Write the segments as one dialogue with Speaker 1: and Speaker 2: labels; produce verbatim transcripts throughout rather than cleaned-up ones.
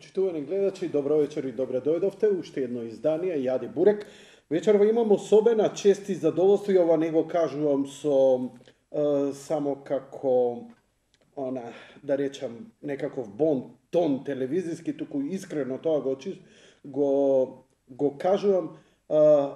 Speaker 1: Почитувани гледачи, добро вечер и добре дојдовте. Уште едно издание, Јади Бурек. Вечерва имам особена чест и задоволство, и ова не го кажувам со е, само како, она, да речам, некаков бон тон телевизиски, туку искрено тоа го, го, го кажувам. Е,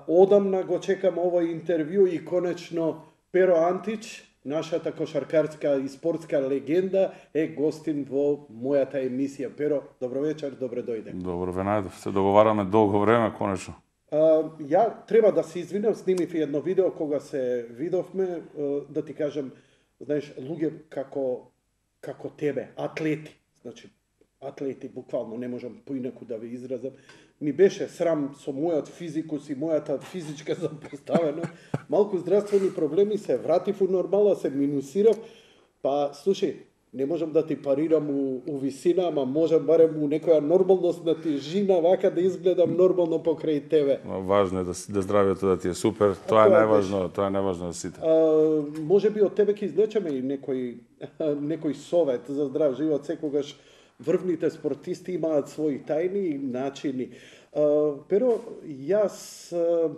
Speaker 1: одамна го чекам овој интервју и конечно Перо Антич, нашата кошаркарска и спортска легенда, е гостин во мојата емисија. Перо, добро вечер, добре дојде.
Speaker 2: Добро ве најдов. Се договараме долго време, конечно.
Speaker 1: А, ја треба да се извинам, снимив едно видео кога се видовме, да ти кажам, знаеш, луѓе како како тебе, атлети, значи атлети, буквално не можам поинаку да ве изразам. Ми беше срам со мојот физикус и мојата физичка запоставеност. Малку здравствени проблеми, се вратив у нормала, се минусирав. Па, слушај, не можам да ти парирам у, у висина, ама можам барем у некоја нормалност на тежина, вака да изгледам нормално покрај тебе.
Speaker 2: Важно е да, да здравието да ти е супер, тоа е најважно, тоа е најважно за сите.
Speaker 1: А, може би од тебе ќе извлечеме и некој, некој совет за здрав живот, секогаш врвните спортисти имаат своји тајни и начини. Uh, Перо, јас uh,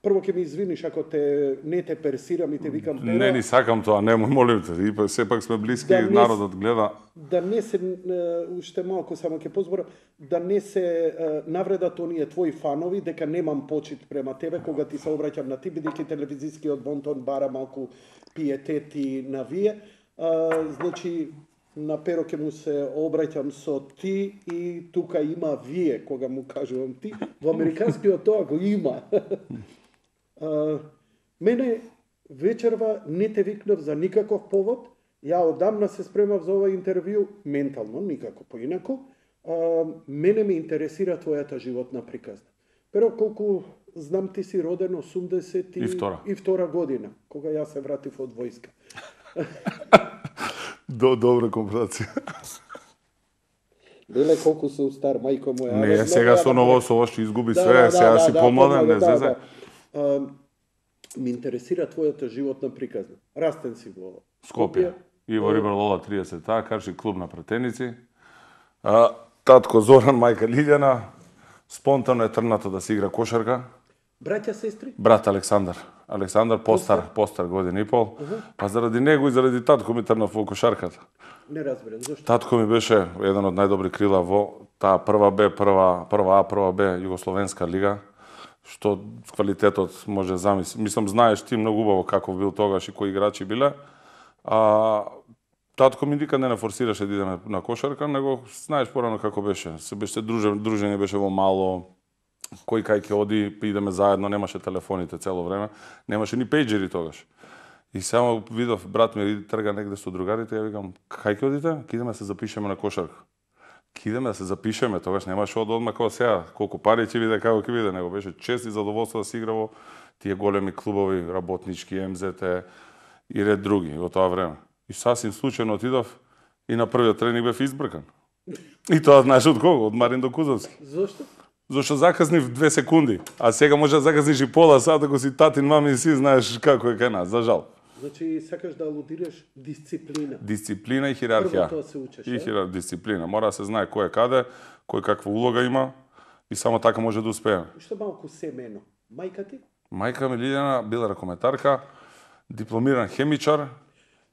Speaker 1: прво ќе ми извиниш ако те не те персирам и те викам Перо.
Speaker 2: Не ни сакам тоа, немој, молим те, и сепак сме блиски да и народот гледа.
Speaker 1: Да не се, uh, уште малку само ќе позборам, да не се uh, навредат оние твои фанови, дека немам почит према тебе кога ти се обраќам на ти, бидејќи телевизискиот бонтон бара малку пиетети на вие. Uh, значи, на Перо ќе му се обраќам со ти и тука има вие, кога му кажувам ти. Во американскиот тоа го има. а, мене вечерва не те викнав за никаков повод. Ја одамна се спремав за ова интервју, ментално, никако поинако. А, мене ме интересира твојата животна приказна. Перо, колку знам, ти си роден осумдесет и,
Speaker 2: и, втора.
Speaker 1: и втора година, кога јас се вратив од војска.
Speaker 2: До добра компарација.
Speaker 1: Беле колку сум стар, мајко моја.
Speaker 2: Не, сега со ново со ова што изгуби да, све, да, сега да, си да, помладен, не зезе.
Speaker 1: Да, да. Ми интересира твојата животна приказна. Растен си во
Speaker 2: Скопје. И во Рибар Лола триесет, таа карши клуб на пратеници. А, татко Зоран, мајка Лилјана, спонтано е трнато да се игра кошарка.
Speaker 1: Браќа, сестри?
Speaker 2: Брат Александар. Александар постар, постар година и пол. Uh -huh. Па заради него и заради татко ми трнав во кошарката.
Speaker 1: Не разберам, зошто?
Speaker 2: Татко ми беше еден од најдобри крила во таа прва Б, прва, прва А, прва Б Југословенска лига, што квалитетот може замисли. Мислам, знаеш ти многу убаво каков бил тогаш и кои играчи биле. А татко ми никад не не форсираше да идеме на кошарка, него знаеш порано како беше. Се беше дружен, дружење беше во мало. Кој кај ќе оди, идеме заедно, немаше телефоните цело време, немаше ни пејџери тогаш. И само видов брат ми трга негде со другарите, ја викам, кај ќе одите? Ке идеме да се запишеме на кошарка. Ке идеме да се запишеме, тогаш немаше од одма како сега, колку пари ќе биде, како ќе биде, него беше чест и задоволство да се игра во тие големи клубови, работнички, Ем Зет Е и ред други во тоа време. И сасвим случајно отидов и на првиот тренинг бев избркан. И тоа знаеш од кого? Од Марин Докузовски.
Speaker 1: Зошто?
Speaker 2: Зошто закаснив две секунди, а сега може да закасниш и пола сат ако си татин, мами и си знаеш како е кај нас, за жал.
Speaker 1: Значи сакаш да алудираш дисциплина.
Speaker 2: Дисциплина и хиерархија.
Speaker 1: Прво тоа се учеш,
Speaker 2: и хиерар... дисциплина. Мора да се знае кој е каде, кој каква улога има и само така може да успееме.
Speaker 1: Што малку семено? Мајка ти?
Speaker 2: Мајка ми Лилјана била ракометарка, дипломиран хемичар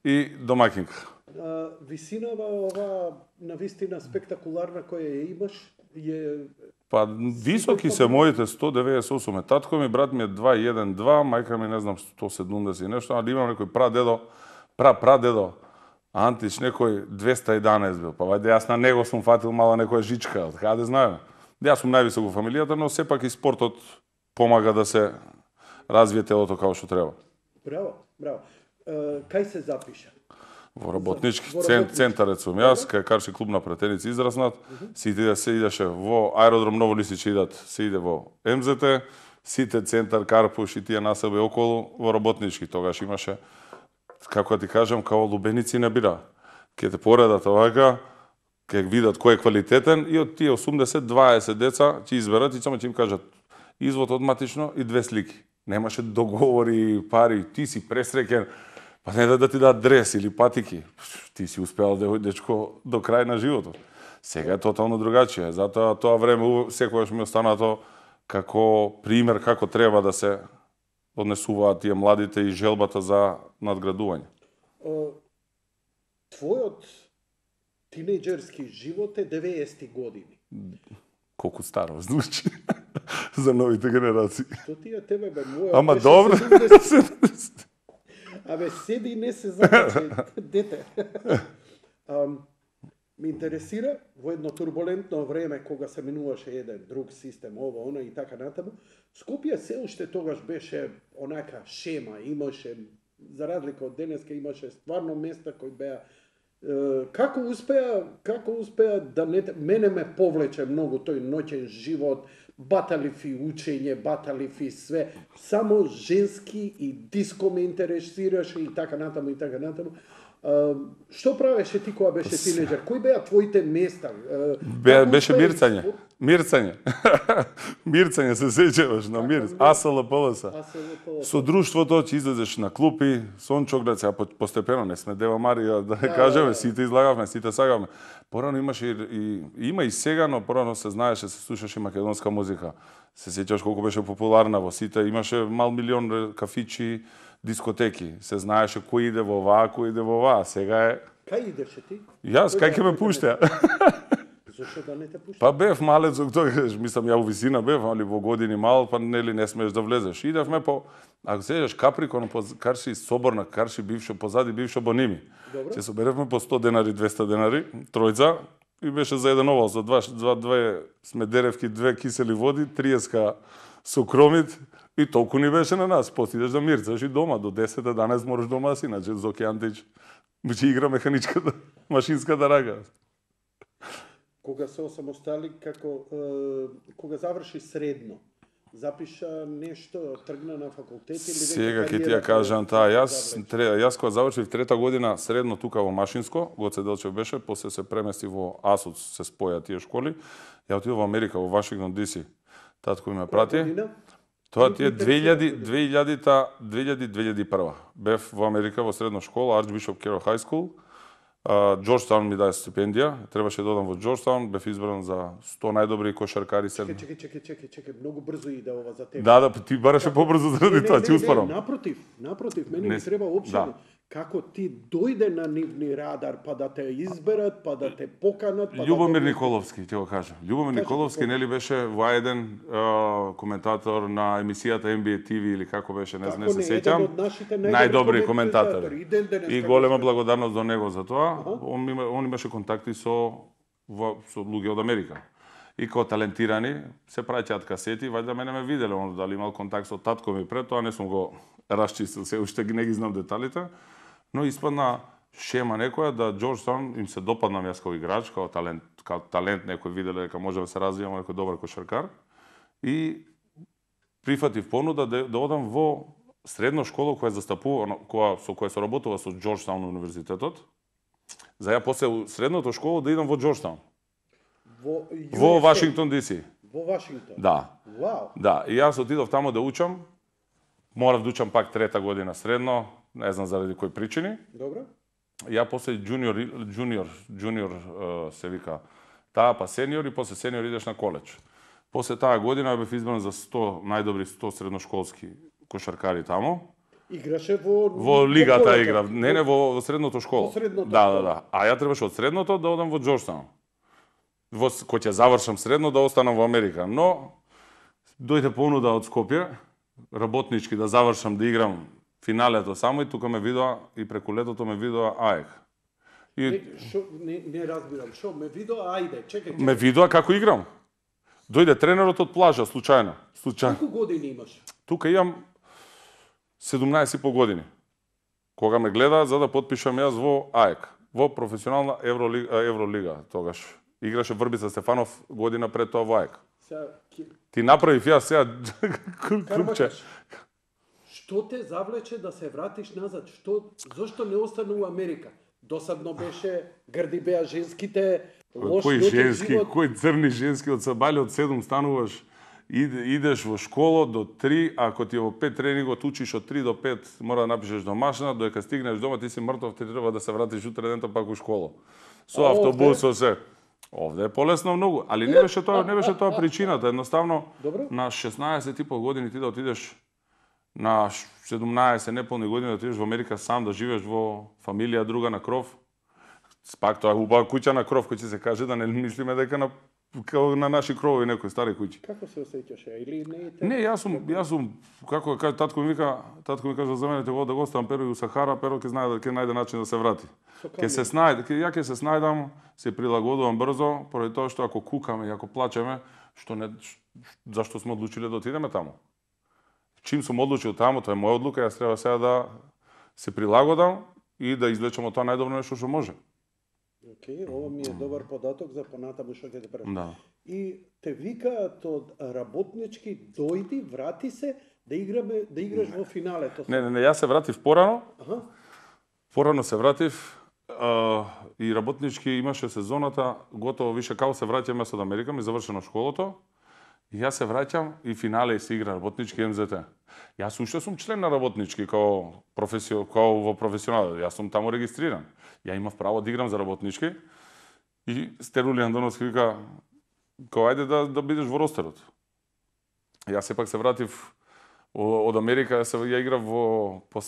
Speaker 2: и домакинка.
Speaker 1: А, висинава ова навистина спектакуларна која ја имаш е...
Speaker 2: Па високи се моите сто деветдесет и осум, татко ми, брат ми е два еден два, мајка ми не знам сто седумдесет и нешто, али имам некој прадедо, пра прадедо Антич некој двеста и еднаесет бил. Па вајде јас на него сум фатил мала некоја жичка, од каде знаеме. Јас сум највисок во фамилијата, но сепак и спортот помага да се развие телото како што треба.
Speaker 1: Браво, браво. Uh, кај се запиша?
Speaker 2: Во работнички цен, центарец сум јас, кај карши клуб на пратеници израснат, uh -huh. се иде се идеше во аеродром Ново Лисиче идат, се иде во Ем Зет Е, сите центар, Карпуш и тие насеби околу во работнички. Тогаш имаше, како ти кажам, као лубеници не бира. Ке те поредат овака, ке видат кој е квалитетен и од тие осумдесет дваесет деца ќе изберат и само ќе им кажат извод одматично и две слики. Немаше договори, пари, ти си пресреќен. Па не да, да ти дадат дрес или патики. Ти си успеал, дечко, до крај на животот. Сега е тотално другачие. Затоа тоа време секогаш ми останато како пример како треба да се однесуваат тие младите и желбата за надградување.
Speaker 1: Твојот тинејџерски живот е деветдесетти години.
Speaker 2: Колку старо звучи за новите генерации.
Speaker 1: Што ти е тебе, бе, моја?
Speaker 2: Ама добро.
Speaker 1: Абе, седи и не се закачи, дете. Um, Ме интересира во едно турбулентно време кога се минуваше еден друг систем, ово, она и така натаму, Скопје се уште тогаш беше онака шема, имаше, за разлика од денеска, имаше стварно места кои беа е, како успеа, како успеа да не мене ме повлече многу тој ноќен живот, баталифи учење, баталифи све, само женски и диско ме интересираше и така натаму и така натаму. Uh, што правеше ти кога беше тинеџер? Кои беа твоите места? Uh,
Speaker 2: Бе, беше мирцање. Спор... Мирцање. Мирцање се сеќаваш на мир. АСЛПЛС. Со друштвото ќе излезеш на клупи, сончоград, сега постепено не сме Дева Марија, да не кажеме, сите излагавме, сите сагавме. Порано имаше и, и има и сега, но порано се знаеше, се слушаше македонска музика. Се сеќаваш колку беше популарна во сите, имаше мал милион кафичи, дискотеки. Се знаеше кој иде во оваа, кој иде во оваа. Сега е...
Speaker 1: Кај идеше ти?
Speaker 2: Јас, кај ќе ме пушта?
Speaker 1: Зошто да не те пушта?
Speaker 2: Па бев малец, тогаш, мислам, ја во висина бев, али во години мал, па нели не смееш да влезеш. Идевме по... Ако седеш Каприкон, по Карши Соборна, Карши бившо, позади бившо Боними. Се соберевме по сто денари, двеста денари, тројца, и беше за еден овал, за два, два, две смедеревки, две кисели води, триеска со кромит, и толку ни беше на нас. После идеш да мирцаш и дома, до десет еданаесет мораш дома да си, иначе Зоки Антич ќе игра механичката, машинската рага.
Speaker 1: Кога се осамостали, како, е, кога заврши средно, запиша нешто, тргна на факултет или...
Speaker 2: Сега ќе ти ја кажам таа, јас, тре, јас кога завршив трета година средно тука во Машинско, Гоце Делчев беше, после се премести во АСУЦ, се споја тие школи, ја отидов во Америка, во Вашингтон Ди Си. Татко ми ме прати. Тоа ти е две илјади, две илјади, две илјади, две илјади и прва. Бев во Америка во средна школа, Арчбишоп Керо Хај Скул. Џорџтаун ми даде стипендија, требаше да одам во Џорџтаун, бев избран за сто најдобри кошаркари.
Speaker 1: Чекај, чекај, чекај, чекај, чекај, многу брзо иде ова за тебе.
Speaker 2: Да, да, ти бараше побрзо заради тоа, ти успорам.
Speaker 1: Напротив, напротив, мене ми треба опшено. Како ти дојде на нивни радар, па да те изберат, па да те поканат... Па
Speaker 2: Љубомир
Speaker 1: да те...
Speaker 2: Николовски, ќе го кажам. Љубомир Николовски, нели беше во еден коментатор на емисијата Ен Би Ей Ти Ви или како беше, не знам, не се сеќам. Најдобри коментатори. И голема благодарност до него за тоа. Он, он имаше контакти со, со луѓе од Америка. И како талентирани се праќаат касети, вајда мене ме виделе, он дали имал контакт со татко ми пред тоа, не сум го расчистил, се уште не ги знам деталите. Но испадна шема некоја да Џорџтаун им се допаднам јас како играч, како талент, како талент некој виделе дека може да се развивам некој добар кошаркар и прифатив понуда да, да одам во средна школа која застапува, која со која се работува со Џорџтаун универзитетот. За ја после средната школа да идам во Џорџтаун.
Speaker 1: Во,
Speaker 2: во Вашингтон Ди Си.
Speaker 1: Во Вашингтон.
Speaker 2: Да.
Speaker 1: Вау.
Speaker 2: Да, и јас отидов таму да учам. Морав да учам пак трета година средно, не знам заради кои причини.
Speaker 1: Добро.
Speaker 2: Ја после джуниор, джуниор, джуниор се вика таа, па сениор и после сениор идеш на коледж. После таа година бев избран за сто најдобри сто средношколски кошаркари таму.
Speaker 1: Играше во...
Speaker 2: Во лигата игра, не, не, во, во средното школа.
Speaker 1: Во средното
Speaker 2: да,
Speaker 1: школа.
Speaker 2: Да, да. А ја требаше од средното да одам во Џорџтаун. Во, кој ќе завршам средно да останам во Америка. Но, дојде понуда од Скопје, работнички да завршам да играм финалето само и тука ме видоа и преку летото ме видоа АЕК.
Speaker 1: И не, шо, не, не разбирам, шо ме видоа, ајде, чекај, чекај.
Speaker 2: Ме видоа како играм. Дојде тренерот од плажа, случајно. Случајно.
Speaker 1: Колку години имаш?
Speaker 2: Тука имам седумнаесет и пол години. Кога ме гледа за да потпишам јас во АЕК, во професионална Евролига, Евролига тогаш. Играше Врбица Стефанов година пред тоа во АЕК.
Speaker 1: Сега,
Speaker 2: ти направив јас сега клупче.
Speaker 1: Што те завлече да се вратиш назад? Што, зошто не остана у Америка? Досадно беше, грди беа женските, лош
Speaker 2: кој женски,
Speaker 1: живот.
Speaker 2: кој црни женски од сабали од седум стануваш, идеш во школа до три, ако ти во пет тренингот учиш од три до пет, мора да напишеш домашна, додека стигнеш дома ти си мртов, ти треба да се вратиш утре дента пак у школа. Со автобус, со се. Овде е полесно многу, али не беше тоа, не беше тоа причината, едноставно
Speaker 1: Добро.
Speaker 2: на шеснаесет и пол години ти да отидеш на седумнаесет неполни години да отидеш во Америка сам да живееш во фамилија друга на кров. Пак тоа е убава куќа на кров, кој ќе се каже да не мислиме дека на као на наши кровови некои стари куќи.
Speaker 1: Како се осеќаше? Или не е
Speaker 2: Не, јас сум, јас сум, како каже татко ми вика, татко ми каже за мене во да го оставам Перо и у Сахара, Перо ќе знае да ќе најде начин да се врати. Ќе се снајде, ќе ја ќе се снајдам, се прилагодувам брзо, поради тоа што ако кукаме и ако плачеме, што не зашто сме одлучиле да отидеме таму. Чим сум одлучил таму, тоа е моја одлука, јас треба сега да се прилагодам и да извлечам од тоа најдобро нешто што може.
Speaker 1: Океј, ова ми е добар податок за понатаму што ќе те прашам.
Speaker 2: Да.
Speaker 1: И те викаат од работнички, дојди, врати се, да играме, да играш во финале. Тоа
Speaker 2: Не, не, не, јас се вратив порано.
Speaker 1: Аха.
Speaker 2: Порано се вратив а, и работнички имаше сезоната, готово више као се враќаме од Америка, ми завршено школото. И јас се враќам и финале се игра работнички Ем Зет Т. Јас уште сум член на работнички као професио, као во професионал. Јас сум таму регистриран. Ја имав право да играм за работнички. И Стерули Андоновски вика, као ајде да да бидеш во ростерот. Јас сепак се вратив од Америка, се ја играв во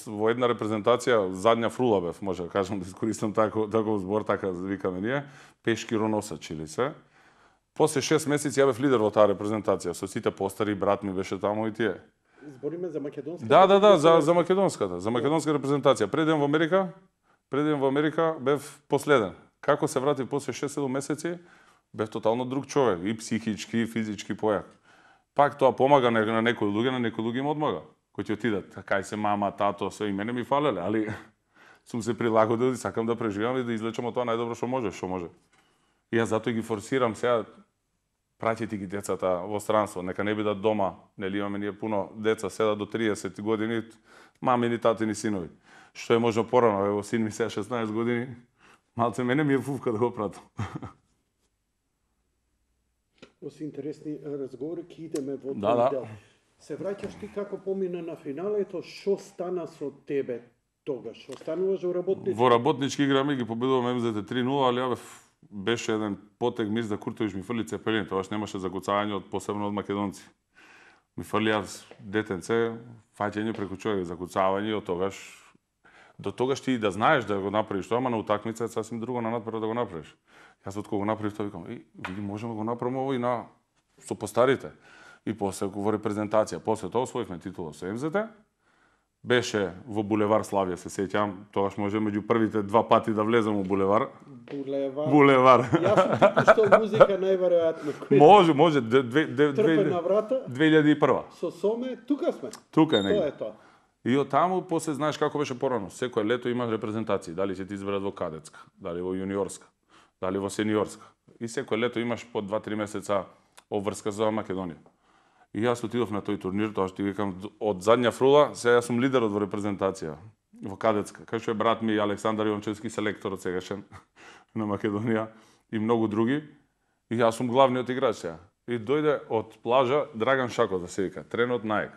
Speaker 2: во една репрезентација, задња фрула бев, може да кажам, да искористам тако таков збор, така викаме ние, пешки роносач или се. После шест месеци ја бев лидер во таа репрезентација, со сите постари, брат ми беше таму и тие.
Speaker 1: Збориме за македонската.
Speaker 2: Да, да, да, за за македонската, за македонска репрезентација. Пред идем во Америка, пред идем во Америка бев последен. Како се вратив после шест-седум месеци, бев тотално друг човек, и психички, и физички појак. Пак тоа помага на, на некои луѓе, на некои луѓе им одмага. Кои ќе отидат, кај се мама, тато, све и мене ми фалеле, али сум се прилагодил и сакам да преживам и да излечам од тоа најдобро што може, што може. И јас затоа ги форсирам сега, праќајте ги децата во странство, нека не бидат дома, нели имаме ние пуно деца, седат до триесет години, мамини, татини, синови. Што е можно порано, ево син ми сега шеснаесет години, малце мене ми е фувка да го пратам.
Speaker 1: Оси интересни разговори, ќе идеме во
Speaker 2: Да,
Speaker 1: тој
Speaker 2: да.
Speaker 1: дел. Се враќаш ти како помина на финалето, што стана со тебе тогаш? Остануваш во работнички?
Speaker 2: Во работнички играме ги победуваме Ем Зет Т три нула, али ја бев беше еден потег Мирза Куртович ми фрли цепелин, тогаш немаше закуцање од посебно од македонци. Ми фрли јас детенце, фаќање преку човек, закуцавање, од тогаш до тогаш ти да знаеш да го направиш тоа, ама на утакмица е сасвим друго на надпред да го направиш. Јас од кога го направив тоа викам, и види можеме да го направиме ово и на со постарите. И после во репрезентација, после тоа освоивме титула со Ем Зет Т. Беше во булевар Славија, се сеќавам, тогаш може меѓу првите два пати да влезам во булевар.
Speaker 1: Булевар.
Speaker 2: Булевар.
Speaker 1: Јас сум ти пуштал музика најверојатно. Кој
Speaker 2: Може, може, две- две- две-
Speaker 1: трпе
Speaker 2: две-
Speaker 1: на врата,
Speaker 2: две илјади и прва.
Speaker 1: со соме, тука сме.
Speaker 2: Тука е
Speaker 1: Тоа
Speaker 2: негде.
Speaker 1: е тоа.
Speaker 2: И од таму после знаеш како беше порано. Секој лето имаш репрезентации, дали ќе ти изберат во кадетска, дали во јуниорска, дали во сениорска. И секој лето имаш по два-три месеца обврска за Македонија. И јас отидов на тој турнир, тоа што ти викам од задња фрула, сега јас сум лидерот во репрезентација во кадетска. Кај што е брат ми Александар Јончевски, селекторот сегашен на Македонија и многу други. И јас сум главниот играч сега. И дојде од плажа Драган Шаков да се вика, тренот наек.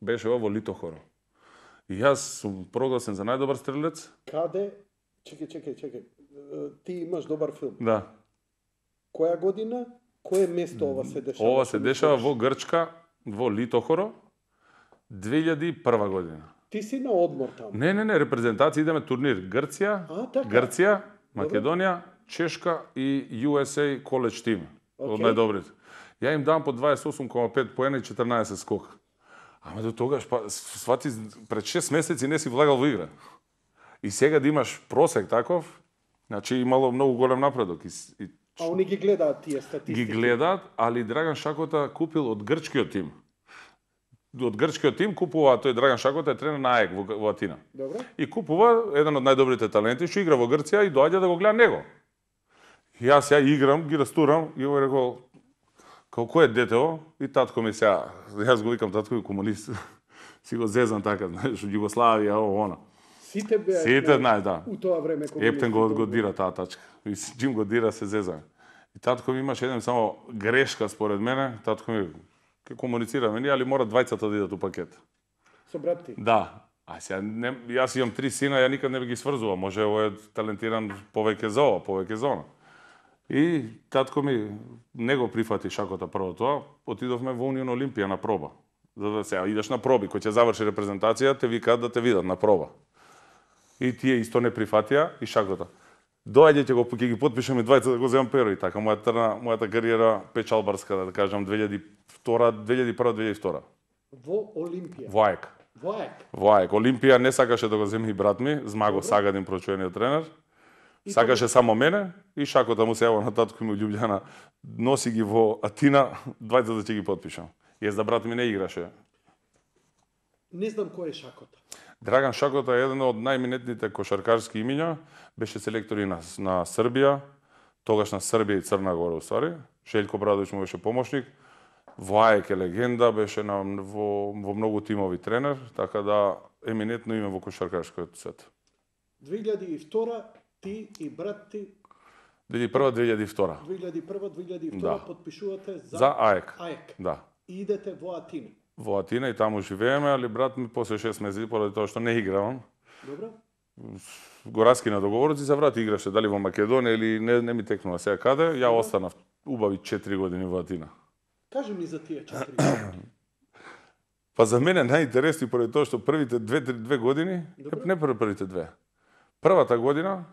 Speaker 2: Беше ова во Литохоро. И јас сум прогласен за најдобар стрелец.
Speaker 1: Каде? Чекај, чекај, чекај. Е, Ти имаш добар филм.
Speaker 2: Да.
Speaker 1: Која година? Кое место ова се дешава?
Speaker 2: Ова се дешава во Грчка, во Литохоро, две илјади и прва година.
Speaker 1: Ти си на одмор таму.
Speaker 2: Не, не, не, репрезентација идеме турнир Грција,
Speaker 1: А, така.
Speaker 2: Грција, Македонија, Чешка и Ю Ес Ей College Team, од
Speaker 1: Океј.
Speaker 2: најдобрите. Ја им дам по дваесет и осум кома пет поена и четрнаесет скока. Ама до тогаш, па, свати, пред шест месеци не си влагал во игра. И сега да имаш просек таков, значи имало многу голем напредок. И, с- и
Speaker 1: А они ги гледаат тие статистики.
Speaker 2: ги гледаат, али Драган Шакота купил од грчкиот тим. Од грчкиот тим купува, тој Драган Шакота е тренер на АЕК во, во Атина.
Speaker 1: Добро.
Speaker 2: И купува еден од најдобрите таленти што игра во Грција и доаѓа да го гледа него. И јас ја играм, ги растурам и овој рекол, као кој е детево? И татко ми сега, јас го викам татко ми комунист. Си го зезам така, знаеш, од Југославија, ово, она.
Speaker 1: Сите беа
Speaker 2: Сите знаеш, да.
Speaker 1: у тоа време
Speaker 2: Ептен го, го дира таа тачка. И с- Джим го дира, се зезаме. И татко ми имаше еден само грешка според мене. Татко ми ке комуницираме ние, али мора двајцата да идат у пакет.
Speaker 1: Со брат ти.
Speaker 2: Да. А сега не, јас имам три сина, ја никад не би ги сврзувам. Може овој е талентиран повеќе за ова, повеќе за она. И татко ми не го прифати шакота прво тоа, отидовме во Унион Олимпија на проба. За да се идеш на проби, кој ќе заврши репрезентација, те викаат да те видат на проба. И тие исто не прифатија и шакота. Доаѓајте го, ќе ги потпишеме двајца да го земам перо и така. Мојата, мојата кариера печалбарска, да кажам, две илјади и втора, две илјади и прва, две илјади и втора.
Speaker 1: Во Олимпија?
Speaker 2: Во АЕК.
Speaker 1: Во АЕК?
Speaker 2: Во АЕК. Олимпија не сакаше да го земе и брат ми, Змаго Сагадин, прочуениот тренер. И сакаше тоа... само мене и шакота му се јава на татко ми у Љубљана. Носи ги во Атина, двајца да ќе ги потпишам. Јас да брат ми не играше.
Speaker 1: Не знам кој е Шакота.
Speaker 2: Драган Шакота е еден од најминетните кошаркарски имиња, беше селектор и на, на Србија, тогаш на Србија и Црна Гора уствари. Желјко Брадовиќ му беше помошник. Во АЕК е легенда, беше на, во, во многу тимови тренер, така да еминетно име во кошаркарскиот свет.
Speaker 1: две илјади и втора ти и брат ти
Speaker 2: две илјади и прва, две илјади и втора.
Speaker 1: две илјади и прва, две илјади и втора
Speaker 2: Да.
Speaker 1: потпишувате за,
Speaker 2: За АЕК.
Speaker 1: АЕК.
Speaker 2: Да.
Speaker 1: И идете во Атина.
Speaker 2: Во Атина и таму живееме, али брат ми после шест месеци, поради тоа што не играм,
Speaker 1: Добро?
Speaker 2: го раскина договорот и се врати играше, дали во Македонија или не, не ми текнува сега каде, ја останав убави четири години во Атина.
Speaker 1: Кажи ми за тие четири години.
Speaker 2: Па за мене најинтересни поради тоа што првите две, две години,
Speaker 1: Добро.
Speaker 2: не прв, првите две. Првата година,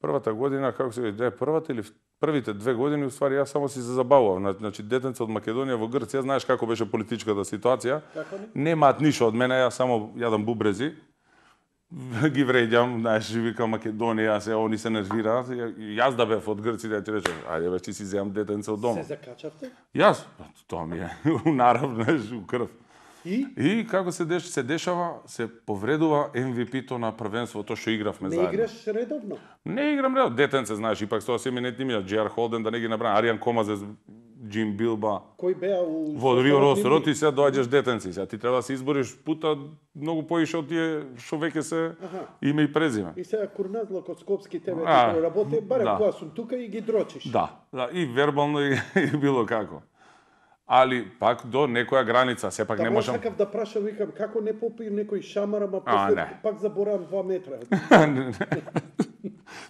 Speaker 2: првата година, како се веќе, првата или првите две години, уствари, јас само си се забавував. Значи, детенце од Македонија во Грција, знаеш како беше политичката ситуација.
Speaker 1: Како не?
Speaker 2: Немаат ништо од мене, јас само јадам бубрези, ги вреѓам, знаеш, викам Македонија, се они се нервираат. Јас да бев од Грција, да ти речем, ајде бе, ти си земам детенце од дома.
Speaker 1: Се закачавте?
Speaker 2: Јас, тоа ми е нарав, знаеш, у крв.
Speaker 1: И?
Speaker 2: И како се деш, се дешава, се повредува Ем Ви Пи-то на првенството што игравме
Speaker 1: Не
Speaker 2: заедно.
Speaker 1: играш редовно?
Speaker 2: Не играм редовно, детенце, знаеш, ипак тоа се именетни имиња, Джер Холден, да не ги набрам, Аријан Комазес, Джим Билба.
Speaker 1: Кој беа у
Speaker 2: Во Рио Росторот и сега доаѓаш детенци, сега ти треба да се избориш пута многу поише од тие што веќе се
Speaker 1: Аха.
Speaker 2: име и презиме.
Speaker 1: И сега Курназло код Скопски тебе
Speaker 2: А,
Speaker 1: ти проработи, барем
Speaker 2: да.
Speaker 1: кога сум тука и ги дрочиш.
Speaker 2: Да, да, и вербално и, и било како. Али пак до некоја граница, сепак не
Speaker 1: Тамо
Speaker 2: можам.
Speaker 1: сакав да прашам, викам, како не попи некој шамар, ама
Speaker 2: А,
Speaker 1: после
Speaker 2: не.
Speaker 1: пак заборавам два метра.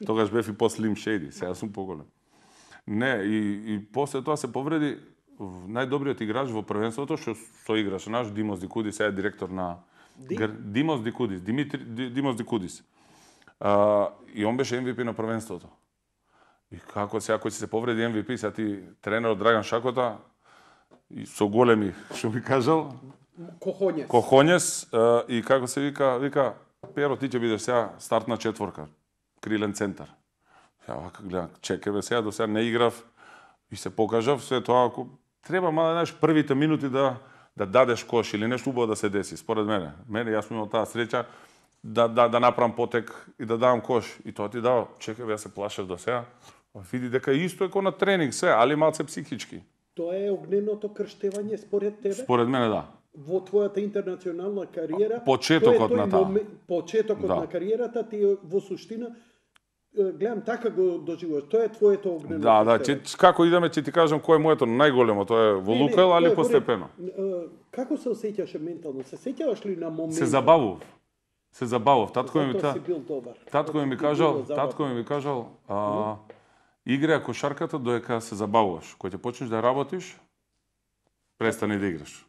Speaker 2: Тогаш бев и по-слим шеди, сега сум поголем. Не, и, и после тоа се повреди најдобриот играч во првенството што со играше наш Димос Дикудис, сега е директор на
Speaker 1: Ди?
Speaker 2: Гр... Димос Дикудис, Димитри Ди- Димос Дикудис. А, и он беше Ем Ви Пи на првенството. И како сега кој се повреди Ем Ви Пи, сега ти тренерот Драган Шакота и со големи, што би кажал,
Speaker 1: Кохоњес.
Speaker 2: Кохоњес а, и како се вика, вика Перо, ти ќе бидеш сега стартна четворка, крилен центар. Ја вака гледам, чекай бе, сега до сега не играв и се покажав, се тоа ако треба мала знаеш првите минути да да дадеш кош или нешто убаво да се деси, според мене. Мене јас сум имал таа среќа да да да направам потек и да давам кош и тоа ти дава, чекай бе, јас се плашев до сега. Види дека исто е ко на тренинг се, али малце психички.
Speaker 1: Тоа е огненото крштевање според тебе?
Speaker 2: Според мене да.
Speaker 1: Во твојата интернационална кариера,
Speaker 2: Почетокот
Speaker 1: тој е тој
Speaker 2: на таа.
Speaker 1: моме- почетокот
Speaker 2: Да.
Speaker 1: на кариерата ти е во суштина е, гледам така го доживуваш. Тоа е твоето огнено.
Speaker 2: Да, да,
Speaker 1: крштевање.
Speaker 2: ќе, како идеме ќе ти кажам кој е моето најголемо, тоа е во
Speaker 1: Не, не,
Speaker 2: Лукајл,
Speaker 1: тоа
Speaker 2: али
Speaker 1: е во
Speaker 2: постепено.
Speaker 1: ред. Е, Како се осеќаше ментално? Се сеќаваш ли на момент?
Speaker 2: Се забавував. Се забавував. Татко ми
Speaker 1: Затоа
Speaker 2: та,
Speaker 1: си бил добар.
Speaker 2: татко ми
Speaker 1: Затоа
Speaker 2: кажал,
Speaker 1: било забавно.
Speaker 2: татко ми кажал, а, играј кошарката додека се забавуваш. Кога ќе почнеш да работиш, престани да играш.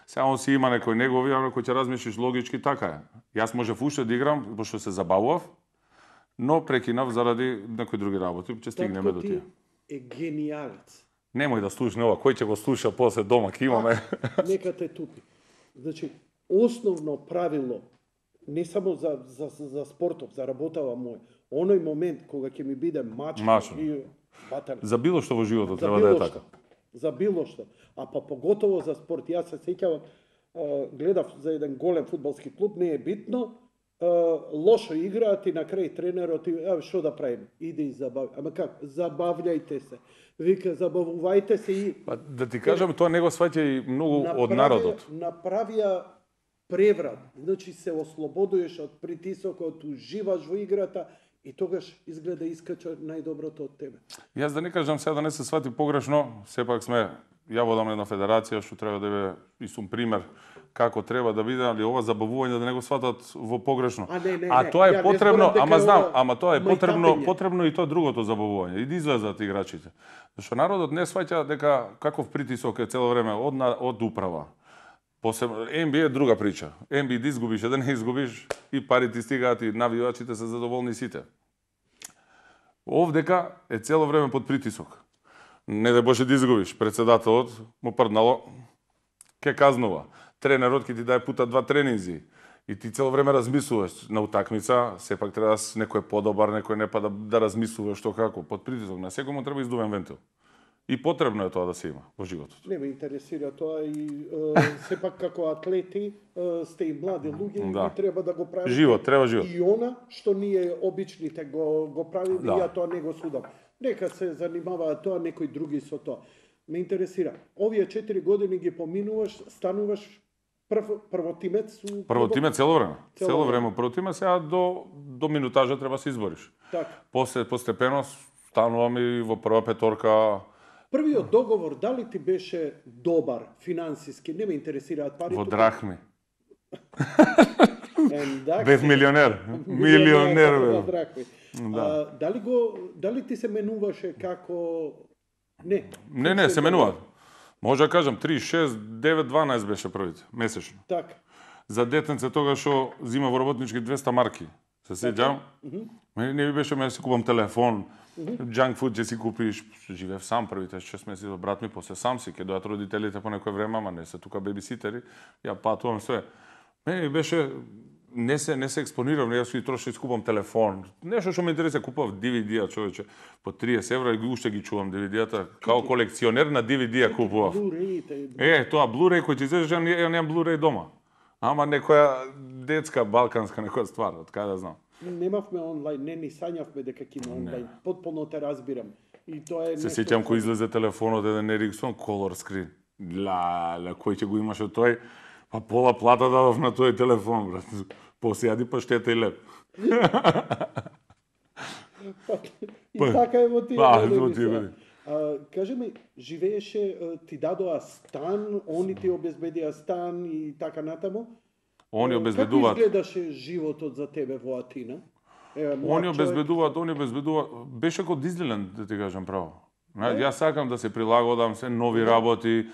Speaker 2: Сега он си има некој негови, а кој ќе размислиш логички, така е. Јас можев уште да играм, пошто се забавував, но прекинав заради некои други работи, ќе стигнеме до
Speaker 1: Татко
Speaker 2: тие.
Speaker 1: ти е гениалец.
Speaker 2: Немој да слушне ова, кој ќе го слуша после дома, ќе имаме.
Speaker 1: Нека те тупи. Значи, основно правило, не само за, за, за спортов, за работава мој, оној момент кога ќе ми биде мачка
Speaker 2: Мачно.
Speaker 1: и батан,
Speaker 2: За било што во животот
Speaker 1: за
Speaker 2: треба да е
Speaker 1: било
Speaker 2: така.
Speaker 1: што, за било што, а па поготово за спорт. Јас се сеќавам, а, гледав за еден голем фудбалски клуб, не е битно, а, лошо играат и на крај тренерот и а, што да правиме? Иде и забави. Ама как? Забављајте се. Вика, забавувајте се и
Speaker 2: Па да ти кажам, тоа не го сваќа и многу од
Speaker 1: направија-
Speaker 2: народот.
Speaker 1: Направија преврат. Значи се ослободуваш од притисокот, уживаш во играта и тогаш изгледа искача најдоброто од тебе.
Speaker 2: Јас да не кажам сега да не се свати погрешно, сепак сме ја водам една федерација што треба да биде и сум пример како треба да биде, али ова забавување да не го сватат во погрешно.
Speaker 1: А, не, не,
Speaker 2: а
Speaker 1: не.
Speaker 2: тоа е
Speaker 1: Ја не
Speaker 2: потребно,
Speaker 1: зборам дека
Speaker 2: ама
Speaker 1: е
Speaker 2: знам,
Speaker 1: ова
Speaker 2: ама тоа е потребно,
Speaker 1: мајтапење.
Speaker 2: потребно и тоа другото забавување, и да излезат играчите. Зашто народот не сваќа дека каков притисок е цело време од на- од управа. Посебно Н Б А е друга прича. Н Б А да изгубиш, а да не изгубиш, и парите стигаат и навивачите се задоволни сите. Овдека е цело време под притисок. Не да Боже да изгубиш, председателот му прднало, ке казнува. Тренерот ќе ти даде пута два тренинзи. И ти цело време размислуваш на утакмица, сепак треба да си некој е подобар, некој не па да, да размислуваш што како, под притисок. На секој му треба издувен вентил. И потребно е тоа да се има во животот.
Speaker 1: Не ме интересира тоа и е, сепак како атлети е, сте и млади луѓе
Speaker 2: Да.
Speaker 1: и треба да го правите.
Speaker 2: Живот, треба живот.
Speaker 1: И она што ние обичните го го правиме,
Speaker 2: Да.
Speaker 1: и ја тоа не го судам. Нека се занимаваат тоа некои други со тоа. Ме интересира. Овие четири години ги поминуваш, стануваш прв, првотимец у
Speaker 2: Прво тиме цело време.
Speaker 1: Цело
Speaker 2: Цело
Speaker 1: време.
Speaker 2: време прво тиме, сега до до минутажа треба се избориш.
Speaker 1: Така.
Speaker 2: После постепено станувам и во прва петорка
Speaker 1: Првиот договор дали ти беше добар финансиски? Не ме интересираат парите.
Speaker 2: во драхми.
Speaker 1: Ендак,
Speaker 2: Бев милионер. Милионер
Speaker 1: во
Speaker 2: бев.
Speaker 1: драхми.
Speaker 2: Да.
Speaker 1: А, дали го дали ти се менуваше како не?
Speaker 2: Не, не, се менуваат. Може да кажам три, шест, девет, дванаесет беше првите месечно.
Speaker 1: Така.
Speaker 2: За детенце тога што зима во работнички двеста марки. Се сеќавам? Мене не ми беше ме си купам телефон, junk food ќе си купиш. Живеев сам првите шест месеци до брат ми, после сам си, ќе дојат родителите по некој време, ама не се тука бебиситери. Ја патувам све. Мене ми беше не се не се експонирам, јас си троши скупам телефон. Нешто што ме интересира, купав Д В Д-а, човече, по триесет евра и уште ги чувам Д В Д-ата, као колекционер на Д В Д-а купував.
Speaker 1: Blu-ray-те.
Speaker 2: Е, тоа Blu-ray кој ти излезеш, ја ја немам Blu-ray дома. Ама некоја детска, балканска некоја ствар, од кај да знам.
Speaker 1: Немавме онлайн, не ни сањавме дека ќе има онлайн. Потполно те разбирам. И тоа е
Speaker 2: Се
Speaker 1: нешто
Speaker 2: сеќам
Speaker 1: што-
Speaker 2: кој излезе телефонот еден Ericsson color screen. Ла, ла, кој ќе го имаше тој? Па пола плата дадов на тој телефон, брат. Посејади паштета и леп.
Speaker 1: И така е во тие
Speaker 2: Па,
Speaker 1: години
Speaker 2: во тие
Speaker 1: сега.
Speaker 2: години.
Speaker 1: А, кажи ми, живееше, а, ти дадоа стан, они ти обезбедија стан и така натаму?
Speaker 2: Они
Speaker 1: Како
Speaker 2: обезбедуваат.
Speaker 1: изгледаше животот за тебе во Атина? Еве, млад
Speaker 2: Они
Speaker 1: човек.
Speaker 2: обезбедуваат, они обезбедуваат. Беше како Дизниленд, да ти кажам право. Знаеш, јас сакам да се прилагодам, се нови работи.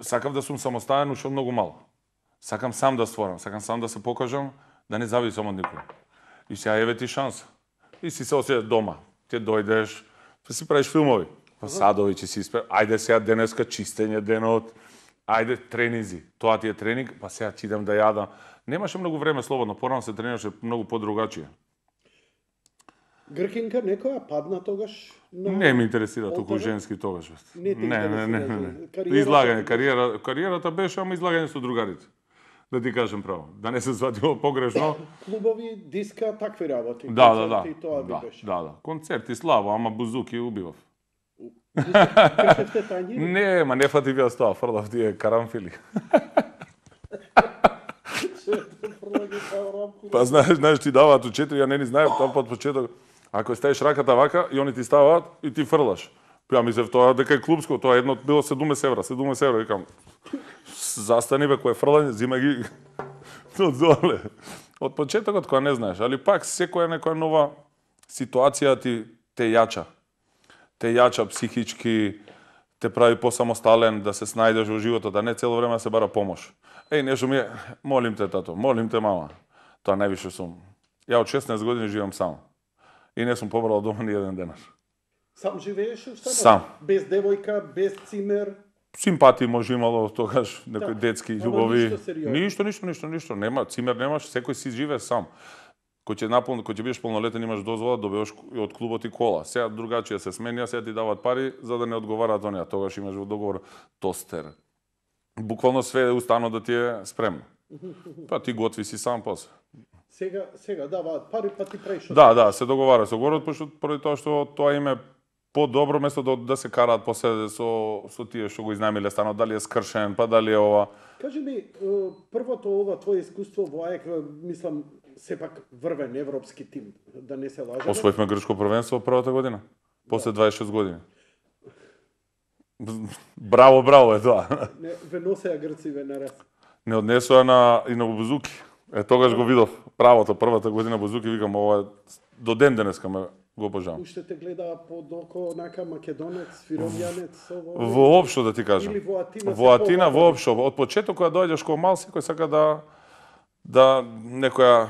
Speaker 2: Сакам да сум самостоен уште од многу мал. Сакам сам да створам, сакам сам да се покажам, да не зависам од никој. И сега еве ти шанса. И си се осеќаш дома. Ти дојдеш, па си правиш филмови. Па садови ќе си испе. Ајде сега денеска чистење денот. Ајде тренинзи. Тоа ти е тренинг, па сега ќе идам да јадам. Немаше многу време слободно, порано се тренираше многу подругачие.
Speaker 1: Гркинка некоја падна тогаш? На...
Speaker 2: Не ме интересира толку
Speaker 1: Олтарот?
Speaker 2: женски тогаш. бе.
Speaker 1: Не те
Speaker 2: не, не, не,
Speaker 1: интересира,
Speaker 2: не, не.
Speaker 1: кариерата
Speaker 2: Излагање,
Speaker 1: ти
Speaker 2: кариера, кариерата беше, ама излагање со другарите. Да ти кажем право, да не се сватило погрешно.
Speaker 1: Клубови, диска, такви работи.
Speaker 2: Да, да, да.
Speaker 1: концерти, Тоа
Speaker 2: Да,
Speaker 1: би беше.
Speaker 2: да, да. Концерти слабо, ама бузуки убивав.
Speaker 1: Кршевте тањи?
Speaker 2: Не, ма не фатив јас тоа, фрлав тие карамфили. Па знаеш, знаеш ти даваат у четири, ја не ни знаев тоа под почеток. Ако ставиш раката вака и они ти ставаат и ти фрлаш. Ја мислев тоа дека е клубско, тоа едно било седумдесет евра, седумдесет евра, викам. Застани бе, кој е фрлање, зима ги од доле. Од почетокот која не знаеш, али пак секоја некоја нова ситуација ти те јача. Те јача психички, те прави посамостален, да се снајдеш во животот, да не цело време се бара помош. Еј, нешто ми е, молим те тато, молим те мама. Тоа највише сум. Ја од шеснаесет години живеам сам. И не сум побрал дома ни еден денар.
Speaker 1: Сам живееш установ?
Speaker 2: Сам.
Speaker 1: Без девојка, без цимер?
Speaker 2: Симпатии може имало тогаш, некои
Speaker 1: Да.
Speaker 2: детски
Speaker 1: Ама
Speaker 2: љубови.
Speaker 1: ништо сериозно.
Speaker 2: Ништо, ништо, ништо, ништо. Нема, цимер немаш, секој си живее сам. Кој ќе наполни, кој ќе бидеш полнолетен, имаш дозвола, добиваш и од клубот и кола. Сега другачија се сменија, сега ти даваат пари за да не одговараат оние. Тогаш имаш во договор тостер. Буквално све е устанот да ти е спремно. Па ти готви си сам после.
Speaker 1: Сега, сега даваат пари, па ти правиш.
Speaker 2: Да, да, се договара со город, пошто поради тоа што тоа име подобро место да, да се караат после со со тие што го изнајмиле станот, дали е скршен, па дали е ова.
Speaker 1: Кажи ми, е, првото ова твое искуство во АЕК, мислам, сепак врвен европски тим, да не се лажеме.
Speaker 2: Освоивме грчко првенство првата година, после дваесет и шест години. Браво, браво е тоа.
Speaker 1: Не, ве носеа Грци ве нараз.
Speaker 2: Не однесоа на и на Бузуки. Е тогаш го видов правото првата година Бузуки, викам ова до ден денеска ме го обожавам.
Speaker 1: Уште те гледаа под око онака македонец, фиромјанец, ово.
Speaker 2: Воопшто да ти кажам.
Speaker 1: Или во Атина.
Speaker 2: Во Атина воопшто, од почеток кога доаѓаш кога мал секој сака да да некоја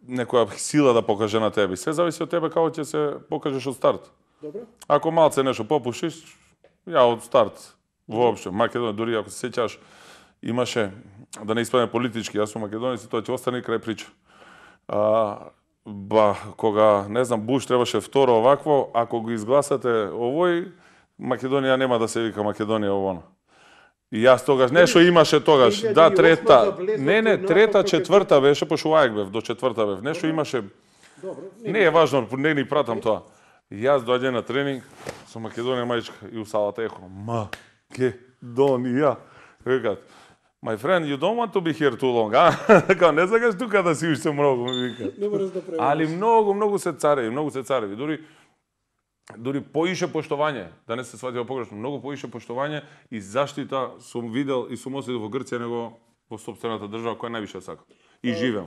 Speaker 2: некоја сила да покаже на тебе. Се зависи од тебе како ќе се покажеш од старт.
Speaker 1: Добро.
Speaker 2: Ако малце нешто попушиш, ја од старт воопшто Македонија, дури ако се сеќаш, имаше, да не испадне политички, јас сум македонец и тоа ќе остане крај прича. А, ба, кога, не знам, Буш требаше второ овакво, ако го изгласате овој, Македонија нема да се вика Македонија овоно. И јас тогаш, нешто имаше тогаш, да, трета, не, не, трета, четврта беше, пошто УАЕК бев, до четврта бев, нешто имаше,
Speaker 1: Добро.
Speaker 2: не е важно, не ни пратам тоа. И јас доаѓам на тренинг со Македонија мајчка и у салата ехо, Македонија. Викат, my friend, you don't want to be here too long, а? Као, не сакаш тука да си уште многу, ми вика.
Speaker 1: Не можеш да преведеш.
Speaker 2: Али многу, многу се цареви, многу се цареви. Дури дури поише поштовање, да не се свати погрешно, многу поише поштовање и заштита сум видел и сум осетил во Грција него во сопствената држава која највише сакам. И живеам.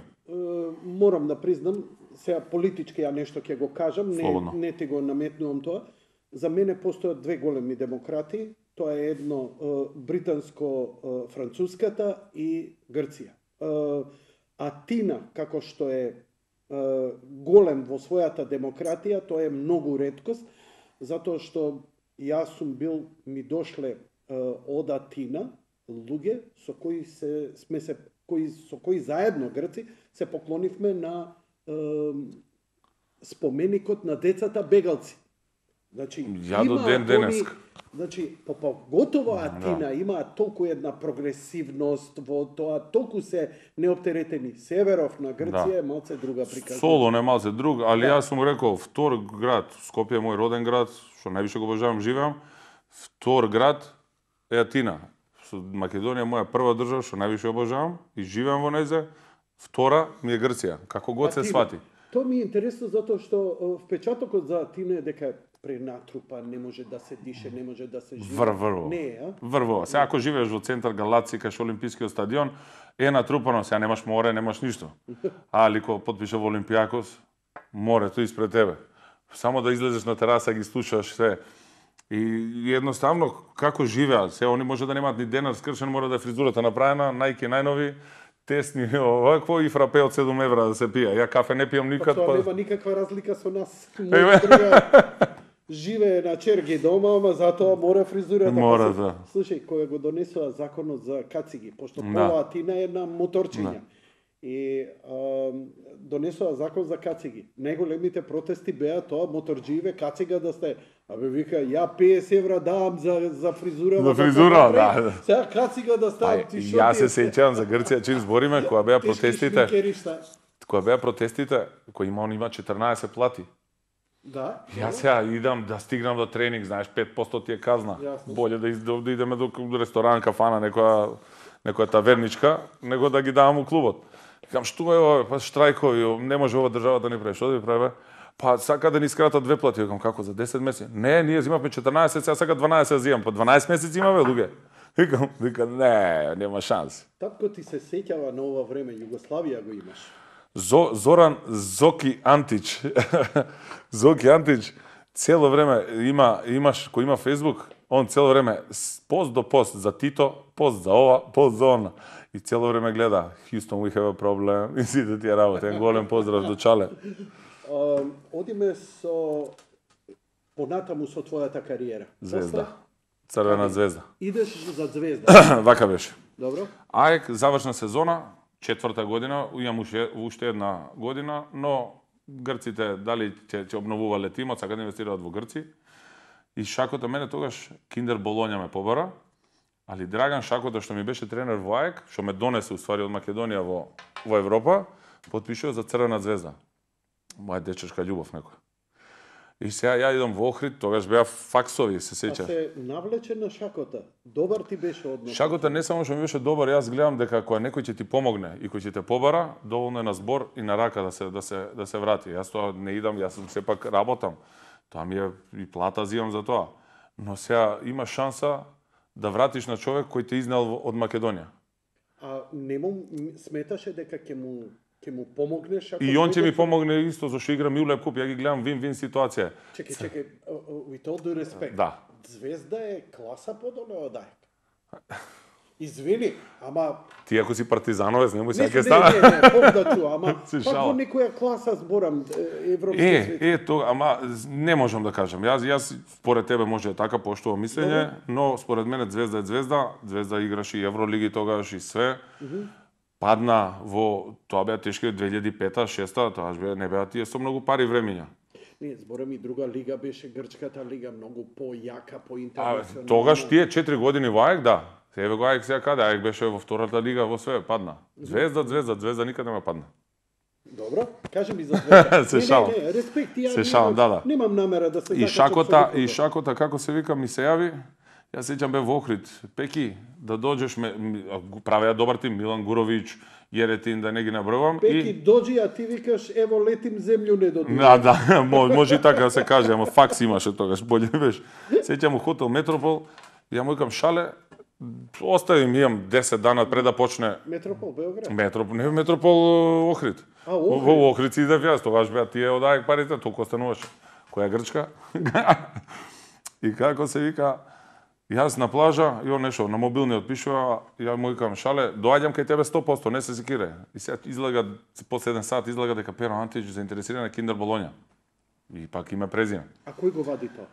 Speaker 1: Морам да признам, сега политички ја нешто ќе го кажам, не,
Speaker 2: Слободно.
Speaker 1: не ти го наметнувам тоа. За мене постојат две големи демократи, тоа е едно британско-француската и Грција. Атина, како што е голем во својата демократија, тоа е многу реткост, затоа што јас сум бил, ми дошле од Атина луѓе со кои се сме се кои со кои заедно Грци се поклонивме на е, споменикот на децата бегалци. Значи,
Speaker 2: Ја до ден денеска.
Speaker 1: Значи, по поготово Атина да. Има толку една прогресивност во тоа, толку се неоптеретени. Северов на Грција да. Е малце друга приказна.
Speaker 2: Солон е малце друг, али да. Јас сум рекол, втор град, Скопје е мој роден град, што највише го обожавам, живеам, втор град е Атина. Македонија е моја прва држава, што највише обожавам и живеам во нејзе. Втора ми е Грција, како год се свати.
Speaker 1: Тоа ми е интересно затоа што впечатокот за Атина е дека пренатрупа, не може да се дише, не може да се живе.
Speaker 2: Врврво.
Speaker 1: Не, а?
Speaker 2: Врврво. Сега ако живееш во центар Галаци, кај шо Олимпискиот стадион, е натрупано, сега немаш море, немаш ништо. Али кога потпише во Олимпијакос, морето испред тебе. Само да излезеш на тераса, ги слушаш се. И едноставно, како живеат, се они може да немаат ни денар скршен, мора да е фризурата направена, најки најнови, тесни, овакво и фрапе од седум евра да се пие. Ја кафе не пијам никад.
Speaker 1: Па тоа нема никаква разлика со нас. Мој друга живее на черги дома, ама затоа мора фризурата.
Speaker 2: Мора, да.
Speaker 1: Слушај, кога го донесува законот за кациги, пошто пола Атина е на моторчиња. И а, донесува закон за кациги. Најголемите протести беа тоа моторџиеве кацига да сте. Абе вика, ја петдесет евра давам за за фризура.
Speaker 2: За фризура, да.
Speaker 1: Сега кацига да ставам ти шо.
Speaker 2: Јас се сеќавам за Грција, чим збориме, кога беа протестите. Кога беа протестите, кој има он има четрнаесет плати.
Speaker 1: Да.
Speaker 2: Јас сега идам да стигнам до тренинг, знаеш, пет посто ти е казна.
Speaker 1: Јасно.
Speaker 2: Боле да, из, да идеме до ресторан, кафана, некоја некоја таверничка, него да ги давам у клубот. Викам, што е ова, па штрајкови, не може ова држава да ни прави, што да ви прави? Па сака да ни скратат две плати, викам, како за десет месеци? Не, ние зимавме четрнаесет, сега сака дванаесет да зимам, па дванаесет месеци имаме луѓе. Викам, викам, не, нема шанси.
Speaker 1: Татко ти се сеќава на ова време, Југославија го имаш.
Speaker 2: Зо, Зоран Зоки Антич. Зоки Антич цело време има имаш кој има Facebook, он цело време пост до пост за Тито, пост за ова, пост за она. И цело време гледа Houston we have a problem. И сите тие работи. Еден голем поздрав до Чале.
Speaker 1: Uh, одиме со понатаму со твојата кариера.
Speaker 2: Звезда. Црвена звезда.
Speaker 1: Идеш за Звезда.
Speaker 2: Вака беше.
Speaker 1: Добро.
Speaker 2: АЕК завршна сезона, четврта година, имам уште, уште една година, но грците дали ќе ќе обновувале тимот, сака да инвестираат во Грци. И Шакота мене тогаш Киндер Болоња ме побара, али Драган Шакота што ми беше тренер во АЕК, што ме донесе уствари од Македонија во во Европа, потпишува за Црвена звезда. Моја дечешка љубов некоја. И сега ја идам во Охрид, тогаш беа факсови, се сеќа.
Speaker 1: А се навлече на Шакота. Добар ти беше однос.
Speaker 2: Шакота не само што ми беше добар, јас гледам дека кога некој ќе ти помогне и кој ќе те побара, доволно е на збор и на рака да се да се да се врати. Јас тоа не идам, јас сум сепак работам. Тоа ми е и плата зимам за тоа. но сега има шанса да вратиш на човек кој те изнел од Македонија.
Speaker 1: А нему сметаше дека ќе му ќе му помогнеш ако
Speaker 2: И он ќе ми
Speaker 1: дојде-
Speaker 2: помогне исто зашто игра Милеп куп, ја ги гледам вин-вин ситуација.
Speaker 1: Чекај, чекај, with all due respect.
Speaker 2: Да.
Speaker 1: Звезда е класа подоле од Ајк. Извини, ама
Speaker 2: Ти ако си партизановец, немој сега
Speaker 1: не,
Speaker 2: ќе
Speaker 1: не,
Speaker 2: стана.
Speaker 1: не, не, повдачу, ама
Speaker 2: Се
Speaker 1: пак
Speaker 2: шала.
Speaker 1: во некоја класа зборам е, европски
Speaker 2: Е,
Speaker 1: свет.
Speaker 2: е, тоа, ама не можам да кажам. Јас, јас според тебе може да така поштувам мислење, но според мене Звезда е Звезда. Звезда играше и Евролиги тогаш и све. Падна во, тоа беа тешки две илјади и пета, шеста, тоа беа не беа тие со многу пари времиња.
Speaker 1: Не, зборам и друга лига беше грчката лига, многу појака,
Speaker 2: А,
Speaker 1: поинтернационална.
Speaker 2: тогаш тие четири години во Ајк, да. Еве го Ајк сега каде? Ајк беше во втората лига, во све падна. Звезда, Звезда, Звезда никаде нема падна.
Speaker 1: Добро, кажи ми за Звезда.
Speaker 2: Се
Speaker 1: не,
Speaker 2: шалам.
Speaker 1: не, не, респект, ја
Speaker 2: Се шалам, да, да.
Speaker 1: Немам намера да се
Speaker 2: И
Speaker 1: закачам
Speaker 2: шакота,
Speaker 1: со
Speaker 2: и
Speaker 1: никого.
Speaker 2: шакота како се вика ми се јави. Јас сеќам бе во Охрид. Пеки, да доđеш ме ми- а, го правеа добар тим Милан Гуровиќ, Јеретин, да не ги набројувам.
Speaker 1: Пеки доđи, а ти викаш ево летим земју не додури.
Speaker 2: Да, да, мо- може и така да се каже, ама факс имаше тогаш, боле беше. Сеќам у хотел Метропол, ја му викам шале, остави ми имам десет дана пред да почне
Speaker 1: Метропол Београд.
Speaker 2: Метроп, не Метропол Охрид.
Speaker 1: А, Охрид.
Speaker 2: Во Охрид си идев јас, тогаш беа тие од Ајк парите, толку остануваше. Која Грчка? И како се вика, јас на плажа, и он нешто на мобилниот пишува, ја му викам шале, доаѓам кај тебе сто посто, не се секире. И сега излага после еден сат излага дека Перо Антич заинтересиран на Киндер Болоња. И пак име презиме.
Speaker 1: А кој го вади тоа?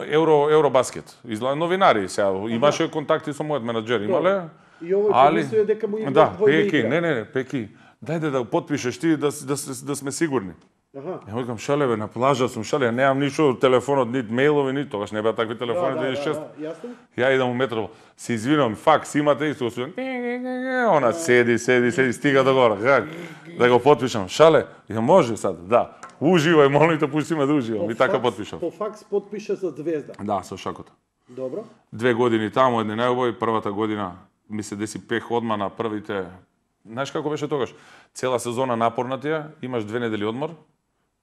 Speaker 2: Евро Евробаскет. Изгледа новинари сега, имаше контакти со мојот менаџер, имале.
Speaker 1: И овој
Speaker 2: Али
Speaker 1: помислio дека му има
Speaker 2: да,
Speaker 1: двојна
Speaker 2: Пеки,
Speaker 1: игра.
Speaker 2: не, не, не, Пеки. Дајде да го потпишеш ти да да да, да сме сигурни.
Speaker 1: Аха.
Speaker 2: Ја викам шале бе, на плажа сум шале, немам ништо телефонот, нит мејлови, нит тогаш не беа такви
Speaker 1: Да,
Speaker 2: телефони
Speaker 1: да,
Speaker 2: две илјади и шеста.
Speaker 1: да, јасно.
Speaker 2: Ја идам у метро, се извинувам, факс имате исто, се она седи, седи, седи, стига до гора, как да го потпишам. Шале, ја може сад, да. Уживај, молим те, пушти ме да уживам. И така
Speaker 1: факс-
Speaker 2: потпишав.
Speaker 1: По факс потпиша за Звезда.
Speaker 2: Да, со шакота.
Speaker 1: Добро.
Speaker 2: Две години таму, едни најубави, првата година ми се деси пех одма на првите. Знаеш како беше тогаш? Цела сезона напорна ти е, имаш две недели одмор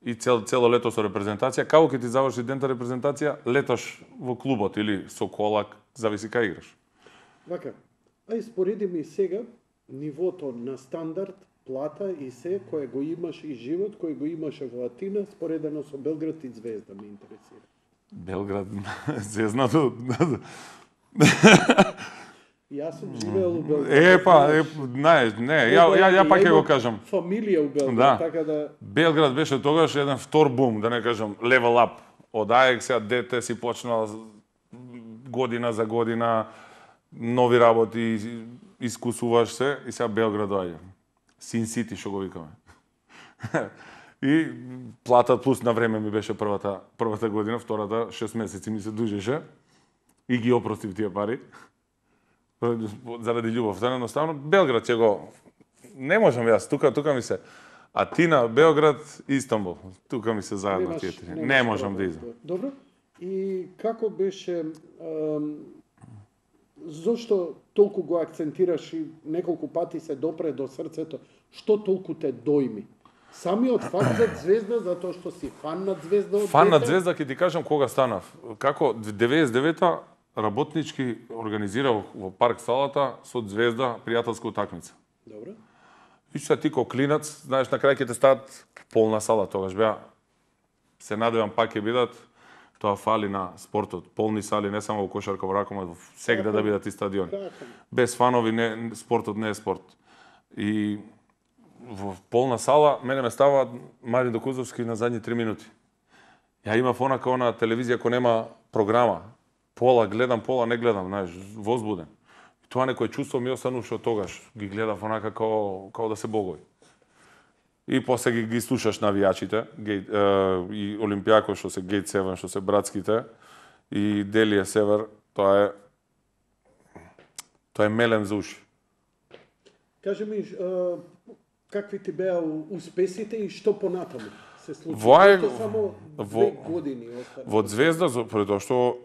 Speaker 2: и цел, цело лето со репрезентација. Како ќе ти заврши дента репрезентација, леташ во клубот или со кола, зависи кај играш.
Speaker 1: Вака, ај спореди ми сега нивото на стандард, плата и се кое го имаш и живот кој го имаше во Атина споредено со Белград и Звезда ме интересира.
Speaker 2: Белград, звездното.
Speaker 1: Јас сум живеел у Белград.
Speaker 2: Е, па, е, знаеш, не, ја, ја, ја пак ќе го кажам.
Speaker 1: Фамилија у Белград,
Speaker 2: Да.
Speaker 1: така да
Speaker 2: Белград беше тогаш еден втор бум, да не кажам, level up. Од Ајек сега дете си почнал година за година, нови работи, искусуваш се и сега Белград доаѓа. Син Сити, што го викаме. И плата плюс на време ми беше првата, првата година, втората шест месеци ми се дужеше и ги опростив тие пари. Заради љубовта, едноставно Белград ќе го не можам јас, тука тука ми се Атина, Београд, Истанбул. Тука ми се заедно
Speaker 1: немаш-
Speaker 2: тие три.
Speaker 1: немаш
Speaker 2: Не можам да
Speaker 1: проблем.
Speaker 2: изам.
Speaker 1: Добро. И како беше ам, зошто толку го акцентираш и неколку пати се допре до срцето, што толку те дојми? Самиот факт за Звезда, затоа што си фан на Звезда од
Speaker 2: Фан на
Speaker 1: дете?
Speaker 2: Звезда ќе ти кажам кога станав. Како деветдесет и девета работнички организирав во парк салата со Звезда пријателска утакмица.
Speaker 1: Добро.
Speaker 2: И сега ти ко клинац, знаеш, на крај ќе те стават полна сала, тогаш беа. Се надевам пак ќе бидат, тоа фали на спортот. Полни сали, не само во кошарка, во ракомет, во сегде да бидат и стадиони.
Speaker 1: Така.
Speaker 2: Без фанови не, спортот не е спорт. И во полна сала, мене ме ставаат Мари Докузовски на задни три минути. Ја имав онака она телевизија кој нема програма. Пола гледам, пола не гледам, знаеш, возбуден. И тоа некој чувство ми остануваше од тогаш. Ги гледав онака као, као да се богови. И после ги, ги слушаш навијачите, гейт, е, и Олимпијако што се Гейт седум, што се братските, и Делија Север, тоа е тоа е мелем за уши.
Speaker 1: Кажи ми, а, какви ти беа успесите и што понатаму се случи?
Speaker 2: Во Ајк-
Speaker 1: Зашто само две
Speaker 2: во-
Speaker 1: години остана.
Speaker 2: Во Звезда, за- пред тоа што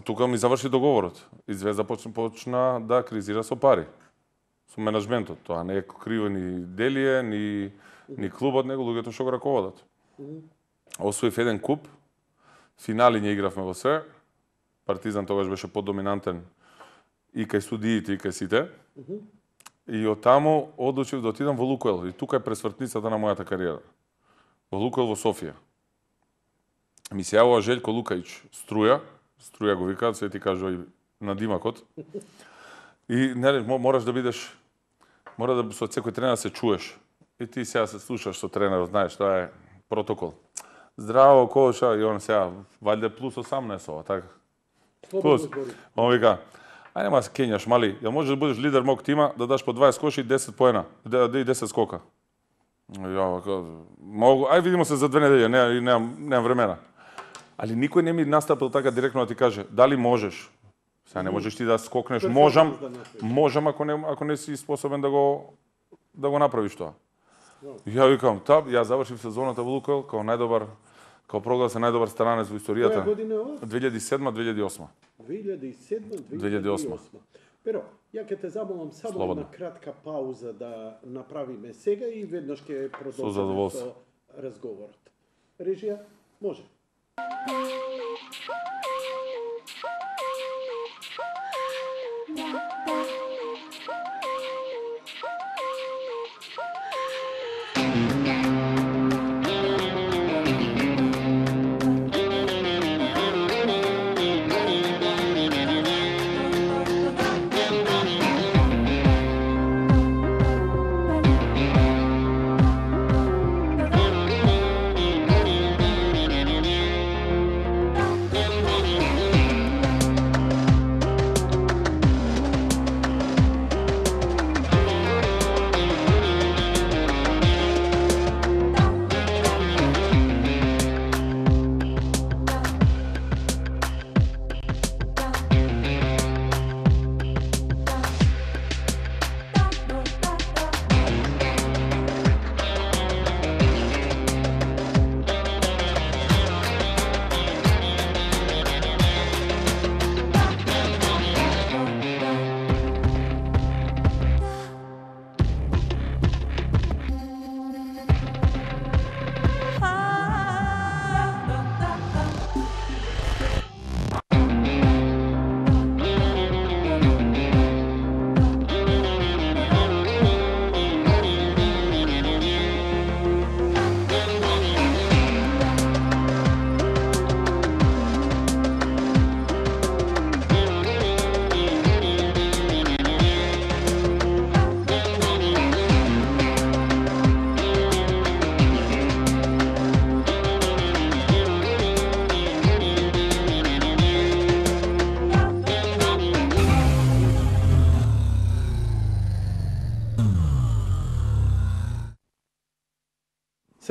Speaker 2: тука ми заврши договорот. И Звезда почна, почна да кризира со пари. Со менаџментот. Тоа не е криво ни Делие, ни, ни клубот, него луѓето што го раководат. Освоив еден куп финали ние игравме во се. Партизан тогаш беше подоминантен и кај судиите и кај сите. Mm -hmm. И од таму одлучив да отидам во Лукойл. И тука е пресвртницата на мојата кариера. Во Лукойл во Софија. Ми се јавува Желјко Лукаич, Струја, Струја го викаат, се ти кажува и на димакот. И нели мораш да бидеш, мора да со секој тренер да се чуеш. И ти сега се слушаш со тренерот, знаеш, тоа е протокол. Здраво, Коша, и он сега, валјде плюс осамнаесет ова, така. Плюс. Он вика, ај нема се кењаш, мали, ја можеш да будеш лидер мог тима, да даш по дваесет коши и десет поена, да и десет скока. Ја, могу, ај видимо се за две недели, не, немам, немам времена. Али никој не ми настапил така директно да ти каже, дали можеш? Сега не можеш ти да скокнеш, можам, можам ако не ако не си способен да го да го направиш тоа. Ја викам, таб, ја завршив сезоната во Лукойл како најдобар, како прогласен најдобар странец во историјата.
Speaker 1: Која година е ова?
Speaker 2: две илјади и седма две илјади и осма.
Speaker 1: две илјади и седма
Speaker 2: две илјади и осма.
Speaker 1: Pero, ја ќе те замолам само
Speaker 2: Слободно.
Speaker 1: една кратка пауза да направиме сега и веднаш ќе
Speaker 2: Со
Speaker 1: продолжиме
Speaker 2: задоволство.
Speaker 1: со разговорот. Режија, може.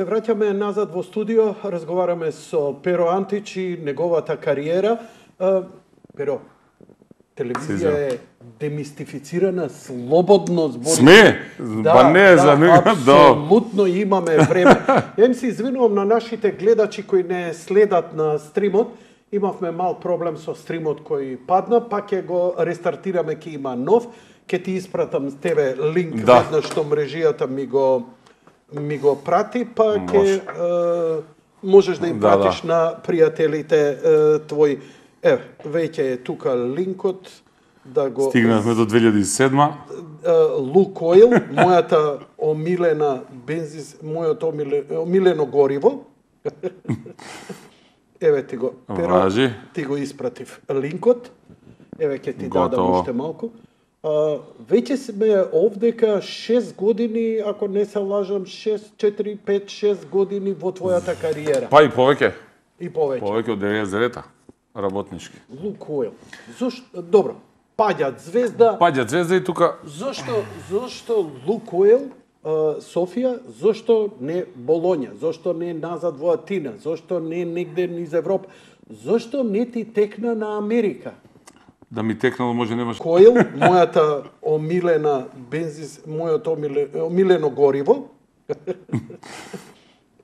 Speaker 1: Се враќаме назад во студио, разговараме со Pero Антич и неговата кариера. Pero, телевизија е демистифицирана, слободно збори.
Speaker 2: Сме?
Speaker 1: Да,
Speaker 2: па не,
Speaker 1: да,
Speaker 2: за никога,
Speaker 1: апсолутно имаме време. Јам се извинувам на нашите гледачи кои не следат на стримот. Имавме мал проблем со стримот кој падна, па ќе го рестартираме, ќе има нов. Ќе ти испратам тебе линк
Speaker 2: да.
Speaker 1: веднаш што мрежијата ми го ми го прати, па ќе е, можеш да им
Speaker 2: да,
Speaker 1: пратиш
Speaker 2: да.
Speaker 1: на пријателите е, твои. Еве, веќе е тука линкот да го
Speaker 2: Стигнавме до две илјади и седма.
Speaker 1: Лукойл, мојата омилена бензин, мојото омилено, омилено гориво. Еве ти го, Pero, ти го испратив линкот. Еве ќе ти
Speaker 2: Готово.
Speaker 1: дадам уште малку. А, веќе сме овдека шест години, ако не се лажам, шест, четири, пет, шест години во твојата кариера.
Speaker 2: Па и повеќе.
Speaker 1: И повеќе.
Speaker 2: Повеќе од деветдесет девета работнички.
Speaker 1: Лукойл. Зошто, добро, паѓат звезда.
Speaker 2: Паѓат звезда и тука.
Speaker 1: Зошто, зошто Лукойл, Софија, зошто не Болоња, зошто не назад во Атина, зошто не негде низ Европа, зошто не ти текна на Америка?
Speaker 2: Да ми текнало може немаш.
Speaker 1: Койл, мојата омилена бензин, мојото омилено гориво.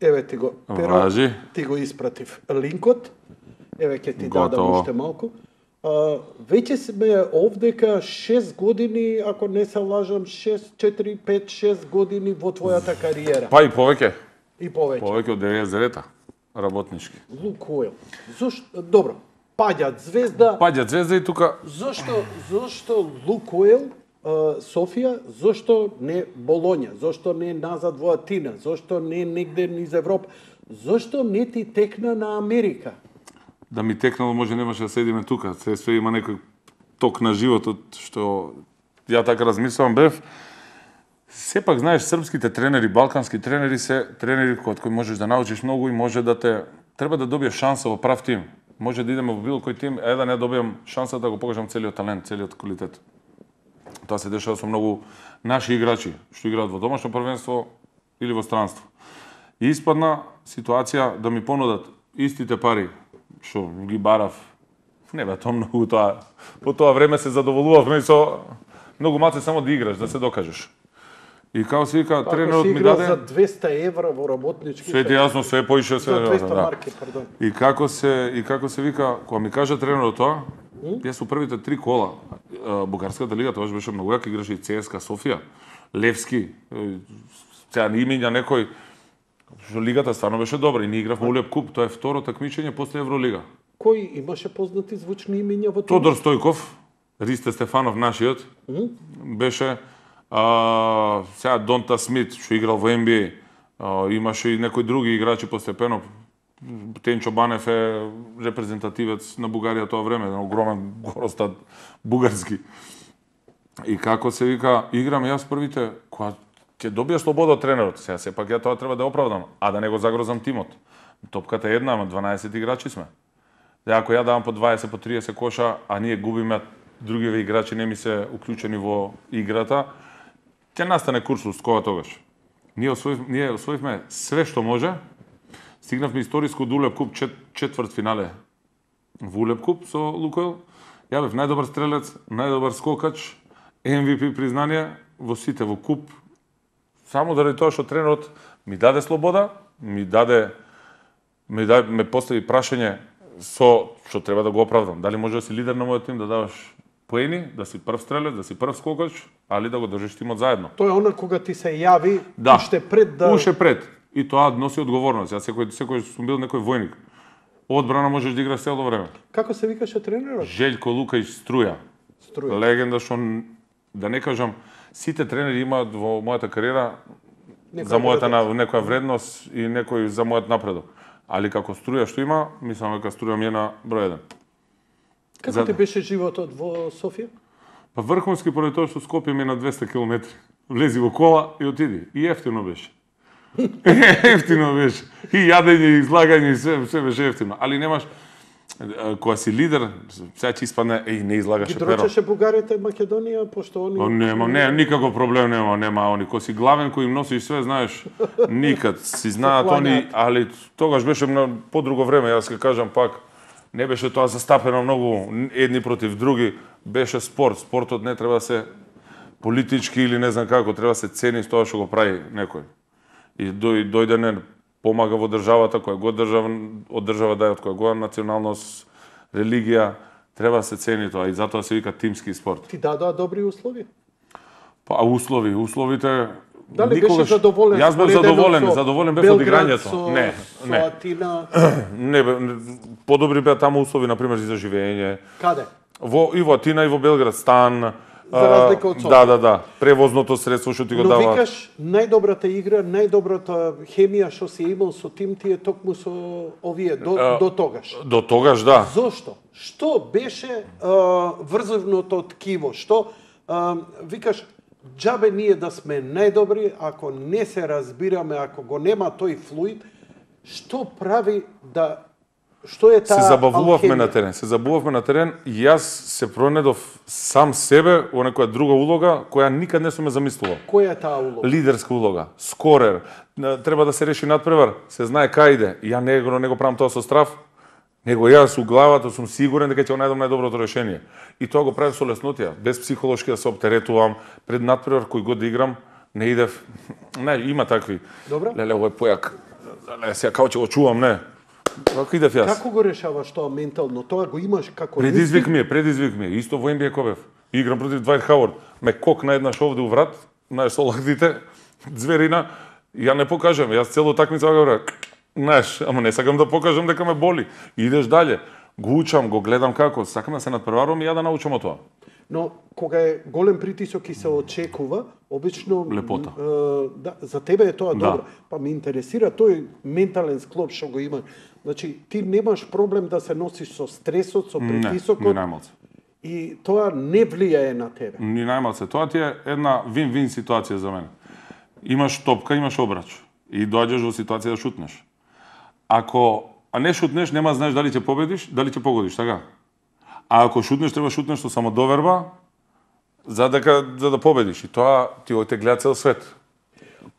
Speaker 1: Еве ти го, Pero, ти го испратив линкот. Еве ќе ти
Speaker 2: Готово.
Speaker 1: дадам уште малку. А, веќе сме овдека шест години, ако не се лажам, шест, четири, пет, шест години во твојата кариера.
Speaker 2: Па и повеќе.
Speaker 1: И повеќе.
Speaker 2: Повеќе од деветдесет девета работнички.
Speaker 1: Лукойл. Зошто добро? Паѓат Звезда.
Speaker 2: Паѓат Звезда и тука
Speaker 1: Зошто зошто Лукойл Софија, зошто не Болоња, зошто не назад во Атина, зошто не негде низ Европа, зошто не ти текна на Америка?
Speaker 2: Да ми текнало, може немаше да седиме тука. Се све има некој ток на животот што ја така размислувам бев. Сепак знаеш, српските тренери, балкански тренери се тренери од кои можеш да научиш многу и може да те треба да добиеш шанса во прав тим. Може да идеме во било кој тим, е да не добиам шанса да го покажам целиот талент, целиот квалитет. Тоа се дешава со многу наши играчи што играат во домашно првенство или во странство. И испадна ситуација да ми понудат истите пари што ги барав. Не бе, тоа многу тоа. По тоа време се задоволувавме со многу маце само да играш, да се докажеш. И како се вика, тренерот ми даде
Speaker 1: за двеста евра во работнички.
Speaker 2: Све јасно, све поише се.
Speaker 1: За двеста
Speaker 2: да.
Speaker 1: марки, пардон.
Speaker 2: И како се и како се вика, кога ми кажа тренерот тоа, јас со првите три кола, бугарската лига тоа беше многу јак, играше и ЦСКА Софија, Левски, сега не имења некој, што лигата стварно беше добра и ние игравме Улеп куп, тоа е второ такмичење после Евролига.
Speaker 1: Кој имаше познати звучни имења во тоа?
Speaker 2: Тодор Стојков, Ристе Стефанов нашиот, mm? беше а, сега Донта Смит, што играл во Н Б А, а, имаше и некои други играчи постепено. Тенчо Банев е репрезентативец на Бугарија тоа време, на огромен горостат бугарски. И како се вика, играм јас првите, кога ќе добија слобода од тренерот, сега сепак ја тоа треба да оправдам, а да не го загрозам тимот. Топката е една, ама дванаесет играчи сме. Да, ако ја давам по дваесет, по триесет коша, а ние губиме, другиве играчи не ми се уклучени во играта, ќе настане куршлус кога тогаш. Ние освоив, ние освоивме све што може. Стигнавме историско до Улеп куп, чет, четврт финале во Улеп куп со Лукойл. Ја бев најдобар стрелец, најдобар скокач, М В П признание во сите во куп. Само заради тоа што тренерот ми даде слобода, ми даде ми даде ме постави прашање со што треба да го оправдам. Дали може да си лидер на мојот тим, да даваш поени, да си прв стрелец, да си прв скокач, али да го држиш тимот заедно.
Speaker 1: Тоа е она кога ти се јави
Speaker 2: да,
Speaker 1: уште пред да
Speaker 2: уште пред. И тоа носи одговорност. Јас секој секој сум бил некој војник. Одбрана можеш да играш цело време.
Speaker 1: Како се викаше тренерот?
Speaker 2: Желјко Лукајч Струја.
Speaker 1: Струја.
Speaker 2: Легенда што да не кажам, сите тренери имаат во мојата кариера некоја за мојата на некоја вредност и некој за мојот напредок. Али како Струја што има, мислам дека Струја ми е на број еден.
Speaker 1: Како за... ти беше животот во Софија?
Speaker 2: Па врховски поради тоа што Скопје ми е на двеста километри. Влези во кола и отиди. И ефтино беше. Ефтино беше. И јадење, и излагање, и се, се беше ефтино. Али немаш, кога си лидер, сега ќе испадне, еј, не излагаше перо.
Speaker 1: Ги дрочеше бугарите Македонија, пошто они...
Speaker 2: Но нема, не, никаков проблем нема, нема они. Кој си главен, кој им носиш све, знаеш, никад си знаат они, али тогаш беше на подруго време, јас ке кажам пак, не беше тоа застапено многу едни против други, беше спорт. Спортот не треба да се политички или не знам како, треба да се цени тоа што го прави некој. И дојде не помага во државата, која го држава, од држава да е, од која го националност, религија, треба да се цени тоа и затоа се вика тимски спорт.
Speaker 1: Ти дадоа добри услови?
Speaker 2: Па услови, условите
Speaker 1: Дали
Speaker 2: никогаш...
Speaker 1: беше задоволен?
Speaker 2: Јас бев задоволен, задоволен бев од играњето.
Speaker 1: Со...
Speaker 2: Не,
Speaker 1: со
Speaker 2: не.
Speaker 1: Атина.
Speaker 2: Не, подобри беа таму услови, например, за живење.
Speaker 1: Каде?
Speaker 2: Во и во Атина и во Белград, стан.
Speaker 1: За разлика од Софија.
Speaker 2: Да, да, да. Превозното средство што ти го дава.
Speaker 1: Но викаш, најдобрата игра, најдобрата хемија што си имал со тим ти е токму со овие до, а, до тогаш.
Speaker 2: До тогаш, да.
Speaker 1: Зошто? Што беше а, врзивното ткиво? Што а, викаш, џабе ние да сме најдобри, ако не се разбираме, ако го нема тој флуид, што прави да Што е таа
Speaker 2: се забавувавме
Speaker 1: алхемија?
Speaker 2: на терен, се забавувавме на терен и јас се пронедов сам себе во некоја друга улога која никад не сум ја замислувал.
Speaker 1: Која е таа улога?
Speaker 2: Лидерска улога, скорер, треба да се реши надпревар, се знае кај иде. Ја не го не го правам тоа со страв, него јас у главата сум сигурен дека ќе го најдам најдоброто решение. И тоа го правев со леснотија, без психолошки да се оптеретувам пред надпревар кој го да играм, не идев. Не, има такви.
Speaker 1: Добро.
Speaker 2: Леле, овој појак. Леле, сега како ќе го чувам, не. Како идев јас?
Speaker 1: Како го решаваш тоа ментално? Тоа го имаш како
Speaker 2: Предизвик ми е, предизвик ми е. Исто во Н Б А Кобев. Играм против Двајт Хауард. Ме кокна еднаш овде у врат, знаеш, со лактите, зверина. Ја не покажам, јас цело такмица го говорам. Знаеш, ама не сакам да покажам дека ме боли. Идеш дале, го учам, го гледам како, сакам да се надпреварувам и ја да научам од тоа.
Speaker 1: Но кога е голем притисок и се очекува, обично
Speaker 2: Лепота.
Speaker 1: Е, да, за тебе е тоа
Speaker 2: Да.
Speaker 1: добро. Па ме интересира тој ментален склоп што го има. Значи, ти немаш проблем да се носиш со стресот, со
Speaker 2: Не,
Speaker 1: притисокот
Speaker 2: ни најмалце.
Speaker 1: и тоа не влијае на тебе.
Speaker 2: Ни најмалце. Тоа ти е една вин-вин ситуација за мене. Имаш топка, имаш обрач и доаѓаш во ситуација да шутнеш. Ако а не шутнеш, нема да знаеш дали ќе победиш, дали ќе погодиш, така? А ако шутнеш, треба шутнеш со самодоверба за дека за да победиш и тоа ти оте гледа цел свет.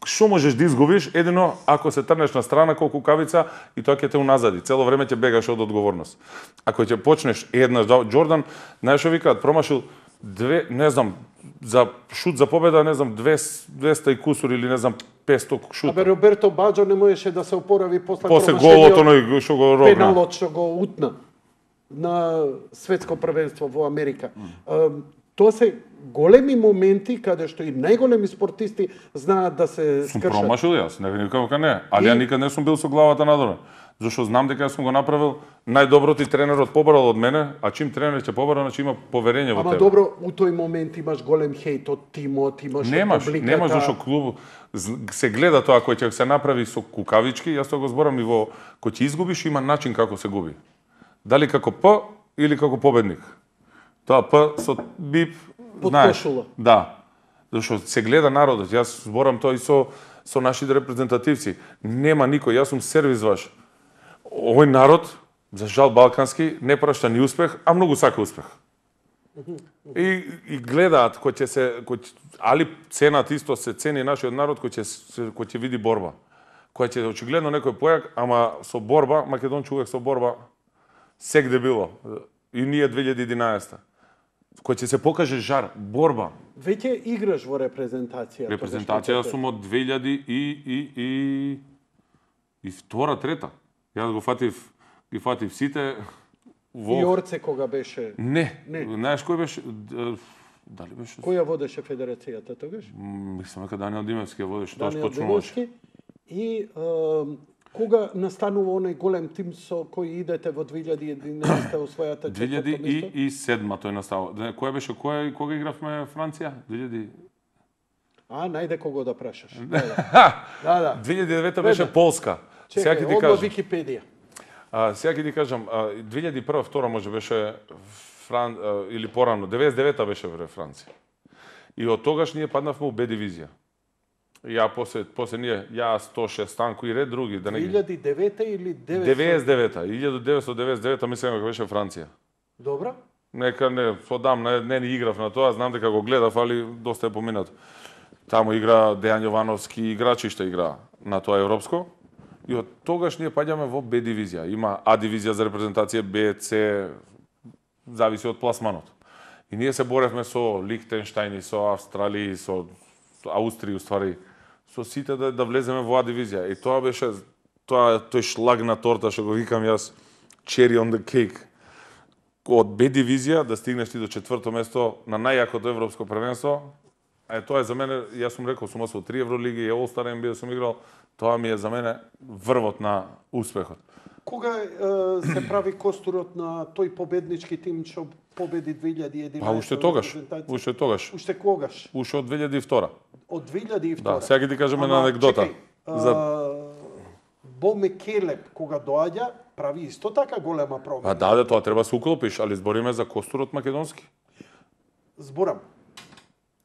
Speaker 2: Што можеш да изгубиш едино ако се трнеш на страна колку кавица и тоа ќе те уназади. Цело време ќе бегаш од одговорност. Ако ќе почнеш еднаш да Џордан, знаеш што викаат, промашил две, не знам, за шут за победа, не знам, двеста и кусур или не знам петсто шута.
Speaker 1: Абе Роберто Баџо не можеше да се опорави после
Speaker 2: После
Speaker 1: промашениот
Speaker 2: голот оној што го робна.
Speaker 1: пеналот што го утна на светско првенство во Америка. Mm. Тоа се големи моменти каде што и најголеми спортисти знаат да се
Speaker 2: Сум
Speaker 1: скршат.
Speaker 2: промашил јас, не никако дека не. Али
Speaker 1: И-
Speaker 2: ја никад не сум бил со главата надоле. Зашто знам дека јас сум го направил најдоброто и тренерот побарал од мене, а чим тренер ќе побара, значи има поверење во
Speaker 1: Ама
Speaker 2: тебе.
Speaker 1: добро, у тој момент имаш голем хејт од тимот, имаш
Speaker 2: Немаш,
Speaker 1: од публиката.
Speaker 2: немаш зашто клуб з- се гледа тоа кој ќе се направи со кукавички, јас тоа го зборам и во кој ќе изгубиш има начин како се губи. Дали како П или како победник. Тоа П со бип,
Speaker 1: Под
Speaker 2: знаеш.
Speaker 1: кошула.
Speaker 2: Да. Зашто се гледа народот. Јас зборам тоа и со со нашите репрезентативци. Нема никој, јас сум сервис ваш. Овој народ, за жал балкански, не прашта ни успех, а многу сака успех. И, и гледаат кој ќе се кој ќе- али ценат исто се цени нашиот народ кој ќе се- кој ќе види борба. Кој ќе очигледно некој појак, ама со борба, македонче увек со борба сегде било. И ние две илјади и единаесета. Кој ќе се покаже жар, борба.
Speaker 1: Веќе играш во репрезентација.
Speaker 2: Репрезентација сум од две илјади и и и и втора, трета. Јас го фатив, ги фатив сите во
Speaker 1: И Орце кога беше?
Speaker 2: Не,
Speaker 1: Не.
Speaker 2: знаеш кој беше? Д- Дали беше?
Speaker 1: Која водеше федерацијата тогаш?
Speaker 2: М, Мислам дека Даниел Димевски ја водеше, тоа што
Speaker 1: Даниел
Speaker 2: точно можеше.
Speaker 1: Демовски. И е, кога настанува оној голем тим со кој идете во две илјади и единаесета освојата
Speaker 2: две илјади
Speaker 1: четврто место?
Speaker 2: и седма тој настава. Не, која беше, која кога игравме Франција? две илјади
Speaker 1: А, најде кого да прашаш. Да, да. да, да.
Speaker 2: две илјади и девета беше
Speaker 1: Веднаш.
Speaker 2: Полска. Сега
Speaker 1: Чекај,
Speaker 2: ќе ти
Speaker 1: одма
Speaker 2: кажам.
Speaker 1: Википедија.
Speaker 2: А, сега ќе ти кажам, а, две илјади и прва, втора може беше Фран, а, или порано, деветдесет и девета беше во Франција. И од тогаш ние паднавме у Б дивизија. И ја после после ние ја сто шест Станко и ред други, да
Speaker 1: две
Speaker 2: не ги-
Speaker 1: илјади и девета или деветстотини?
Speaker 2: деветдесет и девета, илјада деветстотини деветдесет и девета мислам дека беше Франција.
Speaker 1: Добра.
Speaker 2: Нека не подам, не, не ни играв на тоа, знам дека го гледав, али доста е поминато. Таму игра Дејан Јовановски, играчи што игра на тоа европско. И од тогаш ние паѓаме во Б дивизија. Има А дивизија за репрезентација, Б, С, зависи од пласманот. И ние се боревме со Лихтенштајн и со Австралија, и со со Аустрија, уствари, со сите да, да влеземе во А дивизија. И тоа беше тоа тој шлаг на торта што го викам јас, cherry on the cake. Од Б дивизија да стигнеш ти до четврто место на најјакото европско првенство. А е, тоа е за мене, јас сум рекол, сум освоил три евролиги, и All Star Н Б А сум играл, тоа ми е за мене врвот на успехот.
Speaker 1: Кога е, се прави костурот на тој победнички тим што победи две илјади и единаесета?
Speaker 2: Па уште тогаш,
Speaker 1: репрезентација?
Speaker 2: уште тогаш,
Speaker 1: Уште когаш?
Speaker 2: уште од две илјади и втора.
Speaker 1: Од две илјади и втора?
Speaker 2: Да, сега ќе ти кажеме
Speaker 1: Ама,
Speaker 2: на анекдота.
Speaker 1: Чекај,
Speaker 2: За-
Speaker 1: а, Бо Мекелеп, кога доаѓа, прави исто така голема промена.
Speaker 2: Па да, да, тоа треба да се уклопиш, али збориме за костурот македонски.
Speaker 1: Зборам.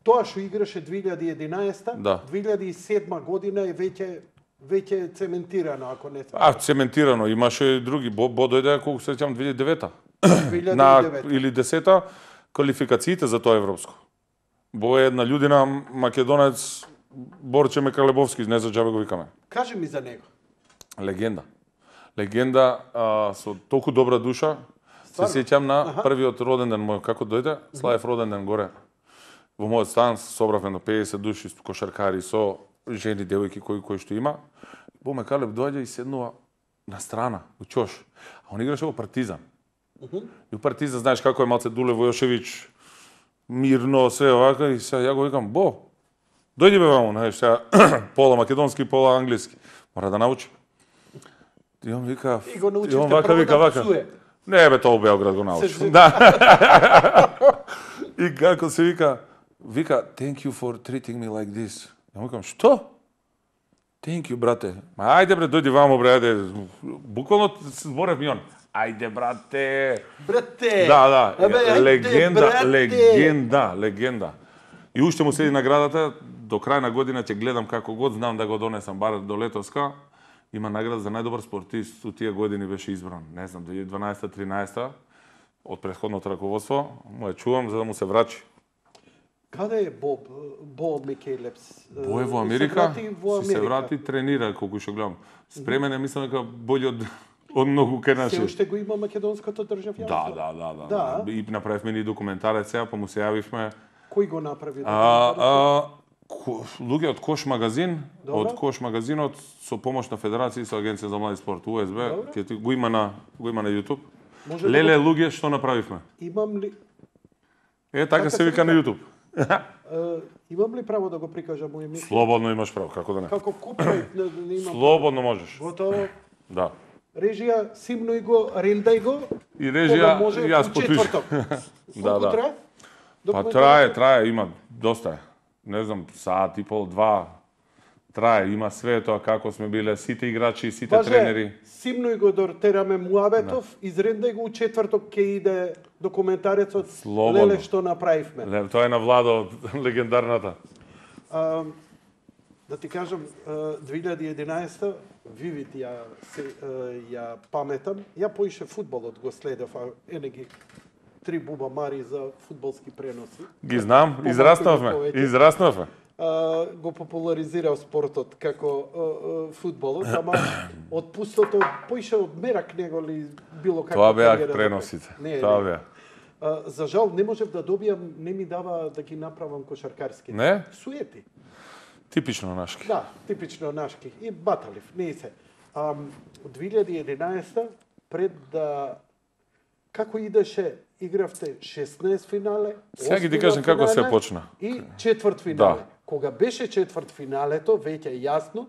Speaker 1: Тоа што играше две илјади и единаесета,
Speaker 2: Да.
Speaker 1: две илјади и седма година е веќе веќе цементирано, ако не се.
Speaker 2: А, цементирано, имаше и други. Бо, бо дојде, колку се сеќавам, две илјади и девета.
Speaker 1: две илјади
Speaker 2: На,
Speaker 1: и девета.
Speaker 2: или десета, квалификациите за тоа европско. Бо е една људина, македонец, Борче Мекалебовски, не за џабе го викаме.
Speaker 1: Кажи ми за него.
Speaker 2: Легенда. Легенда а, со толку добра душа.
Speaker 1: Стварно?
Speaker 2: Се сеќам на
Speaker 1: Аха.
Speaker 2: првиот роден ден мој, како дојде, Слаев роден ден горе. Во мојот стан собравме на педесет души кошаркари со жени, девојки кои кои што има. Бо Мекалеб доаѓа и седнува на страна, у ќош. А он играше во Партизан. И у Партизан знаеш како е малце Дуле Војошевиќ, мирно, све овака и сега ја го викам, Бо, дојди бе ваму, знаеш, сега пола македонски, пола англиски. Мора да научи. И он вика,
Speaker 1: И го научивте
Speaker 2: и он вака
Speaker 1: прво
Speaker 2: вика
Speaker 1: да
Speaker 2: вака.
Speaker 1: псуе.
Speaker 2: Не бе, тоа у Белград го научив.
Speaker 1: Се-
Speaker 2: Да. И како се вика, вика, thank you for treating me like this. Ја му викам, што? Thank you, брате. Ма ајде бре, дојди вамо бре, ајде. Буквално се зборев ми он. Ајде, брате.
Speaker 1: Брате!
Speaker 2: Да, да.
Speaker 1: Абе, ајде,
Speaker 2: легенда,
Speaker 1: брате!
Speaker 2: легенда, легенда. И уште му седи наградата, до крај на година ќе гледам како год, знам да го донесам бар до летоска. Има награда за најдобар спортист, у тие години беше избран, не знам, две илјади и дванаесета тринаесета од претходното раководство, му ја чувам за да му се врачи.
Speaker 1: Каде е Боб, Бо Микелепс?
Speaker 2: Бо е во
Speaker 1: Се
Speaker 2: Америка,
Speaker 1: врати во
Speaker 2: си се
Speaker 1: Америка.
Speaker 2: врати, тренира, колку што гледам. Спремен е, мислам дека бољи од, од многу кај
Speaker 1: Се
Speaker 2: наши.
Speaker 1: уште го има македонското државјанство?
Speaker 2: Да, да, да, да,
Speaker 1: Да.
Speaker 2: да. И направивме ни документарец сега, па му се јавивме.
Speaker 1: Кој го направи?
Speaker 2: А, а, ко- луѓе од Кош магазин,
Speaker 1: Добро.
Speaker 2: од Кош магазинот со помош на Федерација и со Агенција за млади спорт У С Б,
Speaker 1: Добро.
Speaker 2: ќе ти го има на го има на YouTube.
Speaker 1: Може да
Speaker 2: Леле луѓе што направивме.
Speaker 1: Имам ли
Speaker 2: Е, така
Speaker 1: Така
Speaker 2: се
Speaker 1: се
Speaker 2: вика на
Speaker 1: вика?
Speaker 2: YouTube.
Speaker 1: е, имам ли право да го прикажам мој емисија?
Speaker 2: Слободно имаш право, како да не.
Speaker 1: Како купувај, не, не имам.
Speaker 2: Слободно можеш.
Speaker 1: Готово.
Speaker 2: Да.
Speaker 1: Режија, симнуј го, рендај го.
Speaker 2: И
Speaker 1: Кога
Speaker 2: режија,
Speaker 1: може,
Speaker 2: јас
Speaker 1: у
Speaker 2: потпишам.
Speaker 1: четврток.
Speaker 2: Да,
Speaker 1: Колку
Speaker 2: да.
Speaker 1: трае?
Speaker 2: Па
Speaker 1: Документарецот?
Speaker 2: трае, трае, има доста е. Не знам, саат и пол, два. Трае, има све тоа како сме биле сите играчи, сите
Speaker 1: Важе,
Speaker 2: тренери.
Speaker 1: симнуј го дортераме муабетов, изрендај го у четврток ќе иде документарецот
Speaker 2: Слободно.
Speaker 1: Леле што направивме.
Speaker 2: Ле, тоа е на Владо, легендарната.
Speaker 1: А, да ти кажам, а, две илјади и единаесета, Вивит ја, се, а, ја паметам, ја поише фудбалот го следев, а ене ги три буба мари за фудбалски преноси.
Speaker 2: Ги знам,
Speaker 1: Помалку
Speaker 2: израснавме,
Speaker 1: или повеќе.
Speaker 2: израснавме.
Speaker 1: А, го популаризирав спортот како а, а, фудбалот, ама од пустото поише од мерак него ли било како
Speaker 2: Тоа беа
Speaker 1: кариера за
Speaker 2: преносите.
Speaker 1: пред- Не,
Speaker 2: Тоа
Speaker 1: не.
Speaker 2: беа.
Speaker 1: А, за жал не можев да добијам, не ми дава да ги направам кошаркарски.
Speaker 2: Не?
Speaker 1: Суети.
Speaker 2: Типично нашки.
Speaker 1: Да, типично нашки. И баталив, не се. А, две илјади и единаесета, пред да... Како идеше, игравте шеснаесет финале,
Speaker 2: Сега ги ти
Speaker 1: осмина
Speaker 2: кажам како се
Speaker 1: финале
Speaker 2: почна.
Speaker 1: И четврт финале.
Speaker 2: Да.
Speaker 1: Кога беше четврт финалето, веќе јасно,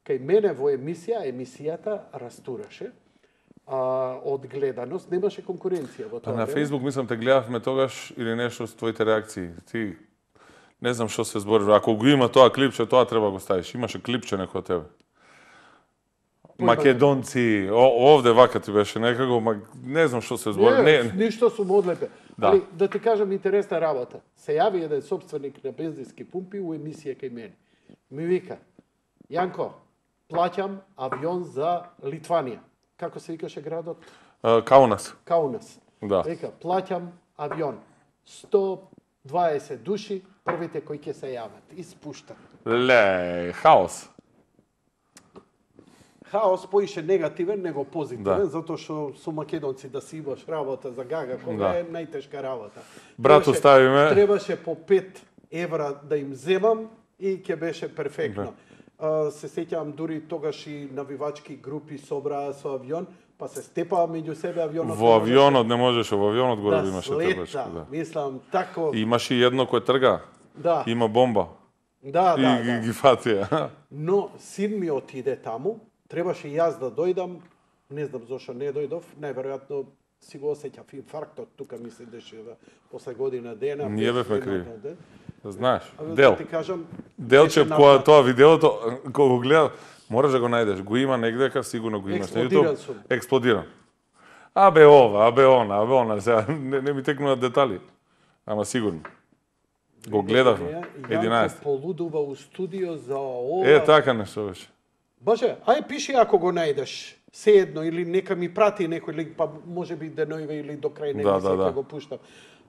Speaker 1: кај мене во емисија, емисијата растураше. А, од гледаност, немаше конкуренција во
Speaker 2: Па
Speaker 1: тоа
Speaker 2: на
Speaker 1: време.
Speaker 2: Facebook мислам те гледавме тогаш или нешто с твоите реакции. Ти не знам што се збори. Ако го има тоа клипче, тоа треба го ставиш. Имаше клипче некој од тебе. Македонци, о, овде вака ти беше некако, ма не знам што се збори.
Speaker 1: Не,
Speaker 2: Не,
Speaker 1: ништо сум одлепе.
Speaker 2: Да.
Speaker 1: Али, да ти кажам интересна работа. Се јави еден собственик на бензински пумпи у емисија кај мене. Ми вика, Јанко, плаќам авион за Литванија. Како се викаше градот?
Speaker 2: а, Каунас.
Speaker 1: Каунас.
Speaker 2: Да.
Speaker 1: Вика, плаќам авион. сто дваесет души, првите кои ќе се јават. И спуштат.
Speaker 2: Ле, хаос.
Speaker 1: Хаос поише негативен, него позитивен,
Speaker 2: Да.
Speaker 1: затоа што со македонци да си имаш работа за гага, кога
Speaker 2: Да.
Speaker 1: е најтешка работа.
Speaker 2: Брат,
Speaker 1: Требаше-
Speaker 2: оставиме.
Speaker 1: Требаше по пет евра да им земам и ќе беше перфектно. А, се сеќавам дури тогаш и навивачки групи собраа со авион, па се степаа меѓу себе авионот.
Speaker 2: Во авионот не можеше, во авионот горе
Speaker 1: да
Speaker 2: имаше
Speaker 1: слета,
Speaker 2: требачки, да.
Speaker 1: мислам, тако,
Speaker 2: И имаше и едно кој трга.
Speaker 1: да,
Speaker 2: Има бомба.
Speaker 1: да,
Speaker 2: И
Speaker 1: да,
Speaker 2: ги,
Speaker 1: да.
Speaker 2: ги фатија.
Speaker 1: Но син ми отиде таму, требаше и јас да дојдам, не знам зошто не дојдов, најверојатно си го осеќав инфарктот, тука ми се дешава после година дена.
Speaker 2: Ние
Speaker 1: без
Speaker 2: бевме
Speaker 1: година
Speaker 2: криви.
Speaker 1: ден.
Speaker 2: Знаеш,
Speaker 1: А, да
Speaker 2: дел.
Speaker 1: ти кажам,
Speaker 2: Делче,
Speaker 1: беше
Speaker 2: кога
Speaker 1: напад.
Speaker 2: тоа видеото, кога го гледа, мораш да го најдеш. Го има негдека, сигурно го имаш на
Speaker 1: Експлодиран
Speaker 2: YouTube.
Speaker 1: сум.
Speaker 2: Експлодиран. Абе ова, абе она, абе она, сега не, не ми текнуваат детали. Ама сигурно. Го гледавме.
Speaker 1: Јанко
Speaker 2: единаесет.
Speaker 1: полудува у студио за ова.
Speaker 2: Е, така нешто беше.
Speaker 1: Боже, ај пиши ако го најдеш. Sejedno, или нека ми прати некој линк, па може би денојве или до крај
Speaker 2: Да,
Speaker 1: немисија
Speaker 2: да, да.
Speaker 1: ќе го пуштам.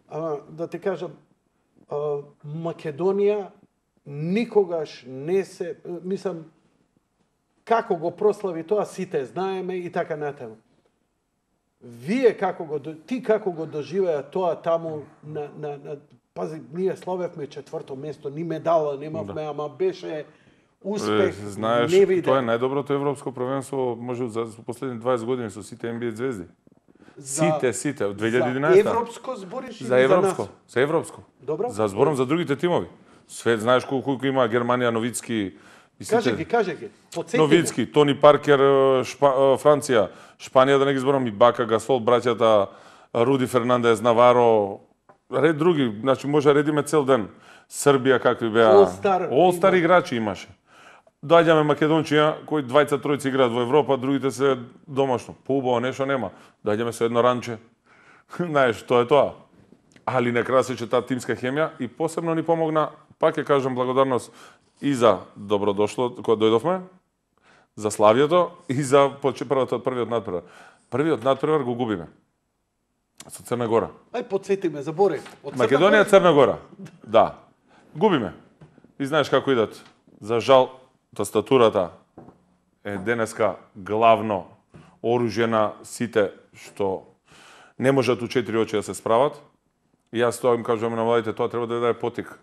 Speaker 1: А, да ти кажам, а, Македонија никогаш не се, мислам, како го прослави тоа, сите знаеме и така натаму. Вие како го, до- ти како го доживеа тоа таму на, на, на пази, ние славевме четврто место, ни медала немавме, ама беше успех
Speaker 2: Е, знаеш,
Speaker 1: невиден.
Speaker 2: тоа е најдоброто европско првенство, може за последни дваесет години со сите Н Б А звезди.
Speaker 1: За-
Speaker 2: Сите, сите, од две илјади и
Speaker 1: За
Speaker 2: единаесета.
Speaker 1: европско збориш или
Speaker 2: За европско,
Speaker 1: за нас?
Speaker 2: за европско.
Speaker 1: Добро.
Speaker 2: За зборам за другите тимови. Све знаеш колку, колку има Германија, Новицки, И
Speaker 1: Каже ги, каже ги. Потсети
Speaker 2: Новицки, Тони Паркер, Шпа, Франција, Шпанија, да не ги зборам, и Бака, Гасол, браќата, Руди Фернандес, Наваро, ред други, значи може редиме цел ден. Србија какви беа.
Speaker 1: All-Star
Speaker 2: All-Star
Speaker 1: има.
Speaker 2: играчи имаше. Доаѓаме Македонција, кои двајца тројца играат во Европа, другите се домашно. Поубаво нешто нема. Доаѓаме со едно ранче. Знаеш, тоа е тоа. Али на крај се че таа тимска хемија и посебно ни помогна, пак ќе кажам благодарност и за добродошло кога дојдовме, за славието и за првата првиот надпревар. Првиот надпревар го губиме со Црна Гора.
Speaker 1: Ај потсети ме, заборев. Од Црна
Speaker 2: Македонија,
Speaker 1: Гора-
Speaker 2: Црна Гора. Да. Губиме. И знаеш како идат. За жал, тастатурата е денеска главно оружје на сите што не можат у четири очи да се справат. И јас тоа им кажувам на младите, тоа треба да ви даде потик.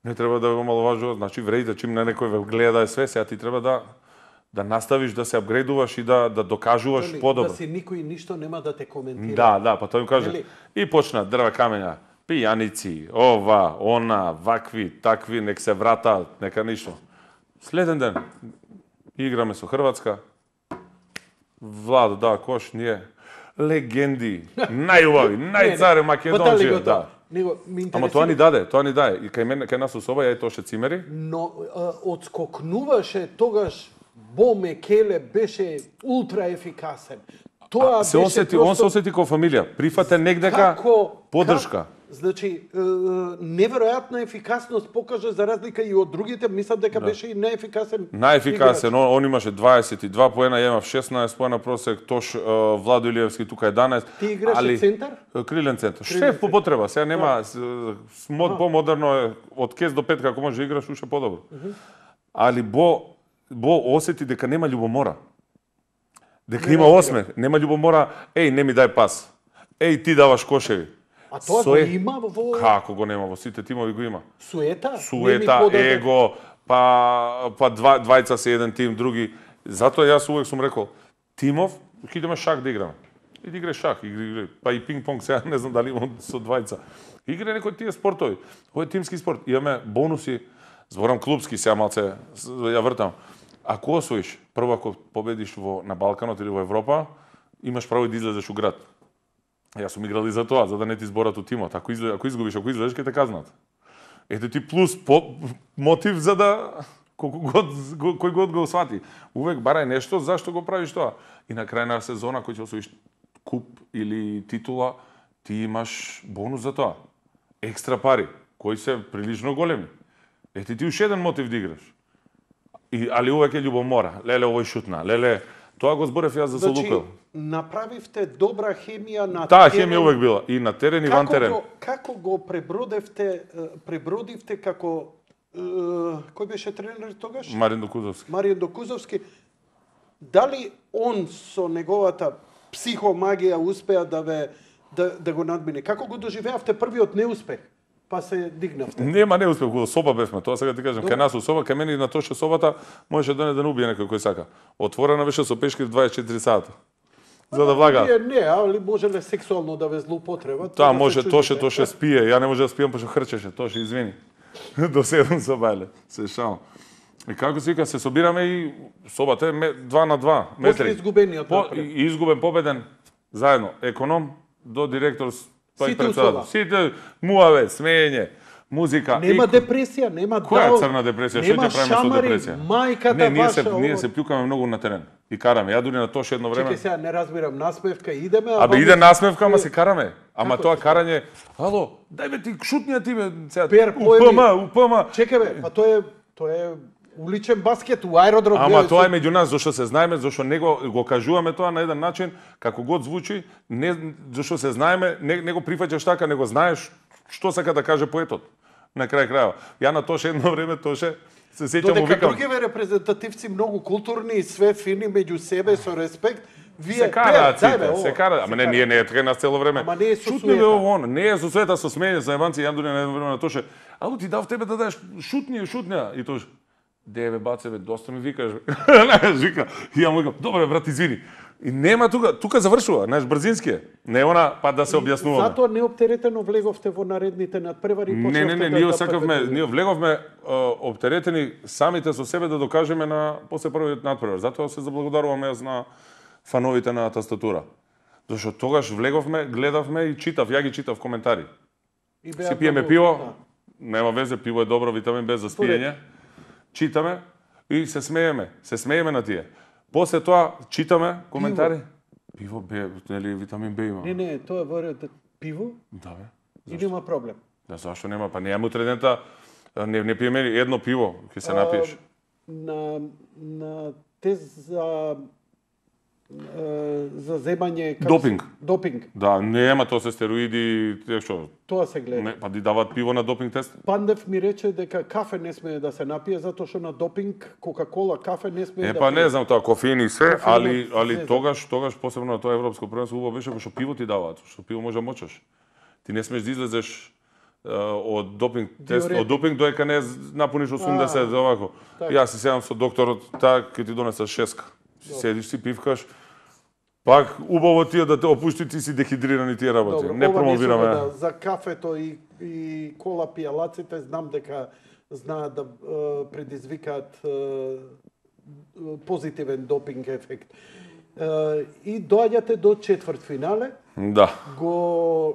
Speaker 2: Не треба да ве омаловажува, значи вредите чим на некој ве гледа да е све, сега ти треба да да наставиш да се апгрейдуваш и да да докажуваш
Speaker 1: Нели,
Speaker 2: подобро.
Speaker 1: Да си никој ништо нема да те коментира.
Speaker 2: Да, да, па тој им каже.
Speaker 1: Нели?
Speaker 2: И почна дрва камења, пијаници, ова, она, вакви, такви, нек се врата, нека ништо. Следен ден играме со Хрватска. Владо да кош, ние легенди, најубави, најцаре Македонци, да.
Speaker 1: Него ми
Speaker 2: Ама
Speaker 1: интересира.
Speaker 2: тоа ни даде, тоа ни даде. И кај мене, кај нас у соба, ја и тоше цимери.
Speaker 1: Но а, одскокнуваше тогаш Бо Мекеле беше ултра ефикасен. Тоа
Speaker 2: Се
Speaker 1: беше
Speaker 2: осети,
Speaker 1: просто...
Speaker 2: он се осети како фамилија. Прифате негдека
Speaker 1: Како-
Speaker 2: поддршка.
Speaker 1: как- Значи, е, неверојатна ефикасност покажа за разлика и од другите, мислам дека беше и неефикасен.
Speaker 2: Најефикасен, он, он имаше дваесет и два поена, ја имав шеснаесет поена просек, Тош е, Владо Илиевски тука еднаесет.
Speaker 1: Ти играше центар?
Speaker 2: Крилен центар.
Speaker 1: Крилен
Speaker 2: Шеф по
Speaker 1: центар.
Speaker 2: потреба, сега нема с- с- мод помодерно е од кез до петка ако може да играш уште подобро. Али Бо Бо осети дека нема љубомора. Дека
Speaker 1: Не
Speaker 2: има
Speaker 1: разбирам.
Speaker 2: осмех, нема љубомора, еј не ми дај пас. Еј ти даваш кошеви.
Speaker 1: А тоа
Speaker 2: Со
Speaker 1: го
Speaker 2: е-
Speaker 1: има во
Speaker 2: Како го нема во сите тимови го има.
Speaker 1: суета?
Speaker 2: Суета,
Speaker 1: Не ми подаде-
Speaker 2: его, па па два двајца се еден тим, други. Затоа јас увек сум рекол, тимов, ќе идеме шак да играме. И да игре шак, игри, игри, па и пинг-понг, сега не знам дали имам со двајца. Игре некои тие спортови. Ово е тимски спорт. Имаме бонуси, зборам клубски, сега малце с- ја вртам. Ако освоиш, прво ако победиш во на Балканот или во Европа, имаш право и да излезеш у град. Јас сум играл и за тоа, за да не ти зборат у тимот. Ако, изле, ако изгубиш, ако излезеш, ќе те казнат. Ете ти плюс по, мотив за да колку год го- кој год го свати. Увек барај нешто зашто го правиш тоа. И на крај на сезона кој ќе освоиш куп или титула, ти имаш бонус за тоа. Екстра пари, кои се прилично големи. Ете ти уште еден мотив да играш. И, али увек е љубомора. Леле, овој шутна. Леле, тоа го зборев јас за
Speaker 1: Значи,
Speaker 2: Солукел.
Speaker 1: направивте добра хемија на
Speaker 2: Таа
Speaker 1: терен.
Speaker 2: хемија увек била. И на терен и ван
Speaker 1: Како
Speaker 2: терен.
Speaker 1: го, како го пребродевте, е, пребродивте како е, кој беше тренер тогаш?
Speaker 2: Марин Докузовски.
Speaker 1: Маријан Докузовски. Дали он со неговата психомагија успеа да ве да, да го надмине? Како го доживеавте првиот неуспех? Па се дигнавте.
Speaker 2: Нема неуспех, во соба бевме, тоа сега ти кажам, кај нас у соба, кај мене и на тоше собата можеше да не да не убие некој кој сака. Отворена беше со пешки дваесет и четири сата. За да влага.
Speaker 1: Не, не, али можеле сексуално да ве злоупотреба.
Speaker 2: Таа
Speaker 1: да се
Speaker 2: може,
Speaker 1: чудите.
Speaker 2: тоше, тоше спие, ја не може да спијам, пошто хрчеше, тоше, извини. До седум со бајле, се шал. И како се вика, се собираме и собата е ме- два на два
Speaker 1: После
Speaker 2: метри.
Speaker 1: изгубениот
Speaker 2: По,
Speaker 1: напред.
Speaker 2: и изгубен победен, заедно, економ до директор, па и
Speaker 1: Сите у
Speaker 2: председател.
Speaker 1: соба.
Speaker 2: Сите муаве, смеење, музика.
Speaker 1: Нема
Speaker 2: и-
Speaker 1: депресија, нема
Speaker 2: Која
Speaker 1: дал,
Speaker 2: е црна депресија? Што
Speaker 1: нема
Speaker 2: ќе правиме со
Speaker 1: шамари,
Speaker 2: депресија?
Speaker 1: мајката
Speaker 2: Не, ние се
Speaker 1: ваша,
Speaker 2: ние
Speaker 1: ово.
Speaker 2: се плюкаме многу на терен и караме. Ја дури на тоше едно време.
Speaker 1: Чекај сега, не разбирам, насмевка идеме,
Speaker 2: Абе
Speaker 1: ваму-
Speaker 2: иде насмевка, ама се караме. Ама
Speaker 1: Како
Speaker 2: тоа
Speaker 1: се?
Speaker 2: карање, ало, дај бе ти шутнија ти бе, сега.
Speaker 1: Пер,
Speaker 2: У
Speaker 1: поеми.
Speaker 2: ПМ, у ПМ.
Speaker 1: Чекај бе, па тоа е тоа е уличен баскет у аеродром.
Speaker 2: Ама
Speaker 1: гледај,
Speaker 2: тоа е
Speaker 1: со-
Speaker 2: меѓу нас, зашто се знаеме, зашто него го кажуваме тоа на еден начин, како год звучи, не зашто се знаеме, не, не го прифаќаш така, него знаеш што сака да каже поетот. На крај крајава. Ја на тоше едно време тоше се сеќам му
Speaker 1: Додека
Speaker 2: викам.
Speaker 1: другиве репрезентативци многу културни и све фини меѓу себе со респект, вие
Speaker 2: Се караат
Speaker 1: пеат, дај
Speaker 2: сите,
Speaker 1: бе,
Speaker 2: се
Speaker 1: ово,
Speaker 2: караат. Ама
Speaker 1: се
Speaker 2: не,
Speaker 1: караат.
Speaker 2: ние не е така нас цело време.
Speaker 1: Ама не е со
Speaker 2: Шутни бе
Speaker 1: суета.
Speaker 2: ово, оно. Не е со света, со смење, со јебанци, јам дури на едно време на тоше. Ало ти дав тебе да дадеш шутни, шутња и тош. Деве бацеве, доста ми викаш. Знаеш, вика, и ја му викам, добре брат, извини. И нема тука, тука завршува, знаеш, брзински е. Не она па да се објаснуваме.
Speaker 1: Затоа неоптеретено влеговте во наредните надпревари и
Speaker 2: Не, не, не,
Speaker 1: почнавте
Speaker 2: ние
Speaker 1: да
Speaker 2: сакавме,
Speaker 1: победувате.
Speaker 2: ние влеговме оптеретени самите со себе да докажеме на после првиот надпревар. Затоа се заблагодаруваме јас на фановите на Тастатура. Зашто тогаш влеговме, гледавме и читав, ја ги читав коментари.
Speaker 1: И беа
Speaker 2: Си пиеме
Speaker 1: многу-
Speaker 2: пиво,
Speaker 1: да.
Speaker 2: нема везе, пиво е добро, витамин Б за спиење. Читаме и се смееме, се смееме на тие. После тоа читаме коментари. Пиво, Б, нели витамин Б има.
Speaker 1: Не, не, тоа во ред пиво
Speaker 2: Да бе.
Speaker 1: и нема проблем.
Speaker 2: Да, зашто нема? Па неја утре дента не не пиеме едно пиво, ќе се напиеш.
Speaker 1: На на тест за е, за земање како
Speaker 2: Допинг.
Speaker 1: се- допинг.
Speaker 2: Да, нема тоа се стероиди, тие што.
Speaker 1: Тоа се гледа.
Speaker 2: Не, па ди дават пиво на допинг тест.
Speaker 1: Пандев ми рече дека кафе не смее да се напие затоа што на допинг Кока-кола кафе не смее
Speaker 2: Е,
Speaker 1: да
Speaker 2: па
Speaker 1: пие.
Speaker 2: не знам тоа кофеин и се,
Speaker 1: Кофеин,
Speaker 2: али али
Speaker 1: се,
Speaker 2: тогаш тогаш посебно на тоа европско првенство убаво беше кога што пиво ти даваат, што пиво може да мочаш. Ти не смеш да излезеш е, од допинг тест,
Speaker 1: Диуретик.
Speaker 2: од допинг доека не напуниш осумдесет овако.
Speaker 1: така.
Speaker 2: Јас си седам со докторот, таа ќе ти донесе шеска. Си седиш си пивкаш. Пак убаво тие да те опушти, ти си дехидрирани тие работи.
Speaker 1: Добро,
Speaker 2: не
Speaker 1: ова
Speaker 2: промовираме.
Speaker 1: нешто да, за кафето и, и кола пијалаците знам дека знаат да е, предизвикаат е, позитивен допинг ефект. Е, и доаѓате до четврт финале,
Speaker 2: Да,
Speaker 1: го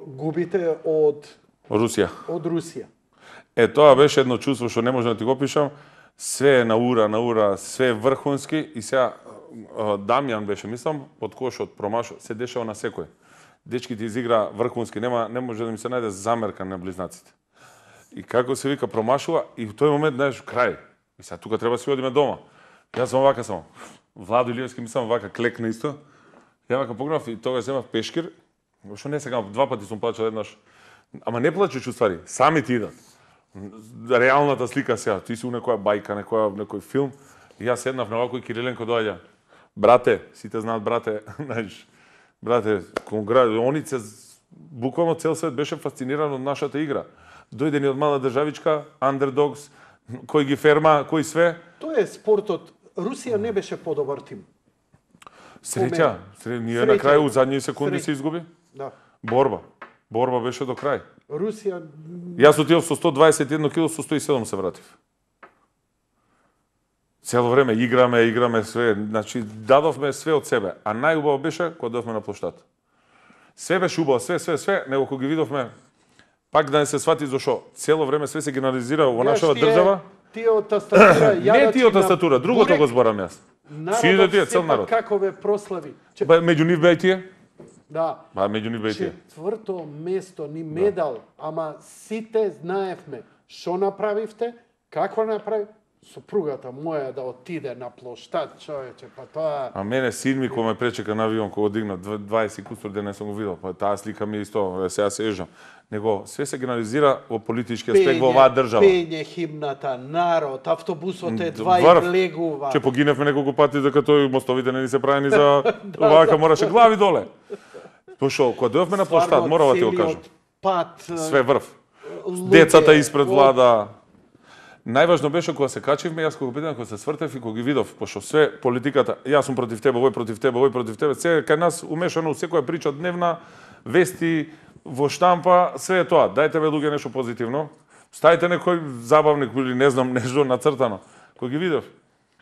Speaker 1: губите од
Speaker 2: Русија.
Speaker 1: од Русија.
Speaker 2: Е, тоа беше едно чувство што не можам да ти го пишам. Све е на ура, на ура, све е врхунски и сега а, Дамјан беше, мислам, под кошот промашо, се дешава на секој. Дечките изигра врхунски, нема не може да ми се најде замерка на близнаците. И како се вика промашува и в тој момент знаеш крај. И сега тука треба да си одиме дома. Јас сум вака само. Владо Илиевски мислам вака клекна исто. Ја вака погледнав и тогаш земав пешкир. Што не сега два пати сум плачал еднаш. Ама не плачеш уствари, сами ти идат. Реалната слика сега, ти си у некоја бајка, некоја некој филм. И јас седнав на овако и Кириленко доаѓа. Брате, сите знаат брате, знаеш. Брате, конгра... они се буквално цел свет беше фасциниран од нашата игра. Дојде ни од мала државичка, underdogs, кој ги ферма, кој све.
Speaker 1: Тоа е спортот. Русија не беше подобар тим.
Speaker 2: Среќа, сре... ние
Speaker 1: Среќа.
Speaker 2: на крај у задни секунди
Speaker 1: Среќа.
Speaker 2: се изгуби.
Speaker 1: Да.
Speaker 2: Борба. Борба беше до крај.
Speaker 1: Русија
Speaker 2: Јас отидов со сто дваесет и едно кило, со сто и седум се вратив. Цело време играме, играме све, значи дадовме све од себе, а најубаво беше кога дојдовме на плоштад. Све беше убаво, све, све, све, него кога ги видовме, пак да не се свати зашо цело време све се генерализира во нашава држава.
Speaker 1: Тие од тастатура,
Speaker 2: Не тие од тастатура, другото го зборам јас. Сите тие, цел народ.
Speaker 1: Какове прослави. Че,
Speaker 2: Ба, меѓу нив беа и тие?
Speaker 1: да.
Speaker 2: Ба, меѓу нив беа и тие.
Speaker 1: Четврто место, ни медал, ама сите знаевме што направивте, какво направи. Сопругата моја да отиде на плоштад, човече, па тоа...
Speaker 2: А мене син ми кој ме пречека на авион кога дигна дваесет кустор ден не сум го видел, па таа слика ми исто, сега се ежам. Него све се генерализира во политички аспект во оваа држава.
Speaker 1: Пење химната, народ, автобусот е два и
Speaker 2: Врв.
Speaker 1: влегува.
Speaker 2: Че погиневме неколку пати дека тој мостовите не ни се правени за овака мораше глави доле. Пошо, кога дојавме на плоштад,
Speaker 1: Стварно,
Speaker 2: морам да ти го
Speaker 1: целиот
Speaker 2: кажам.
Speaker 1: Пат,
Speaker 2: Све врв.
Speaker 1: луѓе,
Speaker 2: Децата испред
Speaker 1: во-
Speaker 2: влада. Најважно беше кога се качивме, јас кога питам, кога се свртев и кога ги видов, пошто све политиката, јас сум против тебе, овој против тебе, овој против тебе, се кај нас умешано у секоја прича дневна, вести во штампа, све е тоа. Дајте бе луѓе нешто позитивно. Ставите некој забавник или не знам нешто нацртано. Кога ги видов,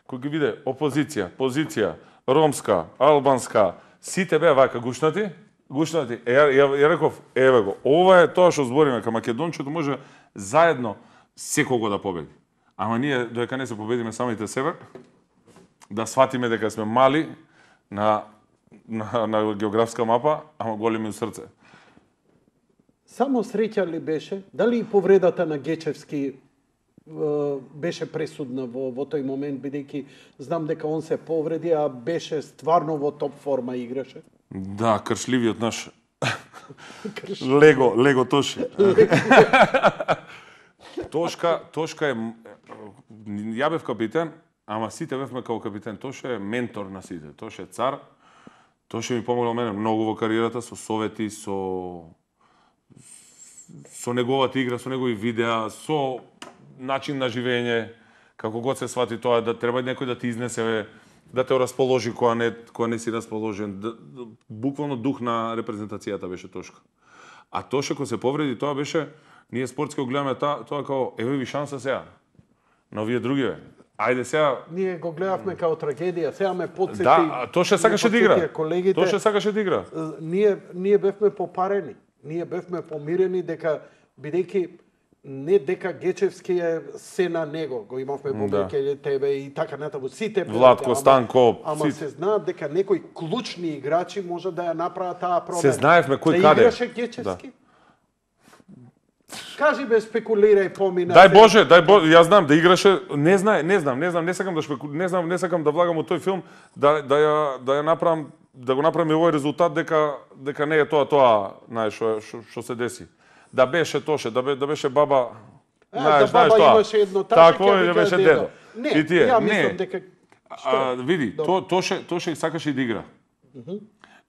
Speaker 2: кога ги виде опозиција, позиција, ромска, албанска, сите беа вака гушнати, гушнати. Е, ја, ја, ја реков, еве го, ова е тоа што збориме, ка Македончето може заедно секого да победи. Ама ние, додека не се победиме самите себе, да сватиме дека сме мали на, на, на географска мапа, ама големи у срце.
Speaker 1: Само среќа ли беше? Дали и повредата на Гечевски е, беше пресудна во, во тој момент, бидејќи знам дека он се повреди, а беше стварно во топ форма играше?
Speaker 2: Да, кршливиот наш Лего, Лего Тоши. Тошка, Тошка е, ја бев капитен, ама сите бевме како капитен. Тоше е ментор на сите, Тоше е цар. Тоше ми помогнал мене многу во кариерата, со совети, со со неговата игра, со негови видеа, со начин на живење, Како год се свати тоа, да треба некој да ти изнесе, да те расположи кога не, кога не си расположен. Да, буквално дух на репрезентацијата беше Тошко. А Тоше кога се повреди, тоа беше, ние спортски го гледаме тоа, тоа као, еве ви шанса сега. На овие други, бе. Ајде сега...
Speaker 1: Ние го гледавме као трагедија, сега ме подсети...
Speaker 2: Да, Тоше сакаше да игра.
Speaker 1: Колегите,
Speaker 2: Тоше сакаше да игра.
Speaker 1: Ние, ние бевме попарени. Ние бевме помирени дека, бидејќи не дека Гечевски е се на него, го имавме Бобеке, да. Тебе и така натаму, сите
Speaker 2: Владко, Станко,
Speaker 1: ама
Speaker 2: си...
Speaker 1: се знаат дека некои клучни играчи може да ја направат таа промена.
Speaker 2: Се знаевме кој
Speaker 1: да
Speaker 2: каде.
Speaker 1: Играше Гечевски? Да. Кажи бе, спекулирај помина.
Speaker 2: Дај Боже, дај Боже, јас знам да играше, не знае, не знам, не знам, не сакам да шпеку... не знам, не сакам да влагам во тој филм да да ја да ја направам да го направам овој резултат дека дека не е тоа тоа, знаеш, што што се деси. Да беше Тоше, да, бе, да беше баба,
Speaker 1: знаеш, знаеш
Speaker 2: тоа.
Speaker 1: Имаше едно таше,
Speaker 2: Тако е, да беше дедо.
Speaker 1: Не,
Speaker 2: и тие,
Speaker 1: ја
Speaker 2: не.
Speaker 1: мислам дека
Speaker 2: А, види, то, Тоше, Тоше сакаше да игра.
Speaker 1: Uh -huh.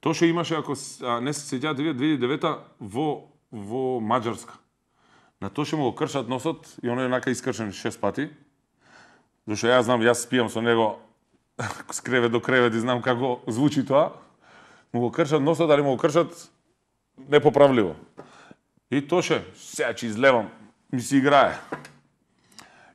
Speaker 2: Тоше имаше, ако а, не се сеќавате, две илјади и девета во во Маđарска. На Тоше му го кршат носот и оној онака искршен шест пати. Зашто јас знам, јас спијам со него с кревет до кревет и знам како звучи тоа. Му го кршат носот, али му го кршат непоправливо. И Тоше, сега ќе излевам, ми си играе.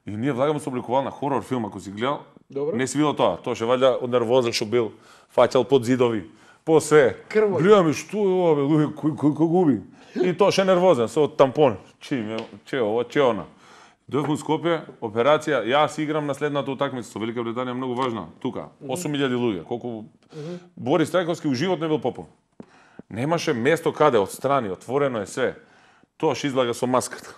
Speaker 2: И ние влагаме со обликувална хорор филм, ако си гледал.
Speaker 1: Добро.
Speaker 2: Не си видел тоа. Тоше ваljda од нервоза што бил, фаќал под зидови, по све.
Speaker 1: Крвој.
Speaker 2: Гледаме што е ова, бе, луѓе, кој кој кој губи. И Тоше нервозен со тампон. Чи, че ова, че она. Дојдов во Скопје, операција, јас играм на следната утакмица со Велика Британија, многу важна, тука. осум илјади луѓе, колку mm -hmm. Борис Трајковски у живот не бил попол. Немаше место каде, отстрани, отворено е све. Тоа што излага со маската.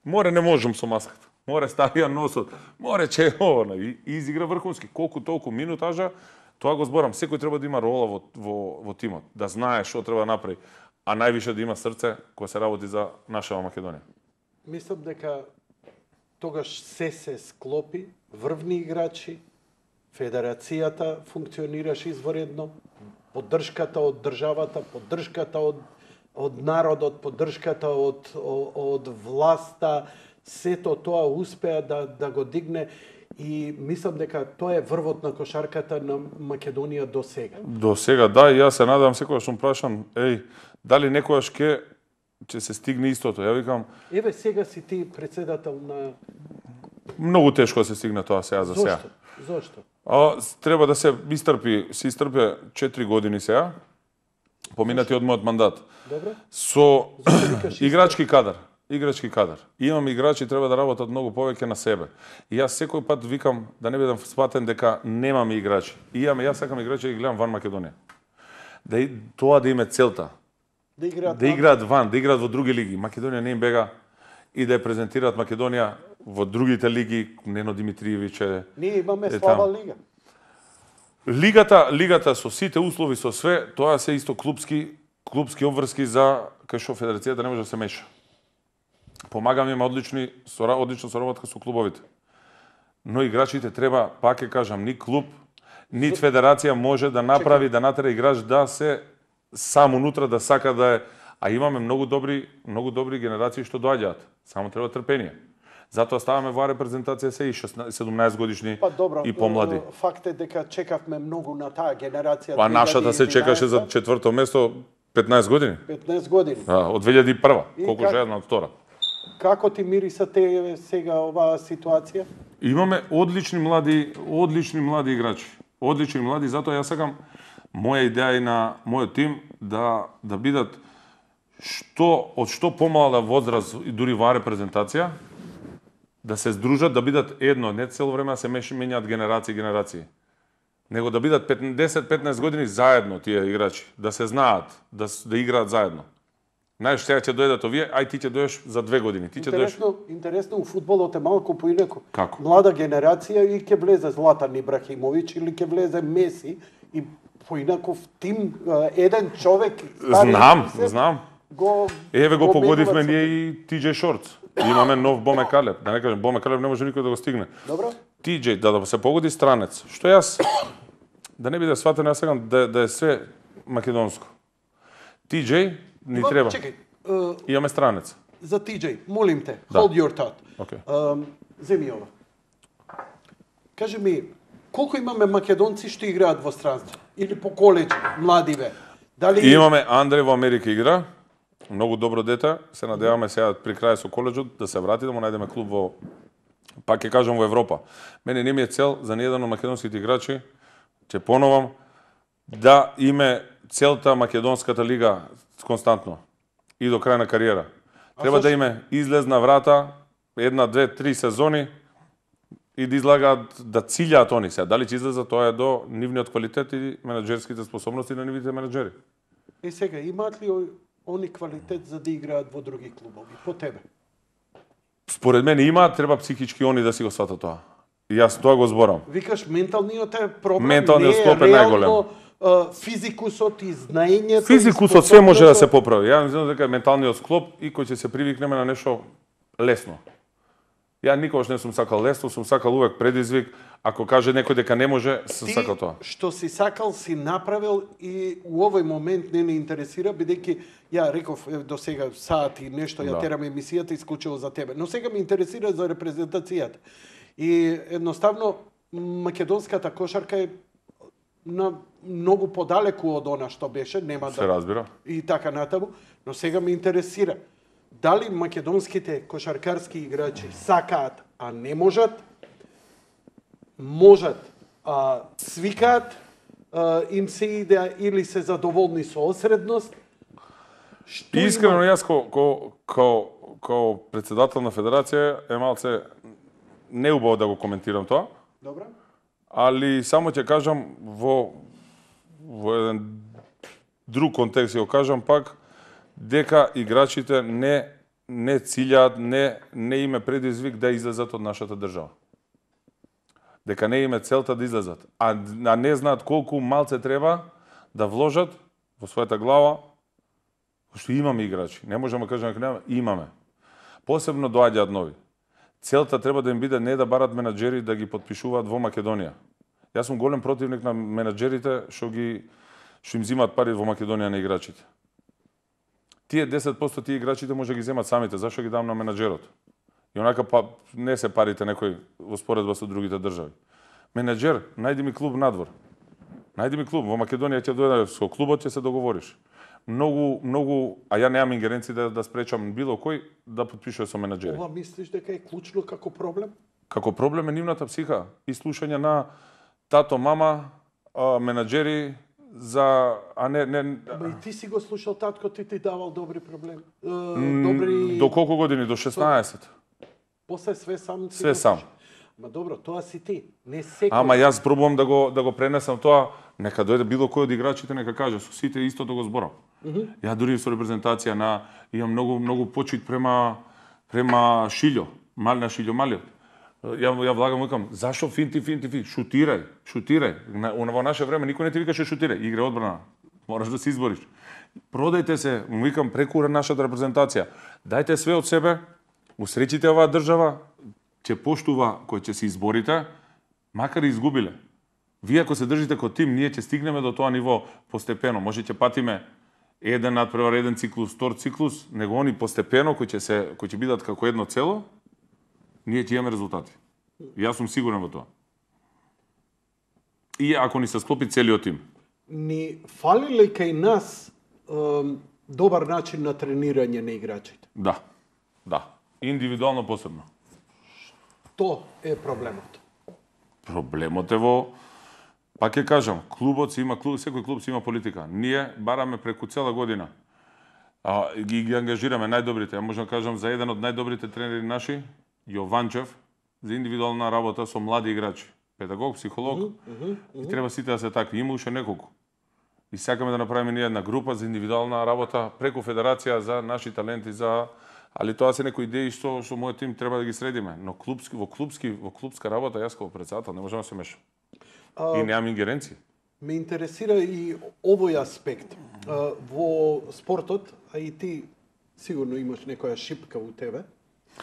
Speaker 2: Море не можам со маската. Море ставија носот. Море че ова, и изигра врхунски. Колку толку минутажа, тоа го зборам. Секој треба да има рола во во во тимот, да знае што треба да направи, а највише да има срце кога се работи за нашава Македонија.
Speaker 1: Мислам дека тогаш се се склопи, врвни играчи, федерацијата функционираше изворедно, поддршката од државата, поддршката од од народот, поддршката од од власта, сето тоа успеа да да го дигне и мислам дека тоа е врвот на кошарката на Македонија до сега.
Speaker 2: До сега, да, и јас се надевам секогаш што прашам, еј, дали некојаш ке ќе се стигне истото. Ја викам,
Speaker 1: еве сега си ти председател на
Speaker 2: многу тешко да се стигне тоа сега за сега.
Speaker 1: Зошто? Зошто?
Speaker 2: А, треба да се истрпи, се истрпе четири години сега, поминати од мојот мандат.
Speaker 1: Добре.
Speaker 2: Со играчки кадар. Играчки кадар. Имам играчи, треба да работат многу повеќе на себе. И јас секој пат викам да не бидам сватен дека немаме играчи. И имаме, јас сакам играчи да ги гледам ван Македонија. Да и, тоа да им е целта.
Speaker 1: Да играат,
Speaker 2: да играат ван, да играат во други лиги. Македонија не им бега и да ја презентираат Македонија во другите лиги. Нено Димитриевич е...
Speaker 1: Ние имаме слаба лига.
Speaker 2: Лигата, лигата со сите услови, со све, тоа се исто клубски, клубски обврски за кај што федерацијата не може да се меша. Помагаме, има одлични, одлична соработка со клубовите. Но играчите треба, пак ќе кажам, ни клуб, ни федерација може да направи, да натера играч да се сам унутра да сака да е, а имаме многу добри, многу добри генерации што доаѓаат. Само треба трпение. Затоа ставаме во репрезентација се и седумнаесет годишни
Speaker 1: па, добро,
Speaker 2: и помлади.
Speaker 1: Факт е дека чекавме многу на таа генерација.
Speaker 2: Па нашата се чекаше за четврто место петнаесет години.
Speaker 1: петнаесет години.
Speaker 2: А, од две илјади и прва, колку
Speaker 1: как...
Speaker 2: жедна од втора.
Speaker 1: Како ти мириса те сега оваа ситуација?
Speaker 2: Имаме одлични млади, одлични млади играчи. Одлични млади, затоа јас сакам моја идеја и на мојот тим да да бидат што од што помала возраст и дури во репрезентација да се здружат, да бидат едно, не цело време да се менјаат генерации и генерации. Него да бидат десет петнаесет години заедно тие играчи, да се знаат, да да играат заедно. Знаеш, сега ќе дојдат овие, ај ти ќе дојдеш за две години. Ти ќе дојдеш.
Speaker 1: Интересно, интересно у фудбалот е малку поинаку.
Speaker 2: Како?
Speaker 1: Млада генерација и ќе влезе Златан Ибрахимовиќ или ќе влезе Меси и поинаков тим, еден човек
Speaker 2: стари, знам, се, знам.
Speaker 1: Го
Speaker 2: Еве го, го погодивме ние и Ти Џеј Шортс. Имаме нов Боме Калеб. Да не кажем, Боме Калеб не може никој да го стигне.
Speaker 1: Добро.
Speaker 2: Ти Џеј, да, да се погоди странец. Што јас, да не биде сватен, јас сакам да, да е све македонско. Ти Џеј ни
Speaker 1: Има,
Speaker 2: треба.
Speaker 1: Чекај. Uh,
Speaker 2: Имаме странец.
Speaker 1: За Ти Џеј, молим те,
Speaker 2: да.
Speaker 1: hold your thought.
Speaker 2: Okay.
Speaker 1: Um, земи ова. Кажи ми, колку имаме македонци што играат во странство? Или по колеџ, младиве? Дали...
Speaker 2: Имаме Андре во Америка игра, многу добро дете, се надеваме сега при крај со колеџот да се врати, да му најдеме клуб во, пак ќе кажам, во Европа. Мене не ми е цел за ниеден од македонските играчи, ќе поновам, да име целта македонската лига константно и до крај на кариера. Треба да име излезна врата, една, две, три сезони и да излагаат, да цилјаат они се. Дали ќе излезат, тоа е до нивниот квалитет и менаџерските способности на нивните менаџери.
Speaker 1: И сега, имаат ли они квалитет за да играат во други клубови, по тебе?
Speaker 2: Според мене имаат, треба психички они да си го сватат тоа. И јас тоа го зборам.
Speaker 1: Викаш, менталниот е проблем,
Speaker 2: Менталниот
Speaker 1: не
Speaker 2: склоп
Speaker 1: е
Speaker 2: е најголем.
Speaker 1: реално физикусот и знаењето.
Speaker 2: Физикусот све може да се поправи. Ја мислам дека менталниот склоп и кој ќе се привикнеме на нешто лесно. Ја никогаш не сум сакал лесно, сум сакал увек предизвик. Ако каже некој дека не може, сум сакал тоа.
Speaker 1: Ти што си сакал си направил и у овој момент не ме интересира, бидејќи ја реков до сега сати нешто ја
Speaker 2: да.
Speaker 1: терам емисијата исклучиво за тебе. Но сега ме интересира за репрезентацијата. И едноставно македонската кошарка е на многу подалеку од она што беше, нема
Speaker 2: се
Speaker 1: да
Speaker 2: разбира.
Speaker 1: И така натаму, но сега ме интересира дали македонските кошаркарски играчи сакаат, а не можат, можат, а свикаат, а, им се иде или се задоволни со осредност. Што
Speaker 2: Искрено
Speaker 1: има...
Speaker 2: јас ко ко ко ко председател на федерација е малце неубаво да го коментирам тоа.
Speaker 1: Добра.
Speaker 2: Али само ќе кажам во во еден друг контекст ќе го кажам пак дека играчите не не цилјаат, не не име предизвик да излезат од нашата држава. Дека не име целта да излезат, а, а не знаат колку малце треба да вложат во својата глава, што имаме играчи. Не можеме да кажеме дека немаме, имаме. Посебно доаѓаат нови. Целта треба да им биде не да барат менаџери да ги потпишуваат во Македонија. Јас сум голем противник на менаџерите што ги што им земаат пари во Македонија на играчите. Тие десет проценти тие играчите може да ги земат самите, зашто ги дам на менаџерот? И онака па не се парите некој во споредба со другите држави. Менаџер, најди ми клуб надвор. Најди ми клуб во Македонија, ќе дојде со клубот, ќе се договориш. Многу многу, а ја немам ингеренции да да спречам било кој да потпишува со менаџери.
Speaker 1: Ова мислиш дека е клучно како проблем?
Speaker 2: Како проблем е нивната психа и слушање на тато, мама, а, менаџери за а не не
Speaker 1: Ама и ти си го слушал татко, ти ти давал добри проблеми. Е, добри
Speaker 2: До колку години? До шеснаесет.
Speaker 1: После све сам си
Speaker 2: Све
Speaker 1: го
Speaker 2: сам.
Speaker 1: слушал. Ма добро, тоа си ти, не секој.
Speaker 2: Ама јас пробувам да го да го пренесам тоа, нека дојде било кој од играчите нека каже, со сите исто да го зборам. Mm -hmm. Ја дури со репрезентација на имам многу многу почит према према Шилјо, Мална Шилјо Малиот. Ја ја влагам викам, зашо финти финти финти, шутирај, шутирај. На, во наше време никој не ти викаше шутирај, игра одбрана. Мораш да се избориш. Продајте се, викам преку нашата репрезентација. Дајте све од себе, усреќите оваа држава, ќе поштува кој ќе се изборите, макар и изгубиле. Вие ако се држите како тим, ние ќе стигнеме до тоа ниво постепено. Може ќе патиме еден надпревар, еден циклус, втор циклус, него они постепено кои ќе се кои ќе бидат како едно цело, ние ќе имаме резултати. Јас сум сигурен во тоа. И ако ни се склопи целиот тим.
Speaker 1: Ни фали ли кај нас ем, добар начин на тренирање на играчите?
Speaker 2: Да. Да. Индивидуално посебно.
Speaker 1: Тоа е проблемот.
Speaker 2: Проблемот е во, пак ќе кажам, клубот си има клуб, секој клуб си има политика. Ние бараме преку цела година. А, ги, ги ангажираме најдобрите. Ја можам да кажам за еден од најдобрите тренери наши, Јованчев, за индивидуална работа со млади играчи. Педагог, психолог, mm -hmm, mm -hmm. и треба сите да се такви. Има уште неколку. И сакаме да направиме ние една група за индивидуална работа преку федерација за наши таленти, за али тоа се некои идеи што што мојот тим треба да ги средиме, но клубски во клубски во клубска работа јас како председател не можам да се мешам. А, и немам ингеренции.
Speaker 1: Ме интересира и овој аспект. А, во спортот, а и ти сигурно имаш некоја шипка у тебе,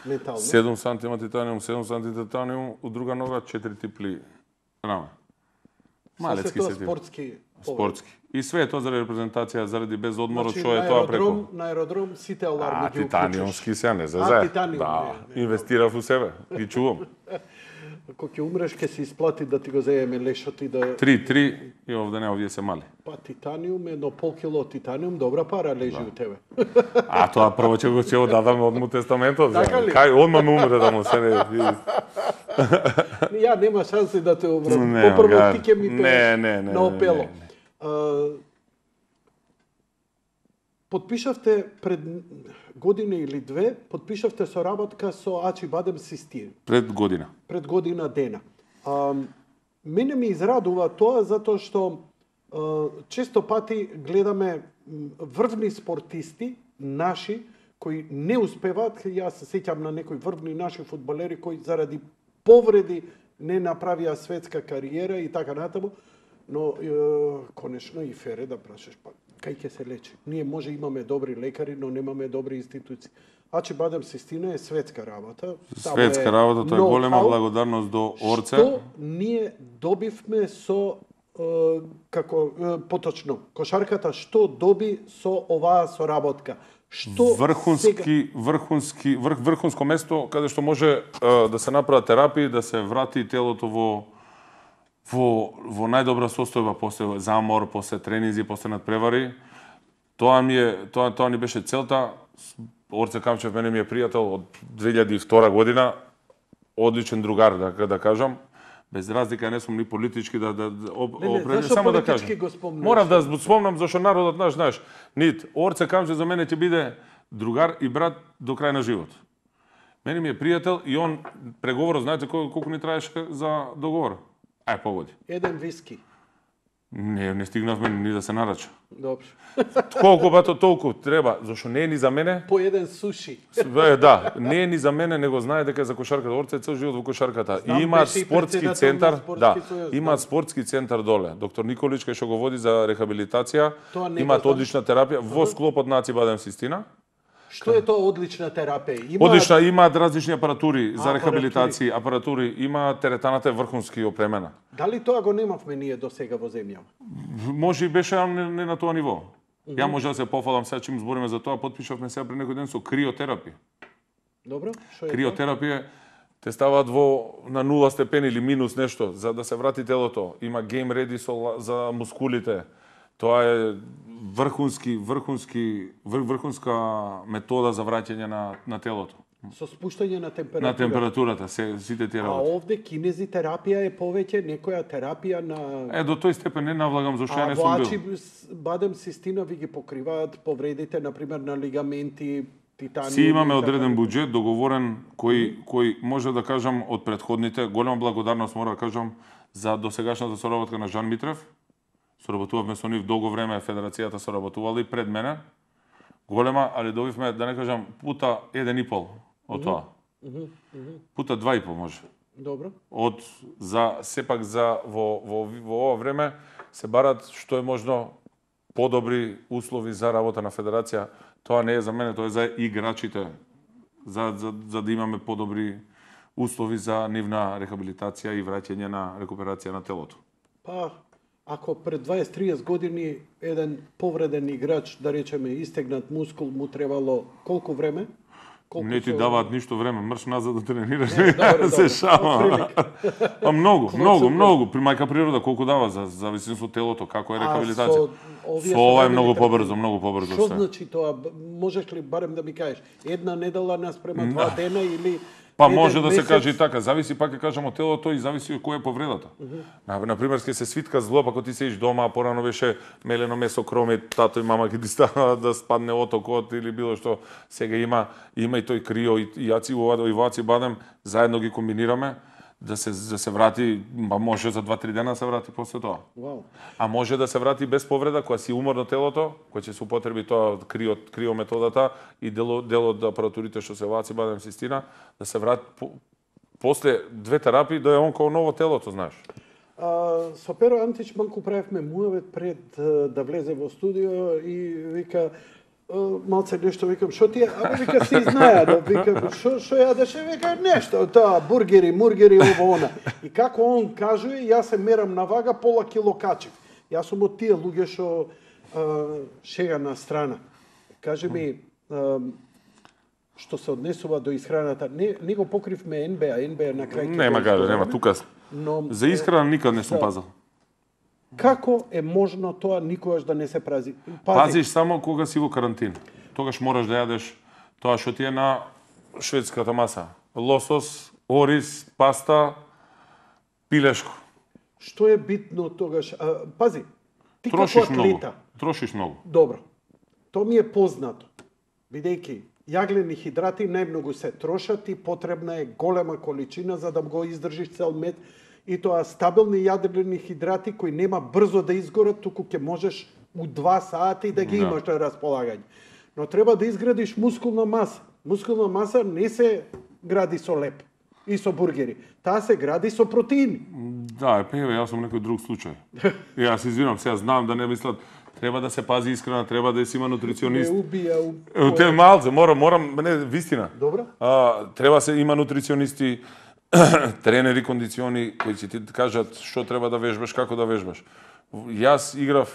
Speaker 1: ментално.
Speaker 2: седум сантима титаниум, седум сантима титаниум, у друга нога четири типли раме. Малецки се
Speaker 1: спортски.
Speaker 2: Спортски. И све е тоа заради репрезентација, заради без одморот, што
Speaker 1: значи,
Speaker 2: е тоа преку.
Speaker 1: На аеродром сите аларми
Speaker 2: а,
Speaker 1: ги
Speaker 2: титаниумски се не за
Speaker 1: а,
Speaker 2: за.
Speaker 1: титаниум,
Speaker 2: Да,
Speaker 1: не, не.
Speaker 2: инвестирав у себе, ги чувам.
Speaker 1: Ако ќе умреш, ќе се исплати да ти го земеме лешот и да...
Speaker 2: Три, три и овде не, овие се мали.
Speaker 1: Па титаниум, едно пол кило титаниум, добра пара лежи у тебе.
Speaker 2: А тоа прво ќе го ќе го дадам од му тестаментот.
Speaker 1: Така ли?
Speaker 2: Кај одма ме умре да му се не...
Speaker 1: Ја нема шанси да те умрам.
Speaker 2: Не,
Speaker 1: Попрво
Speaker 2: га-
Speaker 1: ти ќе ми
Speaker 2: не,
Speaker 1: пееш
Speaker 2: не, не,
Speaker 1: на опело.
Speaker 2: не, не.
Speaker 1: А, Подпишавте пред година или две, подпишавте соработка со Ачи Бадем Систин.
Speaker 2: Пред година.
Speaker 1: Пред година дена. А, мене ми израдува тоа затоа што а, често пати гледаме м, врвни спортисти, наши, кои не успеваат. Јас се сеќам на некои врвни наши фудбалери кои заради повреди не направија светска кариера и така натаму. Но е, конечно и фере да прашаш, па кај ќе се лечи? Ние може имаме добри лекари, но немаме добри институции. Ачи Бадем Систина е светска работа. Само
Speaker 2: Светска
Speaker 1: е
Speaker 2: работа, тоа е голема
Speaker 1: ноу-хау.
Speaker 2: благодарност до Орце.
Speaker 1: Што ние добивме со е, како е, поточно кошарката, што доби со оваа соработка? Што
Speaker 2: Врхунски, врхунски, врх, врхунско место каде што може е, да се направат терапии, да се врати телото во во во најдобра состојба после замор, после тренинзи, после надпревари. Тоа ми е тоа тоа ни беше целта. Орце Камчев мене ми е пријател од две илјади и втора година. Одличен другар, да да кажам. Без разлика не сум ни политички да да да об,
Speaker 1: Не, не,
Speaker 2: определ-
Speaker 1: зашо
Speaker 2: само да
Speaker 1: политички
Speaker 2: кажам.
Speaker 1: го спомнуваш?
Speaker 2: Морав да зб- спомнам зашто народот наш, знаеш, нит Орце Камчев за мене ќе биде другар и брат до крај на живот. Мене ми е пријател и он преговорот, знаете колку, колку ни траеше за договор? Ај погоди.
Speaker 1: Еден виски.
Speaker 2: Не, не стигнавме ни да се нарача.
Speaker 1: Добро.
Speaker 2: Колку бато толку треба, зашто не е ни за мене.
Speaker 1: По еден суши.
Speaker 2: Е, да, не е ни за мене, него знае дека е за кошарката. Орце е цел живот во кошарката.
Speaker 1: Знам,
Speaker 2: И имаат
Speaker 1: беше и
Speaker 2: спортски
Speaker 1: председател
Speaker 2: центар,
Speaker 1: на спортски
Speaker 2: да,
Speaker 1: сојуз,
Speaker 2: имаат
Speaker 1: знам.
Speaker 2: спортски центар доле. Доктор Николич кај што го води за рехабилитација,
Speaker 1: Тоа не го
Speaker 2: имаат
Speaker 1: знам.
Speaker 2: одлична терапија во склопот на Аци Бадем Систина.
Speaker 1: Што е тоа одлична терапија? Има
Speaker 2: Одлична, имаат различни апаратури за
Speaker 1: апаратури.
Speaker 2: рехабилитација, апаратури, има теретаната е врхунски опремена.
Speaker 1: Дали тоа го немавме ние до сега во земјава?
Speaker 2: Може и беше, ама не, не на тоа ниво. Ја може да се пофалам сега чим збориме за тоа, потпишавме сега пред некој ден со криотерапија.
Speaker 1: Добро? Што е тоа?
Speaker 2: Криотерапија те ставаат во на нула степени или минус нешто за да се врати телото. Има гейм реди со ла- за мускулите. Тоа е врхунски врхунски вр, врхунска метода за враќање на на телото.
Speaker 1: Со спуштање на температура.
Speaker 2: На температурата се сите тие
Speaker 1: А
Speaker 2: работи.
Speaker 1: овде кинезитерапија е повеќе некоја терапија на
Speaker 2: Е до тој степен не навлагам зашто ја
Speaker 1: А
Speaker 2: не
Speaker 1: во
Speaker 2: сум
Speaker 1: Ачи
Speaker 2: бил.
Speaker 1: Бадем Систина ви ги покриваат повредите, например, на лигаменти, титаниум.
Speaker 2: Си имаме
Speaker 1: и така
Speaker 2: одреден
Speaker 1: натаму.
Speaker 2: буџет договорен кој кој може да кажам од претходните, голема благодарност мора да кажам за досегашната соработка на Жан Митрев. Соработувавме со нив долго време, федерацијата соработувала и пред мене. Голема, али добивме, да не кажам, пута еден и пол од тоа. Пута два и пол може.
Speaker 1: Добро.
Speaker 2: Од за сепак за во во во ова време се барат што е можно подобри услови за работа на федерација. Тоа не е за мене, тоа е за играчите. За за за да имаме подобри услови за нивна рехабилитација и враќање на рекуперација на телото.
Speaker 1: Па, ако пред дваесет до триесет години еден повреден играч, да речеме, истегнат мускул, му требало колку време? Колку
Speaker 2: Не ти
Speaker 1: со-
Speaker 2: даваат ништо време, мрш назад да тренираш.
Speaker 1: Не, добро,
Speaker 2: се
Speaker 1: добро.
Speaker 2: шама.
Speaker 1: Отприлика.
Speaker 2: Па многу,
Speaker 1: Клоцо,
Speaker 2: многу,
Speaker 1: бе.
Speaker 2: многу. При мајка природа колку дава за зависи со телото, како е
Speaker 1: А
Speaker 2: рехабилитација.
Speaker 1: со овие
Speaker 2: Со ова е
Speaker 1: современи
Speaker 2: многу
Speaker 1: тренинги?
Speaker 2: побрзо, многу побрзо
Speaker 1: Што
Speaker 2: се.
Speaker 1: значи тоа? Б- Можеш ли барем да ми кажеш една недела наспрема два дена или
Speaker 2: Па
Speaker 1: еден
Speaker 2: може да се
Speaker 1: месец?
Speaker 2: каже и така, зависи пак ќе кажам од телото и зависи од која е повредата. На на пример ќе се свитка зло, па кога ти седиш дома, а порано беше мелено месо, кроми, тато и мама ќе ти става да спадне отокот или било што. Сега има има и тој крио и, и јаци во и ваци бадем, заедно ги комбинираме да се да се врати, па може за два три дена да се врати после тоа.
Speaker 1: Вау.
Speaker 2: А може да се врати без повреда, кога си уморно телото, кога ќе се употреби тоа крио, крио методата и дело, дел од апаратурите што се ваци Бадем Систина, да се врати по, после две терапии да е он како ново телото, знаеш.
Speaker 1: А, со Перо Антич малку правевме муавет пред а, да влезе во студио и вика а, малце нешто викам што ти е, абе вика си знаја, да викам што што јадеше, вика нешто, тоа бургери, мургери ово она. И како он кажува, јас се мерам на вага, пола кило качив. Јас сум од тие луѓе што а, шега на страна. Кажи ми, а, што се однесува до исхраната, не, не го покривме Ен Би А, Ен Би А на крај.
Speaker 2: Нема каде, нема тука.
Speaker 1: Но
Speaker 2: За исхрана никад не сум
Speaker 1: за-
Speaker 2: пазал.
Speaker 1: Како е можно тоа никогаш да не се прази?
Speaker 2: Пазиш само кога си во карантин. Тогаш мораш да јадеш тоа што ти е на шведската маса. Лосос, ориз, паста, пилешко.
Speaker 1: Што е битно тогаш? А, пази, ти
Speaker 2: Трошиш
Speaker 1: како
Speaker 2: многу.
Speaker 1: атлета,
Speaker 2: Трошиш многу.
Speaker 1: добро, тоа ми е познато, бидејќи јаглени хидрати најмногу се трошат и потребна е голема количина за да го издржиш цел мет, и тоа стабилни јаглени хидрати кои нема брзо да изгорат, туку ќе можеш у два сати да ги
Speaker 2: Да.
Speaker 1: имаш на располагање. Но треба да изградиш мускулна маса. Мускулна маса не се гради со леп и со бургери. Таа се гради со протеини.
Speaker 2: Да, е певе, јас сум некој друг случај. И јас извинам, сега знам да не мислат, треба да се пази исхрана, треба да си има
Speaker 1: Не
Speaker 2: нутриционист.
Speaker 1: убија у...
Speaker 2: Е, Те малце, морам, морам, не, вистина.
Speaker 1: Добро.
Speaker 2: А, треба се има нутриционисти, тренери, кондициони кои ќе ти кажат што треба да вежбаш, како да вежбаш. Јас играв,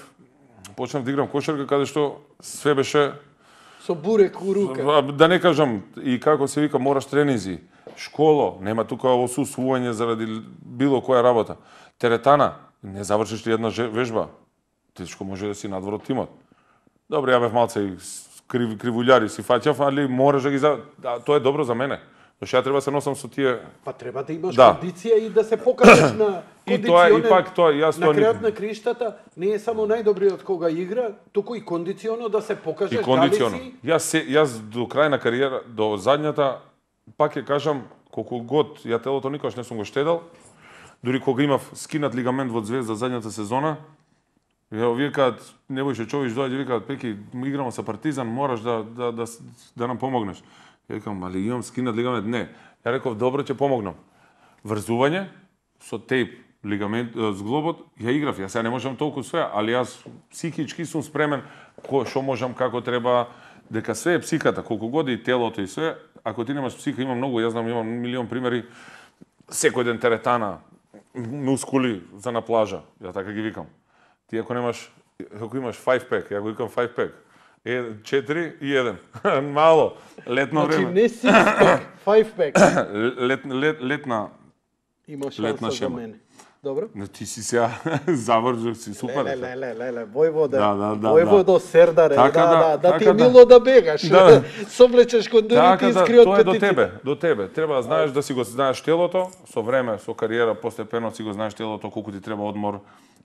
Speaker 2: почнав да играм кошарка каде што све беше,
Speaker 1: Со бурек у рука.
Speaker 2: а, да не кажам и како се вика, мораш тренинзи, школо, нема тука осуствување заради било која работа. Теретана, не завршиш ли една же- вежба, тешко може да си надвор од тимот. Добро, ја бев малце и с- крив, кривулјари си фаќав, али мораш да ги за... Да, тоа е добро за мене. Зашто ја треба да се носам со тие.
Speaker 1: Па треба да имаш
Speaker 2: Да.
Speaker 1: кондиција и да се покажеш на
Speaker 2: И тоа, и
Speaker 1: кондиционер.
Speaker 2: пак тоа, јас
Speaker 1: На
Speaker 2: тоа
Speaker 1: крајот
Speaker 2: никад-
Speaker 1: на криштата не е само најдобриот кога игра, туку и кондиционо да се покажеш
Speaker 2: И кондиционо.
Speaker 1: дали си.
Speaker 2: Јас се, јас до крај на кариера, до задњата, пак ќе кажам, колку год ја телото никогаш не сум го штедал, дури кога имав скинат лигамент во Звезда задњата сезона, ја викаат, Небојше Чович доаѓа, викаат, Пеки, ми играмо со Партизан, мораш да, да, да, да нам помогнеш. Ја викам, али имам скинат лигамент, не. Ја реков, добро, ќе помогнам. Врзување со тейп, лигамент, е, зглобот, ја играв, јас сега не можам толку све, али јас психички сум спремен, кој што можам, како треба, дека све е психата, колку годи и телото и све, ако ти немаш психа, има многу, јас знам, имам милион примери, секој ден теретана, мускули за на плажа, ја така ги викам. Ти ако немаш, ако имаш five pack, ја го викам five pack, е четири и еден. Мало, летно
Speaker 1: Значи
Speaker 2: време.
Speaker 1: не six pack, five pack.
Speaker 2: Лет, лет, летна,
Speaker 1: Има
Speaker 2: Летна
Speaker 1: шанса за
Speaker 2: шема.
Speaker 1: мене. Добро?
Speaker 2: не, ти си сега завршив си супер.
Speaker 1: Леле, леле, леле, Војвода.
Speaker 2: Да, да, да,
Speaker 1: Војводо Сердаре,
Speaker 2: Така
Speaker 1: да,
Speaker 2: да,
Speaker 1: да, да ти е
Speaker 2: така да.
Speaker 1: мило да бегаш.
Speaker 2: Да.
Speaker 1: Совлечеш кондорите
Speaker 2: Така
Speaker 1: и
Speaker 2: да,
Speaker 1: скри од
Speaker 2: тоа е до
Speaker 1: петиците.
Speaker 2: тебе, до тебе. Треба да знаеш да си го знаеш телото, со време, со кариера, постепено си го знаеш телото, колку ти треба одмор,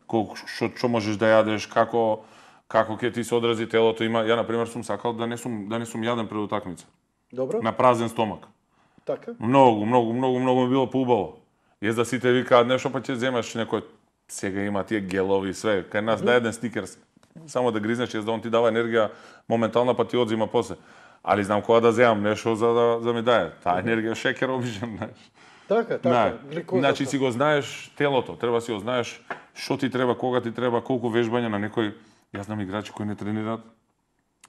Speaker 2: колку што што можеш да јадеш, како како ќе ти се одрази телото. Има, ја на пример сум сакал да не сум да не сум јаден пред утакмица,
Speaker 1: Добро?
Speaker 2: на празен стомак.
Speaker 1: Така.
Speaker 2: Многу, многу, многу, многу ми било поубаво. Јас да сите викаат нешто, па ќе земеш некој, сега има тие гелови и све, кај нас да еден стикерс, само да гризнеш, јас да он ти дава енергија моментална, па ти одзима после. Али знам кога да земам нешто за да, за ми дае. Таа енергија шекер обичам, знаеш.
Speaker 1: Така, така.
Speaker 2: Да.
Speaker 1: гликозата.
Speaker 2: Значи си го знаеш телото, треба си го знаеш што ти треба, кога ти треба, колку вежбање на некој. Јас знам играчи кои не тренираат.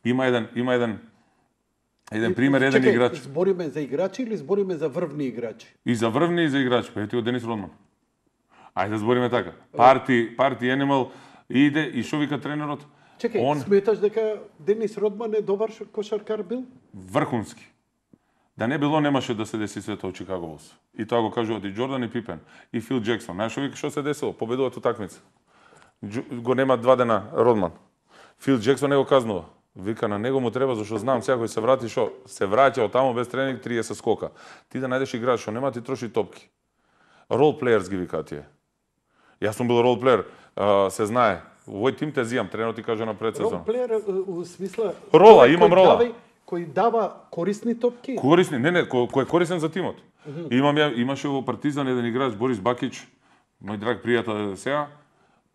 Speaker 2: Има еден, има еден еден пример, еден
Speaker 1: Чекај,
Speaker 2: играч.
Speaker 1: збориме за играчи или збориме за врвни играчи?
Speaker 2: И за врвни и за играч, па ети од Денис Родман. Ајде да збориме така. Парти, парти Animal иде и што вика тренерот?
Speaker 1: Чекај,
Speaker 2: Он
Speaker 1: сметаш дека Денис Родман е добар ш- кошаркар бил?
Speaker 2: врхунски. Да не било, немаше да се деси свето од Чикаго Булс. И тоа го кажуваат и Джордан и Пипен и Фил Джексон. Знаеш што вика што се десило? Победуваат утакмица. Джу- Го нема два дена Родман. Фил Джексон не го казнува. Вика на него му треба зашто знам сега кој се врати што се враќа од таму без тренинг триесет скока. Ти да најдеш играч што нема ти троши топки. Рол плеерс ги викаат тие. Јас сум бил рол плеер, а, се знае. Овој тим те зијам, тренерот ти каже на предсезон.
Speaker 1: Ролплеер е, у смисла...
Speaker 2: Рола,
Speaker 1: кој
Speaker 2: имам рола.
Speaker 1: дава- Кој дава корисни топки?
Speaker 2: Корисни, не, не, кој, кој е корисен за тимот. Имам ја, имаше во Партизан еден играч Борис Бакич, мој драг пријател сега,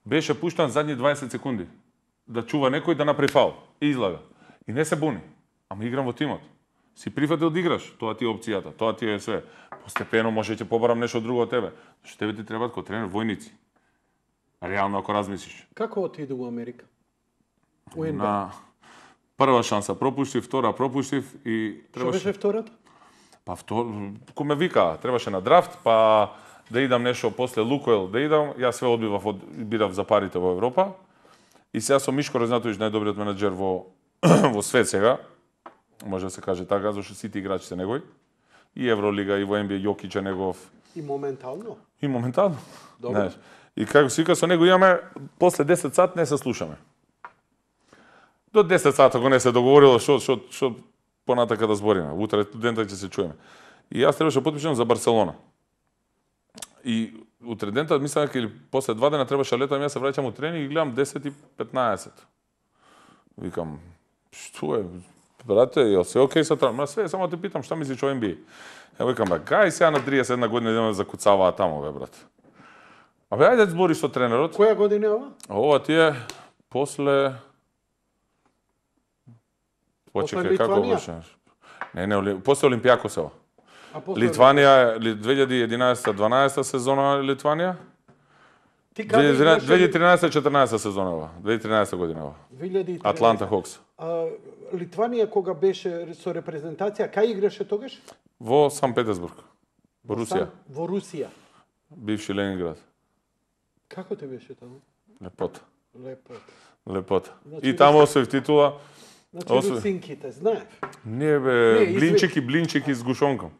Speaker 2: беше пуштан задни дваесет секунди да чува некој да направи фаул и излага. И не се буни. Ама играм во тимот. Си прифатил да играш, тоа ти е опцијата, тоа ти е све. Постепено може ќе побарам нешто друго од тебе. Што тебе ти требаат кој тренер војници. Реално ако размислиш.
Speaker 1: Како отиде у Америка? У Н Б А.
Speaker 2: На прва шанса пропуштив, втора пропуштив и
Speaker 1: Што
Speaker 2: требаше
Speaker 1: беше втората?
Speaker 2: Па втор, кој ме вика, требаше на драфт, па да идам нешто после Лукойл, да идам, јас све одбивав, од, бирав за парите во Европа. И сега со Мишко Разнатовиќ, најдобриот менаџер во во свет сега, може да се каже така, зашто сите играчи се негови. И Евролига, и во Н Б А Јокич е негов.
Speaker 1: И моментално?
Speaker 2: И моментално.
Speaker 1: Добро.
Speaker 2: Знаеш. И како си вика, со него имаме, после десет сат не се слушаме. До десет сат, ако не се договорило, што, што, што понатака да збориме. Утре студентот ќе се чуеме. И јас требаше потпишам за Барселона. И утре дента, мислам дека или после два дена требаше летам, јас се враќам у тренинг и гледам десет и петнаесет. Викам, што е, брате, јел се окей со тоа? Ма све, само те питам, што мислиш о Н Б А? Ја викам, бе, гај сега на триесет и една година идеме да закуцаваа таму, бе, брат. Абе, ајде да збориш со тренерот.
Speaker 1: Која година е ова?
Speaker 2: Ова ти е после... Почекај, како беше? Не, не, после Олимпијакос ова. Литванија е две илјади и единаесета дванаесета сезона Литванија.
Speaker 1: Ти
Speaker 2: две илјади и тринаесета четрнаесета сезона ова. две илјади и тринаесета година ова.
Speaker 1: две илјади и тринаесета.
Speaker 2: Атланта Хокс.
Speaker 1: А, Литванија кога беше со репрезентација, кај играше тогаш?
Speaker 2: Во Сан Петерсбург. Во Русија.
Speaker 1: Во Русија.
Speaker 2: Бивши Ленинград.
Speaker 1: Како те беше таму?
Speaker 2: Лепота.
Speaker 1: Лепота.
Speaker 2: Лепота.
Speaker 1: Значи,
Speaker 2: И таму освоив титула.
Speaker 1: Значи,
Speaker 2: Освој-
Speaker 1: русинките, знаев.
Speaker 2: Не бе,
Speaker 1: Не, извини.
Speaker 2: блинчики, блинчики с гушонком.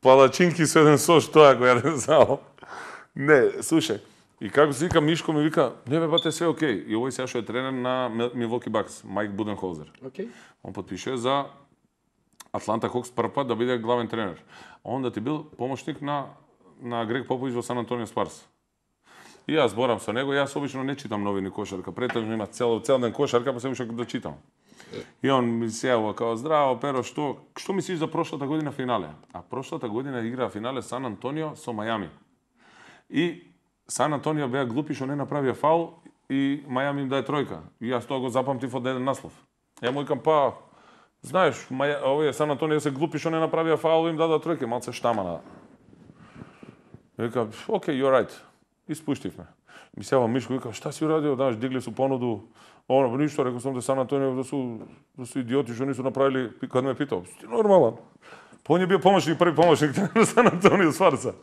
Speaker 2: Палачинки со еден сош, тоа го јадем само. Не, слушај. И како се вика Мишко ми вика, не бе бате све окей. И овој сега што е тренер на Милвоки Бакс, Майк Буденхолзер.
Speaker 1: Окей.
Speaker 2: Он потпише за Атланта Хокс прв пат да биде главен тренер. А он да ти бил помошник на на Грег Попович во Сан Антонио Спарс. И јас зборам со него, јас обично не читам новини кошарка, претежно има цел цел ден кошарка, па се уште да читам. И он ми се јавува као здраво Перо, што што мислиш за прошлата година финале? А прошлата година игра финале Сан Антонио со Мајами. И Сан Антонио беа глупи што не направија фаул и Мајами им даде тројка. И јас тоа го запамтив од еден наслов. Ја му викам па знаеш, Маја, овие Сан Антонио се глупи што не направија фаул и им дадоа тројка, малце штамана. Викам, окей, you're right. И спуштивме. Ми се јава Мишко, вика, шта си урадио, знаеш, дигли су понуду. Оно, ништо, рекол сум да Сан Антонио да су да су идиоти што нису направили, кога ме питал, ти нормален. По он е бил помошник, први помошник на Сан Антонио Спарса.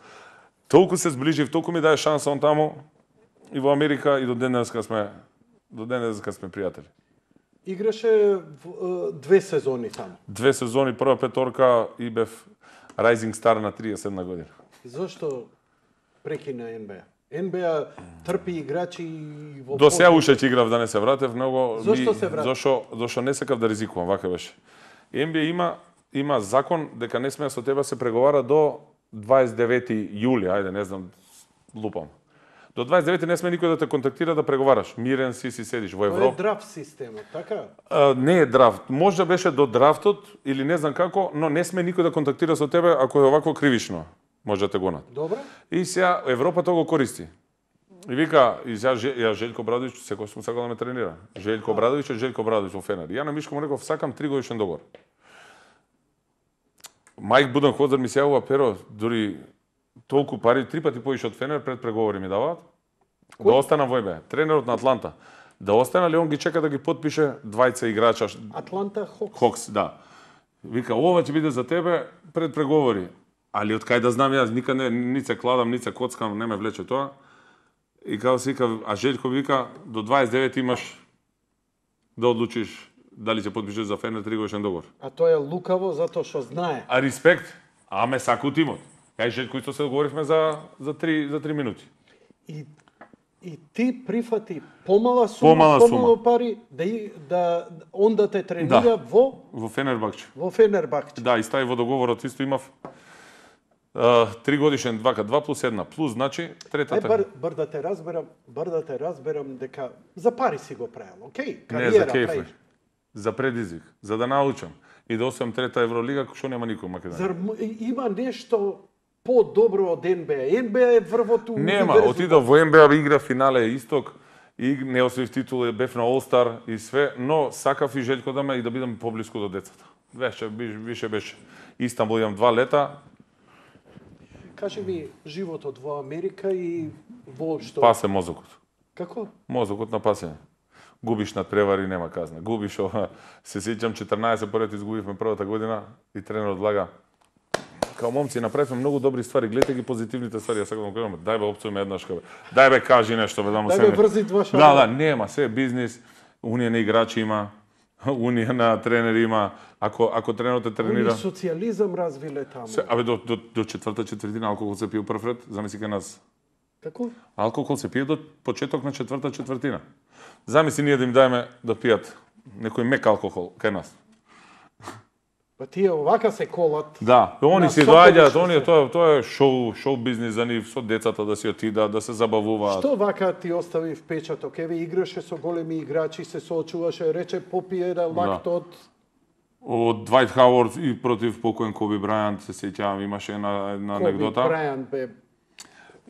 Speaker 2: Толку се зближив, толку ми даде шанса он таму и во Америка и до денеска сме до денеска сме пријатели.
Speaker 1: Играше в, е, две сезони таму.
Speaker 2: Две сезони, прва петорка и бев Rising Star на триесет и една година.
Speaker 1: Зошто прекина Н Б А? Н Б А трпи играчи и во
Speaker 2: До сега
Speaker 1: позна-
Speaker 2: уште ќе играв да не се вратев, многу
Speaker 1: Зошто се врати?
Speaker 2: Зошто зошто не сакав да ризикувам, вака беше. Н Б А има има закон дека не смее со тебе се преговара до дваесет и девети јули, ајде не знам, лупам. До дваесет и девети не смее никој да те контактира да преговараш. Мирен си си седиш во
Speaker 1: Тоа е
Speaker 2: Европа.
Speaker 1: драфт системот, така?
Speaker 2: А, не е драфт. Може да беше до драфтот или не знам како, но не сме никој да контактира со тебе ако е овакво кривично. Може да те гонат.
Speaker 1: Добро?
Speaker 2: И сега Европа тоа го користи. И вика, и сега Же- ја Желјко Брадовиќ, секој сум сакал да ме тренира. Желјко Брадовиќ е Желјко Брадовиќ во Фенер. И ја на Мишко му реков, сакам три годишен договор. Мајк Буденхолзер ми се јавува, Перо, дури толку пари, три пати поише од Фенер пред преговори ми даваат. Да останам во Н Б А. Тренерот на Атланта. Да остана ли он ги чека да ги потпише двајца играча.
Speaker 1: Атланта Хокс.
Speaker 2: Хокс, да. Вика, ова ќе биде за тебе пред преговори. Али од кај да знам јас, никад не, ни се кладам, ни се коцкам, не ме влече тоа. И као се вика, а Желјко вика, до дваесет и девети имаш да одлучиш дали ќе потпишеш за Фенер тригодишен договор.
Speaker 1: А тоа е лукаво затоа што знае.
Speaker 2: А респект, а ме сака у тимот. Кај Желјко исто се договоривме за за три за три минути.
Speaker 1: И и ти прифати помала сума,
Speaker 2: Помала
Speaker 1: помало
Speaker 2: сума.
Speaker 1: пари да и- да он да те тренира
Speaker 2: Да.
Speaker 1: во
Speaker 2: Во Фенербахче.
Speaker 1: во Фенербахче.
Speaker 2: Да, и стави во договорот исто имав а, три годишен двака, два плюс една, плюс значи
Speaker 1: Ај
Speaker 2: третата.
Speaker 1: бар, бар да те разберам, бар да те разберам дека за пари си го правил, окей?
Speaker 2: Не за
Speaker 1: Кариера
Speaker 2: кеф,
Speaker 1: правиш.
Speaker 2: за предизвик, за да научам и да освојам трета Евролига, што нема никој во Македонија.
Speaker 1: Зар м- и- има нешто по-добро од Н Б А? Н Б А е врвото
Speaker 2: Нема,
Speaker 1: универзум.
Speaker 2: отидов во Н Б А, игра финале Исток, и не освоив титула, бев на All-Star и све, но сакав и Желјко да ме и да бидам поблиску до децата. Веше, биш- више беше. Истанбул имам два лета,
Speaker 1: Кажи ми животот во Америка и воопшто.
Speaker 2: пасе мозокот.
Speaker 1: Како?
Speaker 2: Мозокот на пасење. Губиш над превари, нема казна. Губиш ова. Се сеќам четрнаесет поред изгубивме првата година и тренерот влага. Као момци направивме многу добри ствари, гледате ги позитивните ствари, ја сакам да кажам, дај бе опцујме еднаш бе. Дај бе кажи нешто бе да му
Speaker 1: Дај
Speaker 2: се.
Speaker 1: бе врзи два шага.
Speaker 2: Да, да, нема, се е бизнис, унија на играчи има. унија на тренери има, ако ако тренерот те тренира.
Speaker 1: Они социјализам развиле таму.
Speaker 2: Се, абе до до до четврта четвртина алкохол се пие прв ред, замисли кај нас.
Speaker 1: Како?
Speaker 2: Алкохол се пие до почеток на четврта четвртина. Замисли ние да им даеме да пијат некој мек алкохол кај нас.
Speaker 1: Па тие овака се колат.
Speaker 2: Да, они
Speaker 1: На
Speaker 2: се
Speaker 1: сокови
Speaker 2: доаѓаат,
Speaker 1: што
Speaker 2: они
Speaker 1: се.
Speaker 2: тоа тоа е шоу, шоу бизнис за нив, со децата да си отидат, да се забавуваат.
Speaker 1: Што вака ти остави впечаток? Еве играше со големи играчи, се соочуваше, рече попие да лактот.
Speaker 2: Од Двајт Хауард и против покоен Коби Брајант, се сеќавам, имаше една, една
Speaker 1: Коби
Speaker 2: анекдота.
Speaker 1: Брајант бе.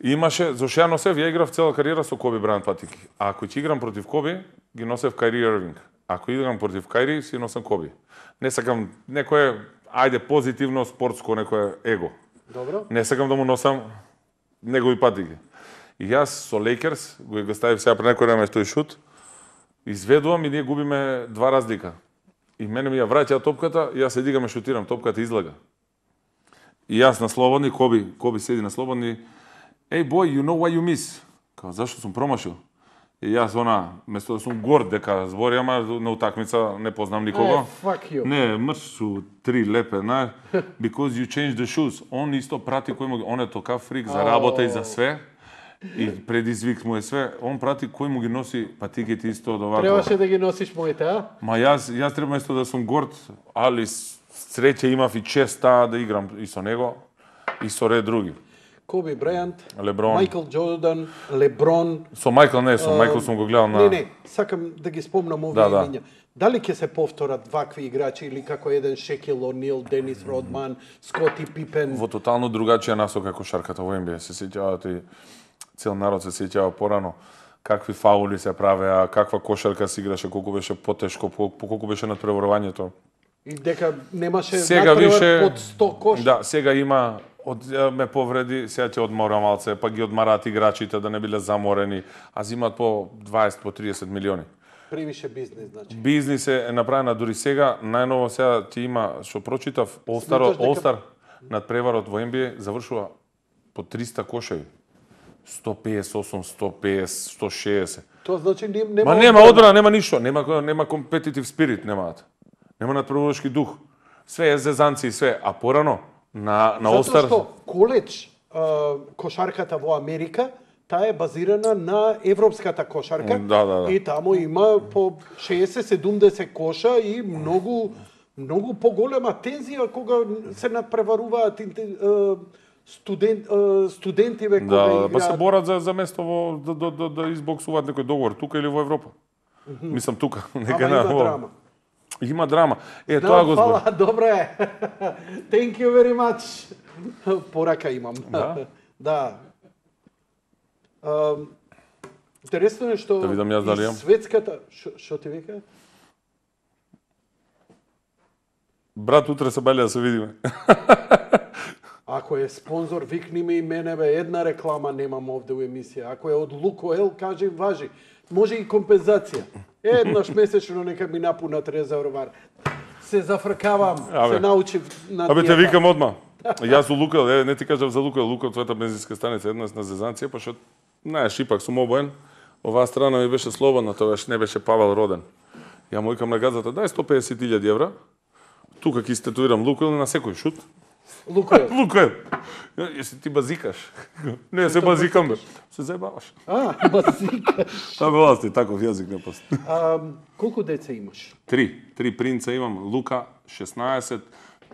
Speaker 2: Имаше, зашто ја носев, ја играв цела кариера со Коби Брајант патики. А ако ќе играм против Коби, ги носев Кајри Ирвинг. Ако играм против Кајри, си носам Коби. Не сакам некое, ајде позитивно, спортско, некое его.
Speaker 1: Добро.
Speaker 2: Не сакам да му носам негови патики. И јас со Лейкерс, го го ставив сега пред некој време тој шут, изведувам и ние губиме два разлика. И мене ми ја враќа топката, и јас се дигам и шутирам, топката излага. И јас на слободни, Коби, Коби седи на слободни, "Hey boy, you know why you miss?" Као, зашто сум промашил? И јас она, место да сум горд дека збори, ама на утакмица не познам никого.
Speaker 1: Е, fuck you.
Speaker 2: Не, мрш су три лепе, знаеш, because you changed the shoes. Он исто прати кој му, он е тока фрик за работа и за све. И предизвик му е све, он прати кој му ги носи патиките исто од овако.
Speaker 1: Требаше да ги носиш моите, а?
Speaker 2: Ма јас, јас треба место да сум горд, али среќа имав и честа да играм и со него, и со ред други.
Speaker 1: Коби Брајант,
Speaker 2: Леброн.
Speaker 1: Майкл Джордан, Леброн.
Speaker 2: Со Мајкл не, со Мајкл сум го гледал на...
Speaker 1: Не, не, сакам да ги спомнам овие
Speaker 2: Да, да.
Speaker 1: имиња. Дали ќе се повторат вакви играчи или како еден Шекил О'Нил, Денис Родман, Скоти Пипен?
Speaker 2: Во тотално другачија насока кошарката во Н Б А. Се сеќавате и цел народ се сеќава порано какви фаули се правеа, каква кошарка се играше, колку беше потешко, колку беше надпреварувањето.
Speaker 1: И дека немаше
Speaker 2: Сега
Speaker 1: натпревар
Speaker 2: више
Speaker 1: под сто кош.
Speaker 2: Да, сега има од ме повреди, сега ќе одмора малце, па ги одмараат играчите да не биле заморени, а зимаат по дваесет по триесет милиони.
Speaker 1: Превише бизнес, значи.
Speaker 2: Бизнис е направена дури сега, најново сега ти има, што прочитав, All-Star,
Speaker 1: Сметаш дека-
Speaker 2: All-Star надпреварот во Н Б А завршува по триста кошеви. сто песет и осум, сто песет, сто шеесет.
Speaker 1: Тоа значи нем- нема
Speaker 2: Ма нема
Speaker 1: одбрана.
Speaker 2: одбрана, нема ништо, нема нема компетитив спирит, немаат. Нема надпреварувачки дух. Све е зезанци и све, а порано на на
Speaker 1: Затоа
Speaker 2: All-Star
Speaker 1: што коледж а, кошарката во Америка, таа е базирана на европската кошарка.
Speaker 2: Да, да, да.
Speaker 1: И таму има по шеесет седумдесет коша и многу многу поголема тензија кога се надпреваруваат инте- а, студент а, студентиве кога
Speaker 2: Да,
Speaker 1: играат.
Speaker 2: па се борат за за место во да да да, да избоксуваат некој договор тука или во Европа. Мислам тука, нека
Speaker 1: Ама
Speaker 2: на
Speaker 1: има
Speaker 2: во-
Speaker 1: драма.
Speaker 2: Има драма. Е,
Speaker 1: Да,
Speaker 2: тоа го збор.
Speaker 1: фала, добро е. Thank you very much. Порака имам.
Speaker 2: Да?
Speaker 1: Да. Ам, интересно е што
Speaker 2: Да видам јас дали
Speaker 1: и
Speaker 2: имам.
Speaker 1: светската, што што ти вика?
Speaker 2: Брат, утре се бајле да се видиме.
Speaker 1: Ако е спонзор, викни ми и мене, бе, една реклама немам овде у емисија. Ако е од Лукоел, кажи важи. Може и компензација. Еднаш месечно нека ми напунат резервоар. Се зафркавам,
Speaker 2: Абе.
Speaker 1: се научив на
Speaker 2: Абе те
Speaker 1: диета.
Speaker 2: викам одма. Јас у Лукел, е, не ти кажав за Лукел, Лукел твојата бензинска станица еднаш на зезанција, па што знаеш, ипак сум обоен. Оваа страна ми беше слободна, тогаш не беше Павел роден. Ја му викам на газата, дај сто песет илјади евра. Тука ќе статуирам Лукел на секој шут.
Speaker 1: Лукоел.
Speaker 2: Лукел. Јеси ти базикаш? Не, се базикам бе. Се заебаваш.
Speaker 1: А, базика.
Speaker 2: Та бе ласти, таков јазик не пост.
Speaker 1: А, колку деца имаш?
Speaker 2: Три. Три принца имам. Лука шеснаесет,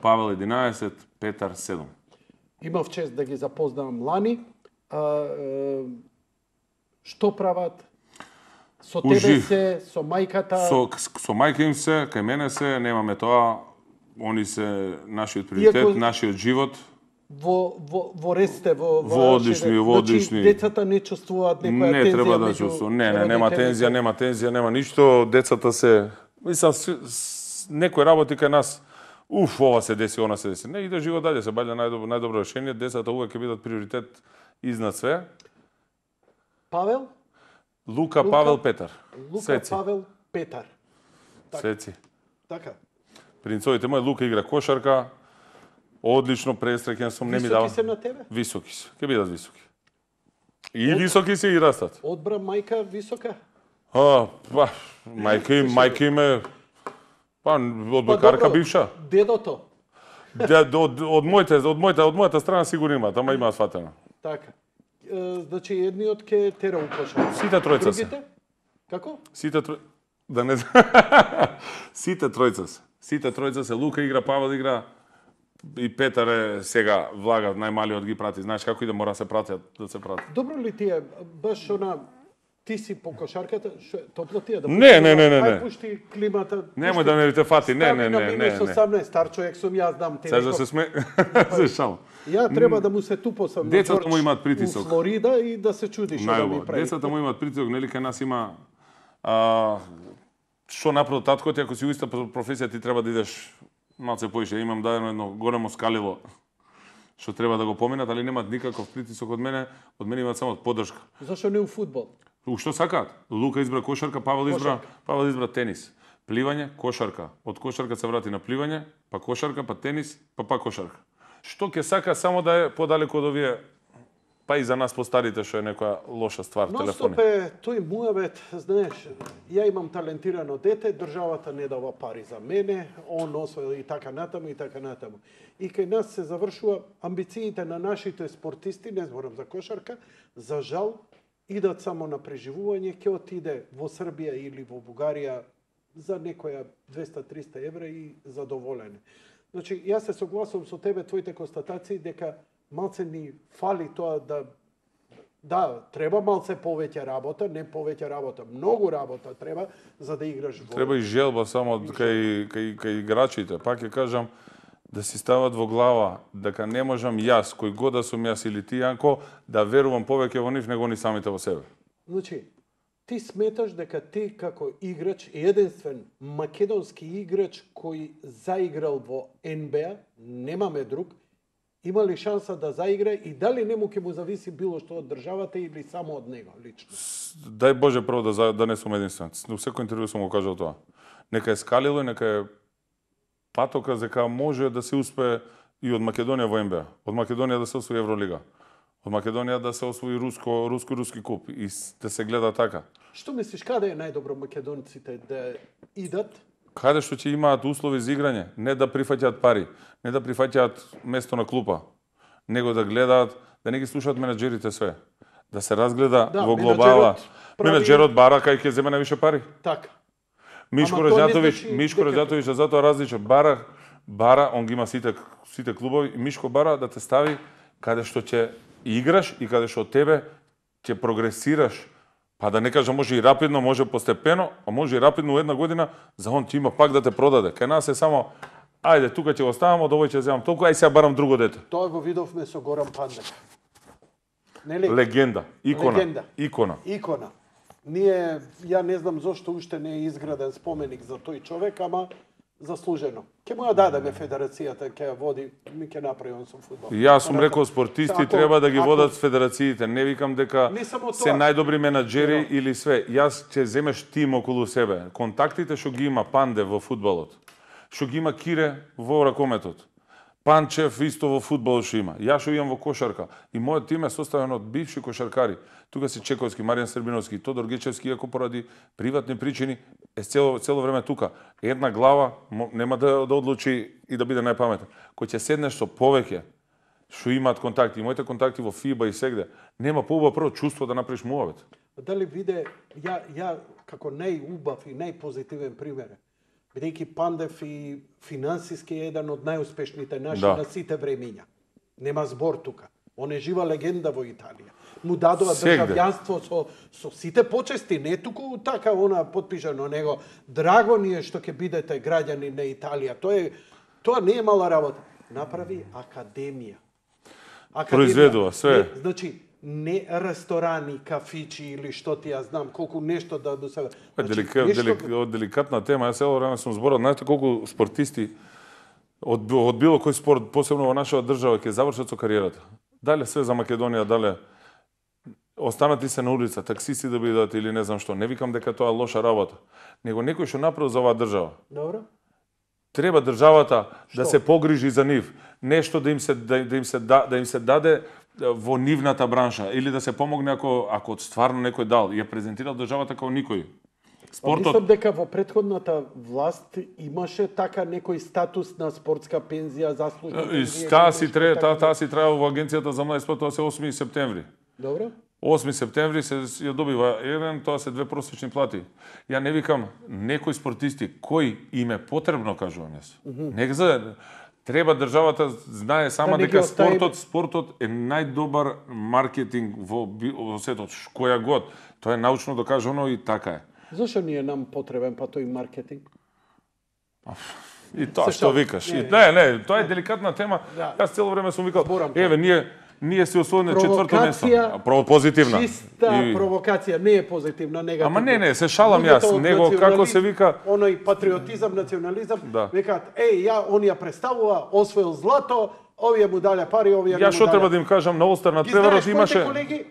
Speaker 2: Павел единаесет, Петар седум.
Speaker 1: Имав чест да ги запознавам лани. А, е, што прават? Со тебе
Speaker 2: Ужив.
Speaker 1: се, со мајката?
Speaker 2: Со, со мајка им се, кај мене се, немаме тоа. Они се нашиот приоритет,
Speaker 1: Иако-
Speaker 2: нашиот живот.
Speaker 1: Во, во, во ресте, во,
Speaker 2: Во
Speaker 1: вашите-
Speaker 2: одлични, во одлични.
Speaker 1: Значи, децата не чувствуваат некоја
Speaker 2: Не
Speaker 1: тензија
Speaker 2: треба да
Speaker 1: меѓу
Speaker 2: чувствувам. Не, не, нема
Speaker 1: родителите?
Speaker 2: тензија, нема тензија, нема ништо. Децата се, мислам, с- с- некој работи кај нас. Уф, ова се деси, она се деси. Не, иде живот дале, се баѓа најдобро, најдобро решение. Децата увек ќе бидат приоритет изнад све.
Speaker 1: Павел?
Speaker 2: Лука,
Speaker 1: Лука,
Speaker 2: Павел, Петар.
Speaker 1: Лука,
Speaker 2: Светци.
Speaker 1: Павел, Петар. Така.
Speaker 2: Светци.
Speaker 1: Така.
Speaker 2: Принцовите мој, Лука игра кошарка. Одлично пресреќен сум, не ми
Speaker 1: Високи
Speaker 2: дава.
Speaker 1: се на тебе?
Speaker 2: Високи се, ќе бидат високи. И високи се и растат.
Speaker 1: Одбра мајка висока?
Speaker 2: А, па, мајка им, мајка им е Па од бекарка бивша.
Speaker 1: Дедото.
Speaker 2: Дед, од, од моите, од моите, од мојата страна сигурно имаат, ама имаат фатено.
Speaker 1: Така. Е, значи едниот ке тера у кошар.
Speaker 2: Сите тројца се.
Speaker 1: Другите? Како?
Speaker 2: Сите трој... Да не Сите тројца се. Сите тројца се. Лука игра, Павел игра и Петар е сега влага, најмалиот ги прати. Знаеш како и да мора да се пратат, да се прати.
Speaker 1: Добро ли ти е баш она ти си по кошарката, шо, топло ти е да
Speaker 2: Не, не, не, не,
Speaker 1: Ај
Speaker 2: не.
Speaker 1: пушти климата.
Speaker 2: Немој да не те фати. Не, не, не, не, не.
Speaker 1: осамнаесет стар човек сум, јас знам ти.
Speaker 2: Сега да се сме се шал.
Speaker 1: Ја треба да му се тупосам на
Speaker 2: Децата
Speaker 1: Џорџ
Speaker 2: му имаат притисок.
Speaker 1: у Флорида и да се чуди што да ми
Speaker 2: Најубаво.
Speaker 1: прави.
Speaker 2: Децата му имаат притисок, нели кај нас има а, што направил татко ти, ако си у иста професија ти треба да идеш малце поише. Имам дадено едно големо скалило што треба да го поминат, али немаат никаков притисок од мене, од мене имаат само поддршка.
Speaker 1: Зашо не у фудбал?
Speaker 2: У што сакаат? Лука избра кошарка, Павел избра, Павел избра тенис. Пливање, кошарка. Од кошарка се врати на пливање, па кошарка, па тенис, па па кошарка. Што ќе сака само да е подалеку од овие, па и за нас постарите што е некоја лоша ствар,
Speaker 1: Но
Speaker 2: телефони.
Speaker 1: стоп е тој муавет, знаеш, ја имам талентирано дете, државата не дава пари за мене, он освоил и така натаму и така натаму. И кај нас се завршува амбициите на нашите спортисти, не зборам за кошарка, за жал идат само на преживување, ќе отиде во Србија или во Бугарија за некоја двеста-триста евра и задоволене. Значи, јас се согласувам со тебе, твоите констатации, дека малце ни фали тоа да да, треба малце повеќе работа, не повеќе работа, многу работа треба за да играш во.
Speaker 2: Треба и желба само кај, кај, кај играчите. Пак ќе кажам, да си стават во глава дека не можам јас, кој god да сум јас или ти, Јанко, да верувам повеќе во нив него ни самите во себе.
Speaker 1: Значи, ти сметаш дека ти како играч, единствен македонски играч кој заиграл во Ен Бе А, немаме друг, има ли шанса да заигра и дали не му ќе му зависи било што од државата или само од него лично?
Speaker 2: Дај Боже прво да, за- да не сум единствен. У секој интервју сум го кажал тоа. Нека е скалило и нека е патока дека може да се успее и од Македонија во Ен Бе А. Од Македонија да се освои Евролига. Од Македонија да се освои руско руско руски куп и с- да се гледа така.
Speaker 1: Што мислиш, каде е најдобро македонците да идат?
Speaker 2: Каде што ќе имаат услови за играње, не да прифаќаат пари, не да прифаќаат место на клупа, него да гледаат, да не ги слушаат менаџерите све. Да се разгледа
Speaker 1: Да,
Speaker 2: во
Speaker 1: менаџерот
Speaker 2: глобала.
Speaker 1: прави-
Speaker 2: Менаџерот бара кај ќе земе највише пари.
Speaker 1: Така.
Speaker 2: Мишко
Speaker 1: Ама тоа не
Speaker 2: Раđatović,
Speaker 1: значи
Speaker 2: Мишко
Speaker 1: дека-
Speaker 2: Раđatović е затоа различен. Бара, бара, он ги има сите сите клубови и Мишко бара да те стави каде што ќе играш и каде што тебе ќе прогресираш. Па да не кажам може и рапидно, може постепено, а може и рапидно у една година, за он ќе има пак да те продаде. Кај нас е само ајде тука ќе го ставам, од овој ќе земам толку, ај сега барам друго дете.
Speaker 1: Тоа го видовме со Горан Пандек. Нели?
Speaker 2: Легенда, икона,
Speaker 1: Легенда.
Speaker 2: икона.
Speaker 1: Икона. Ние, ја не знам зошто уште не е изграден споменик за тој човек, ама заслужено. Ке му ја дадеме федерацијата, ке ја води, ми ке направи он со фудбал.
Speaker 2: Јас сум рекол спортисти
Speaker 1: Ако-
Speaker 2: треба да ги
Speaker 1: ако-
Speaker 2: водат федерациите. Не викам дека
Speaker 1: Не само
Speaker 2: се
Speaker 1: тоа.
Speaker 2: најдобри менаџери или све. Јас ќе земеш тим околу себе. Контактите што ги има Панде во фудбалот, што ги има Кире во ракометот, Панчев исто во фудбалот што има. Јас што имам во кошарка. И мојот тим е составен од бивши кошаркари. Тука си Чековски, Маријан Србиновски, Тодор Гечевски, иако поради приватни причини е цело, цело време тука. Една глава мо- нема да, да одлучи и да биде најпаметен. Кој ќе седнеш со повеќе што имаат контакти, и моите контакти во ФИБА и сегде, нема поубаво прво чувство да направиш муавет.
Speaker 1: Дали виде, ја, ја како најубав и најпозитивен пример, бидејќи Пандев и финансиски е еден од најуспешните наши
Speaker 2: Да.
Speaker 1: на сите времиња. Нема збор тука. Он е жива легенда во Италија. Му дадоа
Speaker 2: Сегде.
Speaker 1: државјанство со, со сите почести, не туку така она потпишано, него драго ни е што ќе бидете граѓани на Италија. Тоа е тоа не е мала работа. Направи академија. Академија.
Speaker 2: Произведува све.
Speaker 1: Не, значи, не ресторани, кафичи или што ти ја знам, колку нешто да до себе.
Speaker 2: Е, делика, делик, од деликатна тема, јас цело време сум зборал, знаете колку спортисти од, од било кој спорт, посебно во нашата држава, ќе завршат со кариерата. Дале све за Македонија, дале останати се на улица, таксисти да бидат или не знам што. Не викам дека тоа е лоша работа, него некој што направил за оваа држава.
Speaker 1: Добро.
Speaker 2: Треба државата да
Speaker 1: Што?
Speaker 2: се погрижи за нив, нешто да им се да, да им се да, да им се даде во нивната бранша или да се помогне ако ако стварно некој дал, ја презентирал државата како никој. Спортот...
Speaker 1: Мислам дека во претходната власт имаше така некој статус на спортска пензија, заслужна пензија.
Speaker 2: Таа си треба, таа таа си треба во агенцијата за млади спорт, тоа се осми септември.
Speaker 1: Добро.
Speaker 2: осми септември се ја добива еден, тоа се две просечни плати. Ја не викам некои спортисти кој им е потребно, кажувам јас. Mm -hmm. Нека за треба државата знае сама
Speaker 1: да
Speaker 2: дека спортот, спортот е најдобар маркетинг во, во светот, која год. Тоа е научно докажано и така е.
Speaker 1: Зошто ни е нам потребен па тој маркетинг?
Speaker 2: И тоа што викаш. Не, не, не, тоа е деликатна тема.
Speaker 1: Да.
Speaker 2: Јас цело време сум викал,
Speaker 1: Зборам,
Speaker 2: еве, ние ние се освоиме четврто место. Право позитивна.
Speaker 1: Чиста и... провокација, не е позитивна, негативна.
Speaker 2: Ама не, не, се шалам јас, него како се вика,
Speaker 1: оној патриотизам, национализам,
Speaker 2: да.
Speaker 1: Викаат, еј, ја он ја представува, освоил злато, овие му дале пари, овие не му дале.
Speaker 2: Ја што треба да им кажам, на Олстар на преварот имаше.
Speaker 1: Колеги,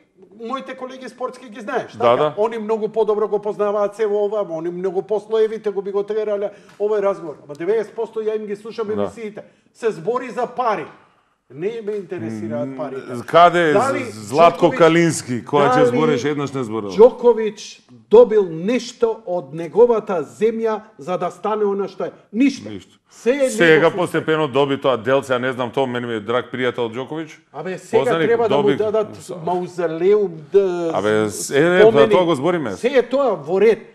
Speaker 1: моите колеги спортски ги знаеш,
Speaker 2: да,
Speaker 1: така?
Speaker 2: Да.
Speaker 1: Они многу подобро го познаваат се во ова, они многу послоевите го би го трерале овој разговор. Ама деветдесет проценти ја им ги слушам емисиите. Се збори за пари. Не ме интересираат парите.
Speaker 2: Каде е Златко Джокович, Калински, која ќе збореше, еднаш не зборел?
Speaker 1: Джокович добил нешто од неговата земја за да стане она што е. Ништо.
Speaker 2: Ништо.
Speaker 1: Се е
Speaker 2: сега постепено доби тоа делце, а не знам, тоа мене ми е драг пријател Джокович.
Speaker 1: Абе сега Познаник, треба доби... да му дадат маузелеум, да
Speaker 2: Абе, е, е, тоа го збориме.
Speaker 1: Се е тоа во ред.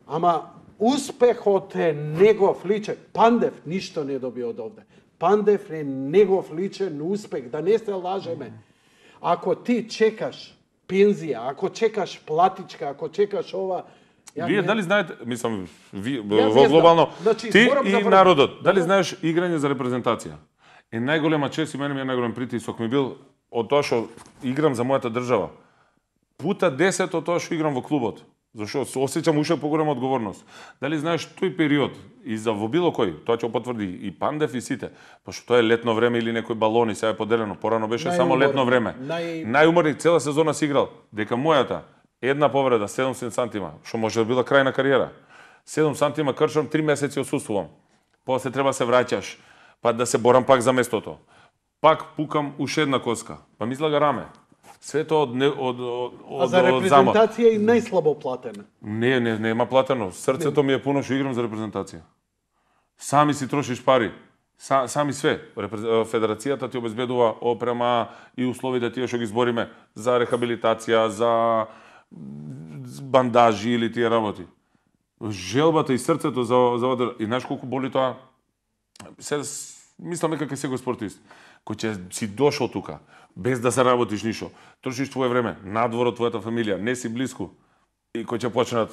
Speaker 1: Ама успехот е негов личен. Пандев ништо не доби од овде. Пандев е негов личен успех, да не се лажеме. Ако ти чекаш пензија, ако чекаш платичка, ако чекаш ова...
Speaker 2: Вие не... дали знаете, мислам, ви, во глобално, значи, ти и народот, дали знаеш играње за репрезентација? Е најголема чест и мене ми е најголем притисок ми бил од тоа што играм за мојата држава. Пута десет од тоа што играм во клубот. Зашо се осеќам уште поголема одговорност. Дали знаеш тој период и за во било кој, тоа ќе потврди и Пандев и сите, пошто тоа е летно време или некој балони, сега е поделено, порано беше само летно време. Нај... Најуморни цела сезона си играл, дека мојата една повреда седумдесет сантима, што може да била крај на кариера. седум сантима кршам, три месеци отсуствувам. После треба се враќаш, па да се борам пак за местото. Пак пукам уште една коска, па ми излага раме. Свето од од од
Speaker 1: од А за репрезентација и најслабо платена.
Speaker 2: Не, не, нема платено. Срцето ми е пуно што играм за репрезентација. Сами си трошиш пари. Са, сами све. Федерацијата ти обезбедува опрема и условите тие што ги збориме за рехабилитација, за бандажи или тие работи. Желбата и срцето за за и знаеш колку боли тоа. Се мислам дека секој спортист кој ќе си дошол тука без да се работиш ништо, трошиш твое време надвор од твојата фамилија, не си блиску и кој ќе почнат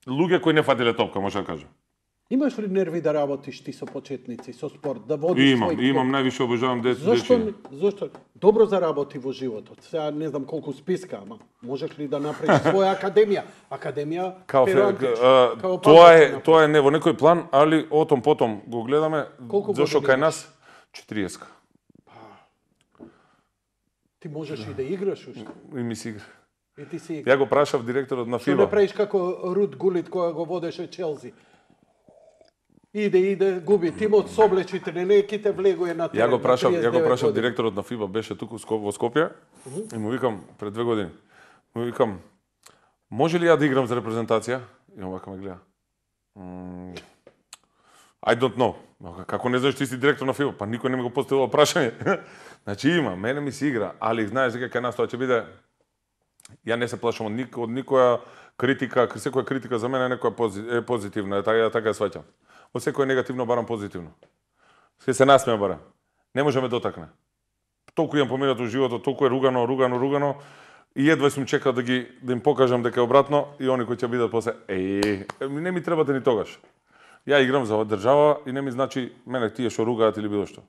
Speaker 2: луѓе кои не фатиле топка, може да кажам.
Speaker 1: Имаш ли нерви да работиш ти со почетници, со спорт, да водиш
Speaker 2: имам, свој Имам, имам, највише обожавам деци.
Speaker 1: Зошто, зошто добро заработи во животот? Сега не знам колку списка, ама можеш ли да направиш своја академија? Академија
Speaker 2: као, као тоа е тоа е не во некој план, али отом потом го гледаме зашто кај нас четириесет.
Speaker 1: Ти можеш и да играш уште.
Speaker 2: И ми си игра.
Speaker 1: И ти си игра.
Speaker 2: Ја го прашав директорот на ФИБА.
Speaker 1: Што не правиш како Рут Гулит која го водеше Челси? Иде, иде, губи. Тимот со облечите, не неките влегуе на терен.
Speaker 2: Ја го прашав, ја го прашав директорот на ФИБА, беше туку во Скопје, uh -huh. и му викам пред две години. Му викам, може ли ја да играм за репрезентација? И он вака ме гледа. Mm, I don't know. Како не знаеш ти си директор на ФИБА? Па никој не ми го поставил прашање. Значи има, мене ми се игра, али знаеш дека кај нас тоа ќе биде. Ја не се плашам од, ник, од никоја критика, секоја критика за мене е некоја пози, е позитивна, е така, така ја сваќам. Од секој негативно барам позитивно. Се се насмеа барам. Не може ме дотакне. Толку имам поминато во животот, толку е ругано, ругано, ругано и едва сум чекал да ги да им покажам дека е обратно и они кои ќе бидат после е, не ми требате ни тогаш. Ја играм за држава и не ми значи мене тие што ругаат или било што.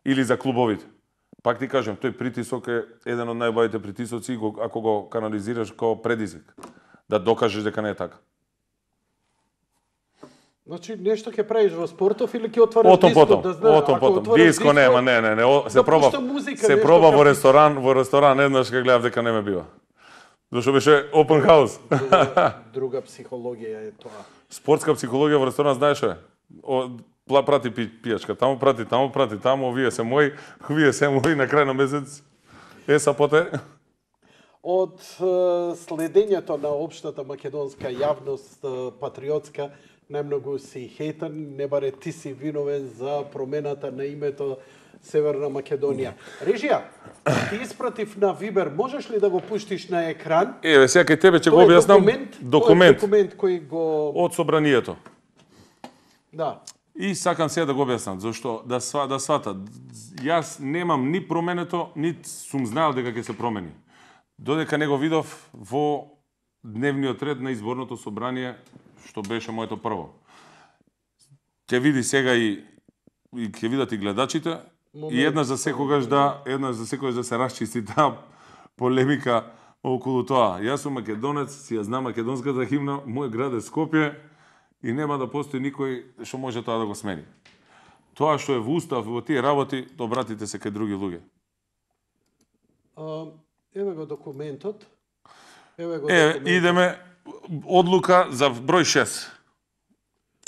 Speaker 2: Или за клубовите. Пак ти кажам, тој притисок е еден од најубавите притисоци ако го канализираш како предизвик. Да докажеш дека не е така.
Speaker 1: Значи нешто ќе правиш во спортов или ќе отвориш
Speaker 2: диско
Speaker 1: потом, да знаеш?
Speaker 2: Отом потом. Диско нема, не, не, не. Се
Speaker 1: да
Speaker 2: проба.
Speaker 1: Музика,
Speaker 2: се проба во ресторан, во ресторан еднаш кога гледав дека не ме бива. Зашто беше open house.
Speaker 1: Друга, друга психологија е тоа.
Speaker 2: Спортска психологија во ресторан знаеш е? Прати пи, пијачка, таму прати, таму прати, таму, овие се мои, овие се мои на крај на месец. Е, сапоте.
Speaker 1: од е, следењето на општата македонска јавност, е, патриотска, најмногу си хейтен, не баре ти си виновен за промената на името Северна Македонија. Режија, ти испратив на Вибер, можеш ли да го пуштиш на екран?
Speaker 2: Еве, сега кај тебе ќе го
Speaker 1: Тоа е
Speaker 2: објаснам.
Speaker 1: документ,
Speaker 2: Документ
Speaker 1: тоа е документ кој го...
Speaker 2: од собранието.
Speaker 1: Да.
Speaker 2: И сакам сега да го објаснам, зашто да сва, да сватат. Јас немам ни променето, ни сум знаел дека ќе се промени. Додека не го видов во дневниот ред на изборното собрание, што беше моето прво. Ќе види сега и, и ќе видат и гледачите, момент, и еднаш за секогаш да, еднаш за секогаш да се расчисти таа полемика околу тоа. Јас сум македонец, си ја знам македонската химна, мој град е Скопје, и нема да постои никој што може тоа да го смени. Тоа што е во устав, во тие работи, обратите се кај други луѓе.
Speaker 1: А, еве го документот. Еве го
Speaker 2: Е,
Speaker 1: документот.
Speaker 2: идеме одлука за број шест.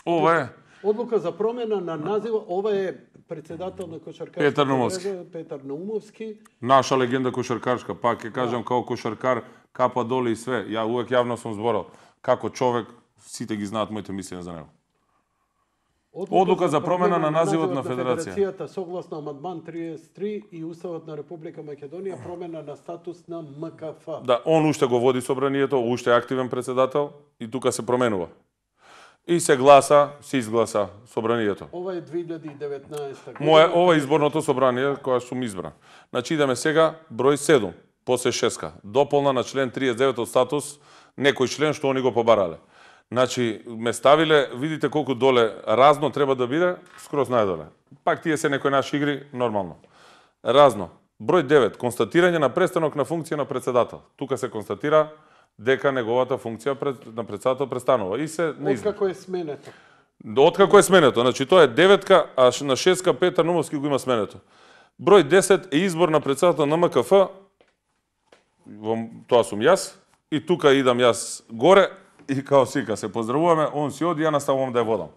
Speaker 2: Ова е
Speaker 1: Одлука за промена на назива, ова е председател на кошаркарската
Speaker 2: Петар Наумовски.
Speaker 1: мрежа, Петар Наумовски.
Speaker 2: наша легенда кошаркарска, пак ќе кажам као кошаркар, капа доле и све. Ја увек јавно сум зборал како човек, сите ги знаат моите мислења за него. Одлука за промена на називот на федерација.
Speaker 1: Федерацијата согласно амандман триесет и три и Уставот на Република Македонија, промена на статус на М К Ф.
Speaker 2: Да, он уште го води собранието, уште е активен председател и тука се променува. И се гласа, се изгласа собранието.
Speaker 1: Ова е две илјади и деветнаесета година.
Speaker 2: Моје ова е изборното собрание кога сум избран. Значи идеме сега број седум, после шеска. Дополна на член триесет и девет од статус, некој член што они го побарале. Значи ме ставиле, видите колку доле разно треба да биде, скроз најдоле. Пак тие се некои наши игри, нормално. Разно. Број девет, констатирање на престанок на функција на председател. Тука се констатира дека неговата функција пред, на председател престанува и се не изменува.
Speaker 1: Откако е сменето.
Speaker 2: Откако е сменето, значи тоа е деветка, а на шестка Петар Наумовски го има сменето. Број десет е избор на председател на М К Ф, во тоа сум јас, и тука идам јас горе, и као сика се поздравуваме, он си оди, ја наставувам да ја водам.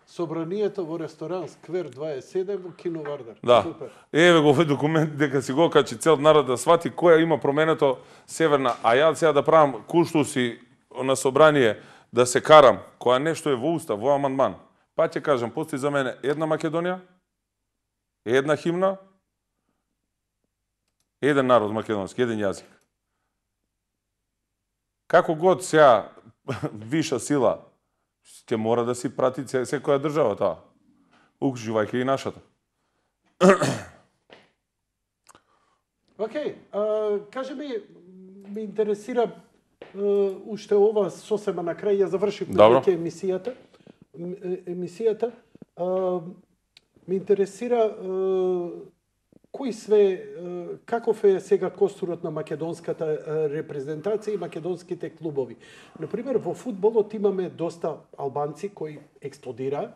Speaker 1: Собранието во ресторан Сквер дваесет и седум во Кино Вардар.
Speaker 2: Да.
Speaker 1: Супер.
Speaker 2: Еве го овој документ дека си го качи цел народ да свати која има променето Северна, а ја сега да правам куштуси на собрание да се карам, која нешто е во устав, во амандман. Па ќе кажам, постои за мене една Македонија, една химна, еден народ македонски, еден јазик. Како год сега виша сила ќе мора да си прати секоја држава тоа, укживајќи и нашата.
Speaker 1: Океј, а, кажи ми, ме интересира а, уште ова сосема на крај, ја завршив на
Speaker 2: Добро.
Speaker 1: веќе емисијата. М, е- Емисијата. А, ме интересира а, кои све, а, каков е сега костурот на македонската а, репрезентација и македонските клубови. Например, во фудбалот имаме доста албанци кои експлодира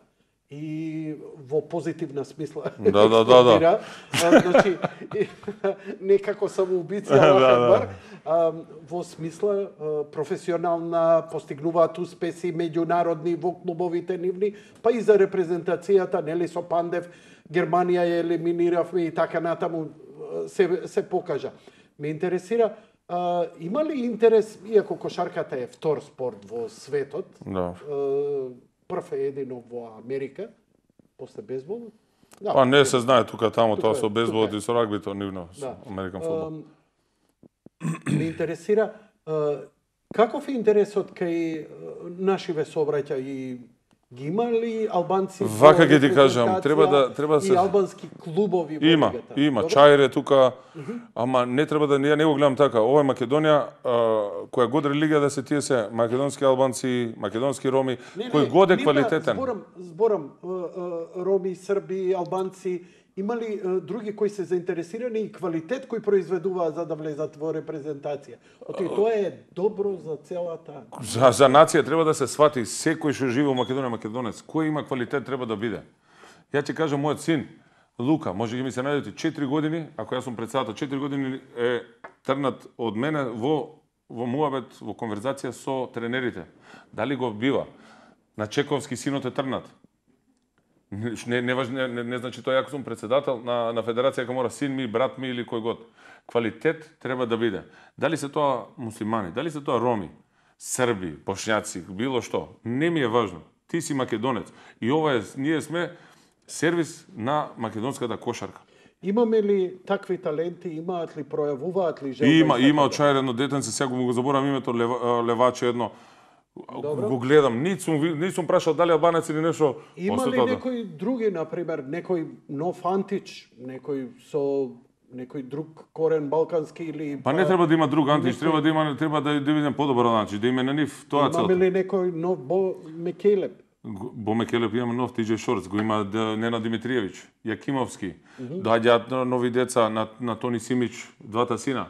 Speaker 1: и во позитивна смисла
Speaker 2: Да, да, да, да.
Speaker 1: експлодира. А, значи, и- некако самоубица,
Speaker 2: Да,
Speaker 1: Аллах
Speaker 2: да.
Speaker 1: акбар. А, во смисла а, професионална, постигнуваат успеси меѓународни во клубовите нивни, па и за репрезентацијата, нели со Пандев, Германија ја елиминиравме и така натаму а, се, се покажа. Ме интересира, а, има ли интерес, иако кошарката е втор спорт во светот,
Speaker 2: Да.
Speaker 1: а, прв е едино во Америка, после бейсболот? Да,
Speaker 2: Па не се знае тука тамо
Speaker 1: Тука
Speaker 2: тоа
Speaker 1: е,
Speaker 2: со бейсболот
Speaker 1: тука е.
Speaker 2: и со рагбито нивно, со
Speaker 1: Да.
Speaker 2: Американ фудбал.
Speaker 1: Ам, ме интересира а, каков е интересот кај а, нашиве сообраќаи, ги има ли албанци
Speaker 2: Вака
Speaker 1: во
Speaker 2: ќе ти кажам,
Speaker 1: репрезентација
Speaker 2: треба да- треба да
Speaker 1: и
Speaker 2: се-
Speaker 1: албански клубови во
Speaker 2: Има,
Speaker 1: лигата?
Speaker 2: има,
Speaker 1: Добро?
Speaker 2: Чајре тука, ама не треба да ја не го гледам така. Ова е Македонија, а, која год религија да се тие се македонски албанци, македонски роми,
Speaker 1: Не,
Speaker 2: кој
Speaker 1: не,
Speaker 2: год е
Speaker 1: нема,
Speaker 2: квалитетен.
Speaker 1: Зборам, зборам а, а, роми, срби, албанци, има ли а, други кои се заинтересирани и квалитет кој произведуваат за да влезат во репрезентација? Оти тоа е добро за целата.
Speaker 2: За, за нација треба да се свати секој што живее во Македонија македонец, кој има квалитет треба да биде. Ја ќе кажам мојот син Лука, може ги ми се најдете четири години, ако јас сум председател, четири години е трнат од мене во во муабет, во конверзација со тренерите. Дали го бива? На Чековски синот е трнат. Не, не, важно, не, не, не значи тоа ако сум председател на, на федерација, дека мора син ми, брат ми или кој год. Квалитет треба да биде. Дали се тоа муслимани, дали се тоа роми, срби, бошњаци, било што, не ми е важно. Ти си македонец. И ова е, ние сме сервис на македонската кошарка.
Speaker 1: Имаме ли такви таленти, имаат ли, пројавуваат ли желба?
Speaker 2: Има, има очајано детенце, сега го заборам името, лева, леваче едно. Добро. Го гледам, нит сум, нит сум прашал дали албанец или нешто.
Speaker 1: Има ли некои други, например, некој нов Антич, некој со некој друг корен балкански или...
Speaker 2: Па не треба да има друг Антич, некој... треба да има, треба да, да видим подобар Антич, да има на нив тоа целта.
Speaker 1: Имаме ли некој нов Бо Мекелеп?
Speaker 2: Бо Мекелеп имаме нов Ти Џеј Шорц, го има Нена Димитриевич, Јакимовски, mm -hmm. доаѓаат нови деца на, на Тони Симич, двата сина.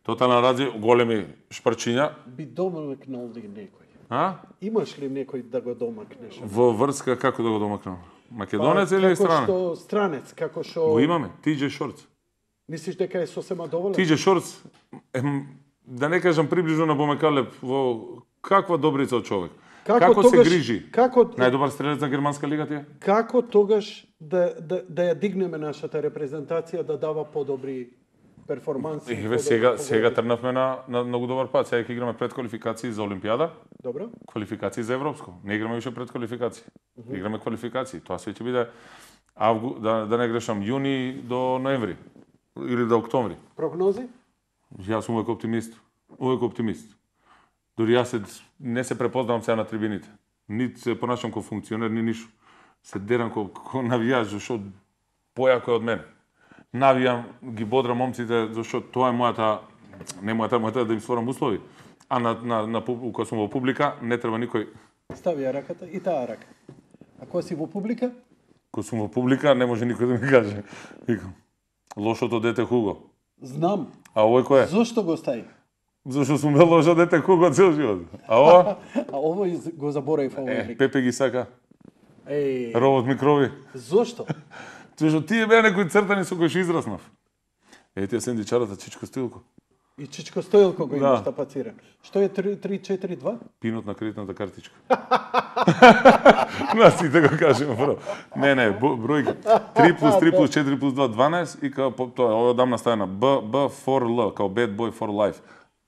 Speaker 2: Тотална рази, големи шпрчиња.
Speaker 1: Би домакнал ли некој?
Speaker 2: А?
Speaker 1: Имаш ли некој да го домакнеш?
Speaker 2: Во врска како да го домакнам? Македонец па, или странец?
Speaker 1: Како што странец, како што...
Speaker 2: Го имаме, Ти Џеј Шорц.
Speaker 1: Мислиш дека е сосема доволен?
Speaker 2: Ти Џеј Шорц, е, да не кажам приближно на Бо Мекелеп, во каква добрица од човек. Како, како тогаш, се грижи? Како... Најдобар стрелец на германска лига ти е?
Speaker 1: Како тогаш да, да, да ја дигнеме нашата репрезентација да дава подобри перформанси?
Speaker 2: Еве сега подобри... сега трнавме на, на многу добар пат. Сега ќе играме предквалификации за Олимпијада.
Speaker 1: Добро.
Speaker 2: Квалификации за европско. Не играме више предквалификации. Uh -huh. Играме квалификации. Тоа се ќе биде авгу... да, да не грешам јуни до ноември или до октомври.
Speaker 1: Прогнози?
Speaker 2: Јас сум увек оптимист. Увек оптимист. Дори јас се, не се препознавам сега на трибините. Нит се понашам како функционер, ни ништо. Се дерам како, како навијач, зашто појако е од мене. Навијам, ги бодрам момците, зашто тоа е мојата, не мојата, мојата да им створам услови. А на, на, на, кога сум во публика, не треба никој...
Speaker 1: Стави ја раката и таа рака. А кога си во публика?
Speaker 2: Кога сум во публика, не може никој да ми каже. Викам, лошото дете Хуго.
Speaker 1: Знам.
Speaker 2: А овој кој е?
Speaker 1: Зошто го стаи?
Speaker 2: Зашто сум бил лошо дете Хуго цел живот. А ова?
Speaker 1: А овој го заборав овој.
Speaker 2: Е, Пепе ги сака.
Speaker 1: Еј.
Speaker 2: Робот микрови.
Speaker 1: Зошто?
Speaker 2: Зашто тие беа некои цртани со кои што израснав. Е, тие сендичарата Чичко Стоилко.
Speaker 1: И Чичко Стоилко го
Speaker 2: да.
Speaker 1: имаш тапациран. Што е три четири два?
Speaker 2: Пинот на кредитната картичка. На сите го кажем прво. Не, не, бројки. три плюс три плюс четири плюс два, дванаесет и као тоа, ова дамна ставена Б, Б for L, као Bad Boy for Life.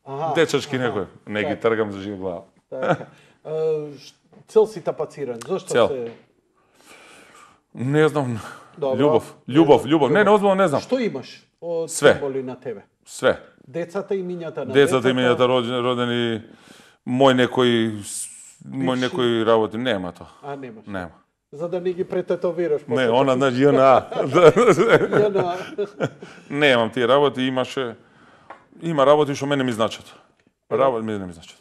Speaker 2: Ага, дечачки ага. Некој. Не ги тргам за жив глава.
Speaker 1: Така. Цел си тапациран. Зошто
Speaker 2: Цел.
Speaker 1: се...
Speaker 2: Не знам.
Speaker 1: Добро.
Speaker 2: Љубов, љубов, љубов. Не, не озбилно не знам.
Speaker 1: Што имаш од
Speaker 2: Све.
Speaker 1: символи на тебе?
Speaker 2: Све.
Speaker 1: Децата и имињата на
Speaker 2: децата. Децата и имињата родени, родени, мој некој, мој
Speaker 1: Бивши.
Speaker 2: некој работи. Нема тоа.
Speaker 1: А, немаш.
Speaker 2: Нема.
Speaker 1: За да не ги прететовираш.
Speaker 2: Не, она на ЈНА.
Speaker 1: ЈНА.
Speaker 2: Немам тие работи, имаше... Има работи што мене ми значат. Работи мене ми значат.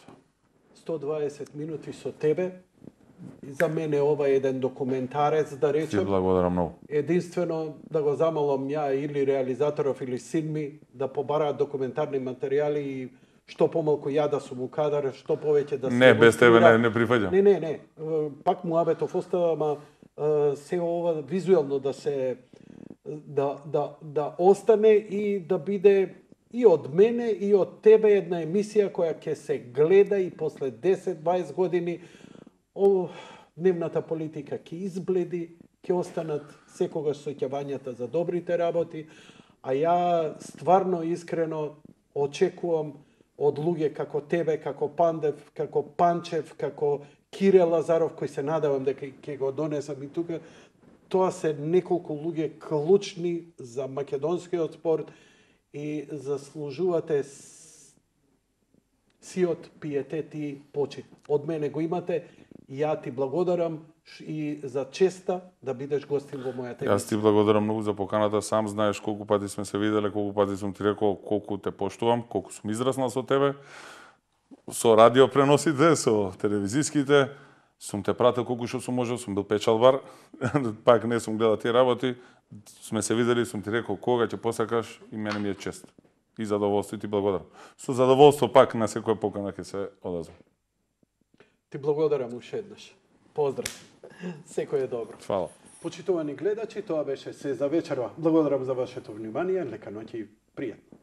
Speaker 1: сто дваесет минути со тебе. И за мене ова е еден документарец, да речем.
Speaker 2: Ти благодарам многу.
Speaker 1: Единствено да го замолам ја или реализаторов или син ми да побараат документарни материјали и што помалку ја да сум у кадар, што повеќе да се...
Speaker 2: Не, без тебе не, не прифаќам.
Speaker 1: Не, не, не. Пак му абетов остава, ама се ова визуелно да се... да, да, да остане и да биде и од мене и од тебе една емисија која ќе се гледа и после десет дваесет години о, дневната политика ќе избледи, ќе останат секогаш соќавањата за добрите работи, а ја стварно искрено очекувам од луѓе како тебе, како Пандев, како Панчев, како Кире Лазаров, кој се надевам дека ќе го донесам и тука, тоа се неколку луѓе клучни за македонскиот спорт и заслужувате сиот пиетет и почит. Од мене го имате. Ја ти благодарам и за честа да бидеш гостин во мојата емисија.
Speaker 2: Јас ти благодарам многу за поканата, сам знаеш колку пати сме се виделе, колку пати сум ти рекол колку те поштувам, колку сум израснал со тебе, со радио преносите, со телевизиските, сум те пратил колку што сум можел, сум бил печалбар, пак не сум гледал тие работи, сме се видели, сум ти рекол кога ќе посакаш и мене ми е чест. И задоволство и ти благодарам. Со задоволство пак на секоја покана ќе се одазвам.
Speaker 1: Ти благодарам уште еднаш. Поздрав. Секој е добро.
Speaker 2: Фала.
Speaker 1: Почитувани гледачи, тоа беше се за вечерва. Благодарам за вашето внимание, лека ноќ и пријатно.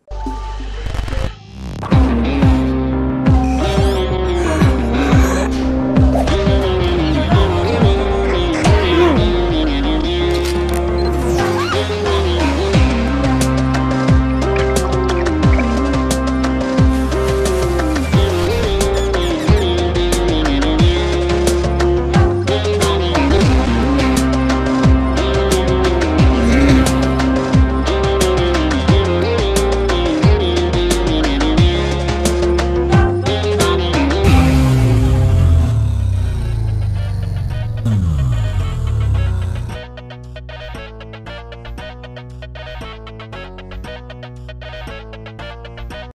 Speaker 3: Thank you.